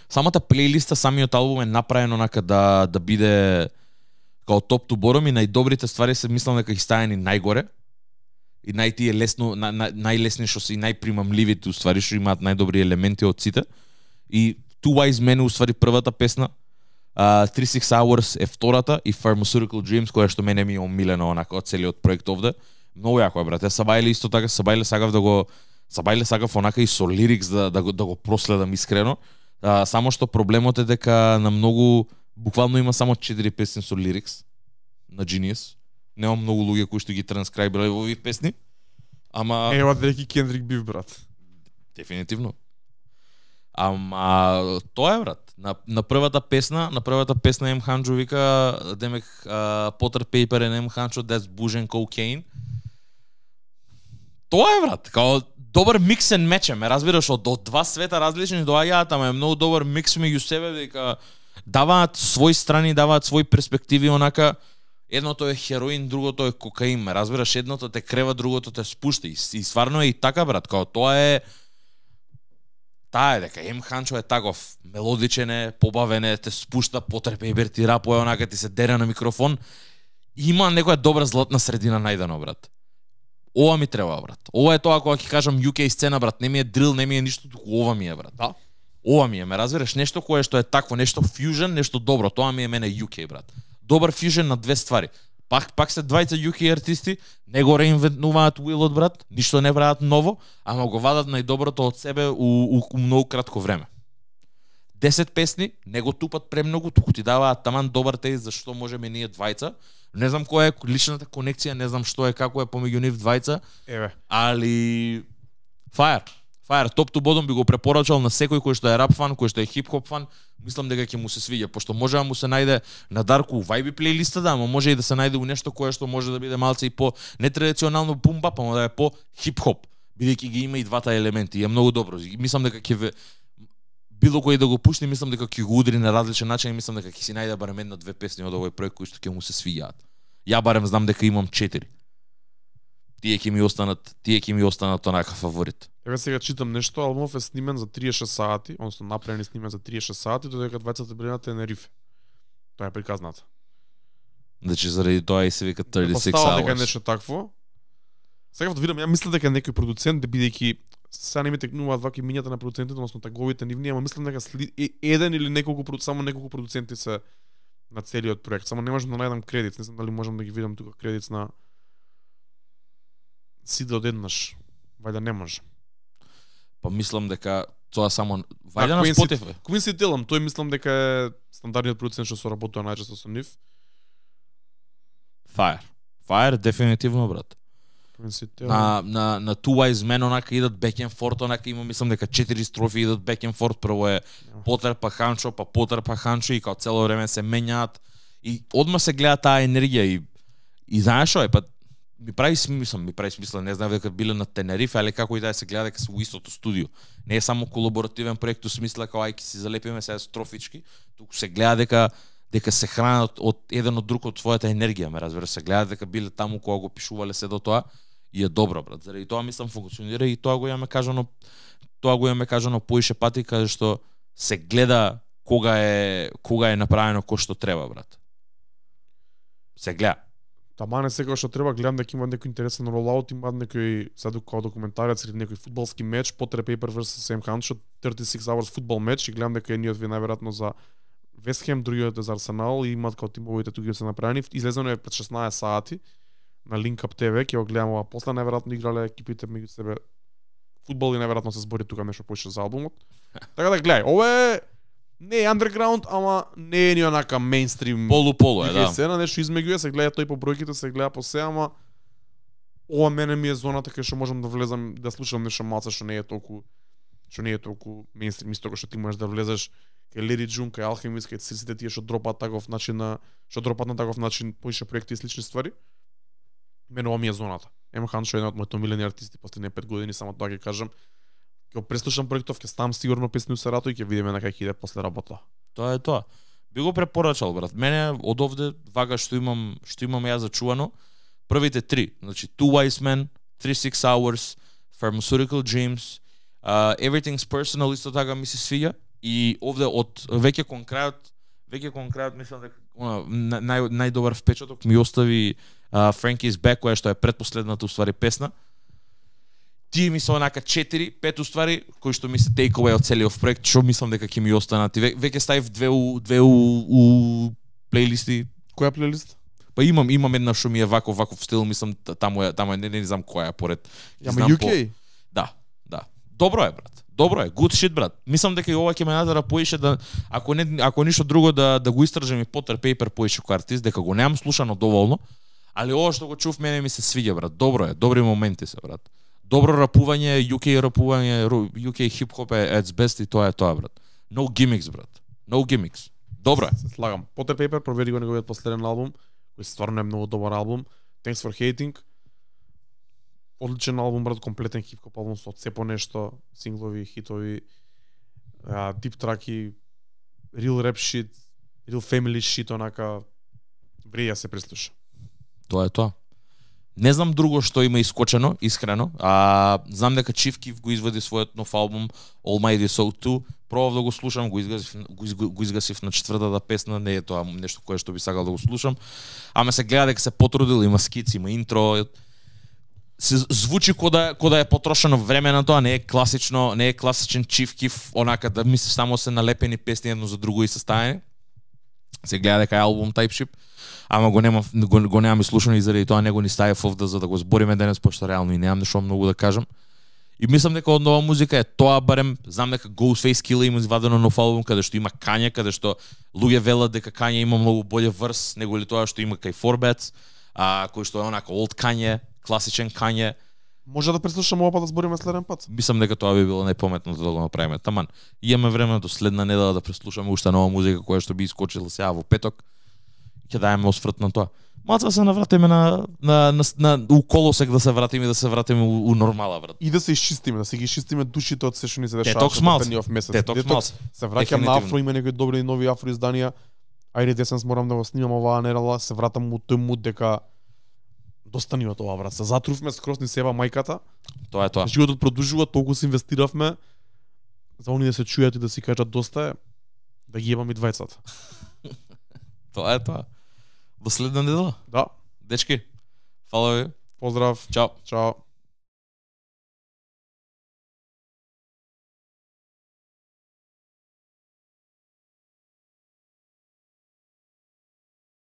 самата плейлиста, самиот албум е направен онака да да биде као топ ту бором и најдобрите ствари се мислам дека ги ставени најгоре и најтие лесно на, на, најлесни што се и најпримамливите уствари што имаат најдобри елементи од сите. И Two Wise Men уствари првата песна, uh, thirty-six Hours е втората и Pharmaceutical Dreams која што мене ми е омилена онака од целиот проект овде. Многу јако е, брате. Сабајле исто така, Сабајле сакав да го Сабајле сакав онака и со лирикс да да го да го проследам искрено. Uh, само што проблемот е дека на многу буквално има само четири песни со лирикс на Genius. Нема многу луѓе кои што ги транскрайбирале во овие песни. Ама Ева деки Кендрик бив, брат. Дефинитивно. Ама тоа е, брат. На на првата песна, на првата песна М Ханчо вика демек uh, Potter Paper and М Ханчо that's booze and cocaine. Тоа е, брат. Као добар микс and match, ме разбираш, од, од два света различни доаѓаат, ама е многу добар микс меѓу себе, дека даваат своји страни, даваат своји перспективи, онака едното е хероин, другото е кокаин, ме разбираш, едното те крева, другото те спушта и, и стварно е и така, брат, као тоа е таа е дека М Ханчо е таков, мелодичен е, побавен е, те спушта, потрепе ти рапое, онака ти се дере на микрофон. Има некоја добра златна средина најдено, брат. Ова ми треба, брат. Ова е тоа кога ќе кажам Ю Кей сцена, брат. Не ми е дрил, не ми е ништо, туку ова ми е, брат. Да. Ова ми е, ме разбираш, нешто кое што е такво, нешто фьюжен, нешто добро. Тоа ми е мене Ю Кей, брат. Добар фьюжен на две ствари. Пак пак се двајца Ю Кей артисти, не го реинвентнуваат уилот, брат, ништо не прават ново, ама го вадат најдоброто од себе у, у, у многу кратко време. десет песни, не го тупат премногу, туку ти даваат таман добар тест за што можеме ние двајца. Не знам која е личната конекција, не знам што е, како е помеѓу нив двајца. Еве. Али Fire. Fire, топ ту бодом би го препорачал на секој кој што е рап фан, кој што е хип-хоп фан. Мислам дека ќе му се свиѓа, пошто може да му се најде на Дарку вајби плейлиста, да, ама може и да се најде у нешто кое што може да биде малце и по нетрадиционално бум-бап, ама да е по хип-хоп, бидејќи ги има и двата елементи, и е многу добро. Мислам дека ќе ве било кој да го пушти, мислам дека ќе го удри на различен начин и мислам дека ќе си најде барем една две песни од овој проект кои што ќе му се свиѓаат. Ја барем знам дека имам четири. Тие ќе ми останат, тие ќе ми останат онака фаворит. Еве сега читам нешто, албумов е снимен за триесет и шест сати, односно направен и снимен за триесет и шест сати, додека двајцата били на Тенерифе. Тоа е приказната. Значи заради тоа и се вика thirty-six Постава дека hours. нешто такво. Сега да видам, ја мислам дека некој продуцент, бидејќи сега не ми текнуваат ваки мињата на продуцентите, односно таговите нивни, ама мислам дека сли, еден или неколку, само неколку продуценти се на целиот проект. Само не можам да најдам кредит, не знам дали можам да ги видам тука кредит на сите одеднаш. Вајда не може. Па мислам дека тоа само вајде на Spotify. Quincy Tillum, тој мислам дека е стандардниот продуцент што соработува најчесто со нив. Fire. Fire дефинитивно, брат. На на на Two Wise Men онака идат back and forth, онака има мислам дека четири строфи идат back and forth, прво е Potter па Ханчо, па Potter па Ханчо и као цело време се менјаат и одма се гледа таа енергија и и знаеш што е, па ми прави смисла, ми прави смисла, не знам дека биле на Тенерифе, али како и да се гледа дека се у истото студио. Не е само колаборативен проект, у смисла како ајки си залепиме сега строфички, туку се гледа дека дека се хранат од еден од друг од својата енергија, ме разбира, се гледа дека биле таму кога го пишувале се до тоа и е добро, брат. Заради тоа мислам функционира и тоа го имаме кажано, тоа го имаме кажано поише пати, каде што се гледа кога е кога е направено кој што треба, брат. Се гледа. Тамане сега што треба, гледам дека има некој интересен ролаут, има некој сега како документарец или некој фудбалски меч, Potter Paper versus М Ханчо, thirty-six hours фудбал меч и гледам дека едниот ви најверојатно за Вест Хем, другиот е за Арсенал и имаат како тимовите тука се направени. Излезено е пред шеснаесет сати на Link Up Т В, ќе го гледам ова после, најверојатно играле екипите меѓу себе фудбал и најверојатно се збори тука нешто поише за албумот. Така да гледај, ова е не е underground, ама не е ни онака мејнстрим. Полу-полу е, да. Сцена, нешто измеѓу е, се гледа тој по бројките, се гледа по се, ама ова мене ми е зоната кај што можам да влезам, да слушам нешто малце што не е толку што не е толку мејнстрим, исто како што ти можеш да влезеш кај Лери Джун, кај Алхемист, кај сите тие што дропаат таков начин на што дропаат на таков начин поише проекти и слични ствари. Мене ова ми е зоната. Емо Ханшо е еден од моите омилени артисти последни пет години, само тоа ќе кажам. Ќе го преслушам проектов, ќе ставам сигурно песни у Сарато и ќе видиме на кај ќе иде после работа. Тоа е тоа. Би го препорачал, брат. Мене од овде вага што имам, што имам ја зачувано, првите три, значи Two Wise Men, thirty-six Hours, Pharmaceutical Dreams, uh, Everything's Personal исто така ми се свиѓа и овде од веќе кон крајот, веќе кон крајот мислам дека она нај најдобар впечаток ми остави uh, Frankie's Back, која што е предпоследната уствари песна. Тие ми се онака четири, пет уствари, кои што ми се take away од целиот проект, што мислам дека ќе ми останат. Ве, веќе ставив две у две у, у плейлисти. Која плейлист? Па имам имам една што ми е ваков ваков стил, мислам таму е таму е не, не знам која е поред. Ама ю кей? По... Да, да. Добро е, брат. Добро е, good shit, брат. Мислам дека и ова ќе ме натера поише да ако не ако ништо друго да да го истражам и Potter Paper поише како артист, дека го немам слушано доволно, али ова што го чув мене ми се свиѓа, брат. Добро е, добри моменти се, брат. Добро рапување, ю кей рапување, ю кей хип-хоп е at best и тоа е тоа, брат. No gimmicks, брат. No gimmicks. Добро е. Се слагам. Potter Paper, провери го неговиот последен албум, кој стварно е многу добар албум. Thanks for Hating. Одличен албум, брат, комплетен хип-хоп албум со цепо нешто, синглови, хитови, дип траки, real rap shit, real family shit, онака вреја се преслуша. Тоа е тоа. Не знам друго што има искочено, искрено. А знам дека Chief Keef го извади својот нов албум Almighty Soul two. Пробав да го слушам, го изгасив, го, изг, го изгасив на четвртата песна, не е тоа нешто кое што би сакал да го слушам. Ама се гледа дека се потрудил, има скици, има интро. Се звучи кода кода е потрошено време на тоа, не е класично, не е класичен Chief Keef, онака да мислиш само се налепени песни едно за друго и составени. Се гледа дека е албум Type Ship. Ама го немам го, го немам слушано и заради тоа него ни ставив овде за да го збориме денес, пошто реално и немам нешто многу да кажам. И мислам дека од нова музика е тоа барем, знам дека Ghostface Killah има извадено нов албум каде што има Kanye, каде што луѓе велат дека Kanye има многу боле врс него ли тоа што има кај Forbats, а кој што е онака old Kanye, класичен Kanye. Може да преслушаме ова па да збориме следен пат. Мислам дека тоа би било најпаметно да го направиме. Таман, имаме време до следна недела да преслушаме уште нова музика која што би искочила сега во петок. Ќе даеме осврт на тоа. Малце да се навратиме на на на, на у колосек да се вратиме да се вратиме у, у нормала, брат. И да се изчистиме, да се ги изчистиме душите од се што ни се дешава. Детокс малце. Детокс малце. Се враќам на афро, има некои добри нови афро изданија. Ајде десенс морам да го снимам оваа нерала, се вратам у тој муд дека доста ни од ова, брат. Се затрувме скроз ни себа мајката. Тоа е тоа. Животот продолжува, толку се инвестиравме за они да се чујат и да си кажат доста е, да ги ебам и двајцата. Тоа е тоа. До следна недела. Да. Дечки, фала ви. Поздрав. Чао. Чао.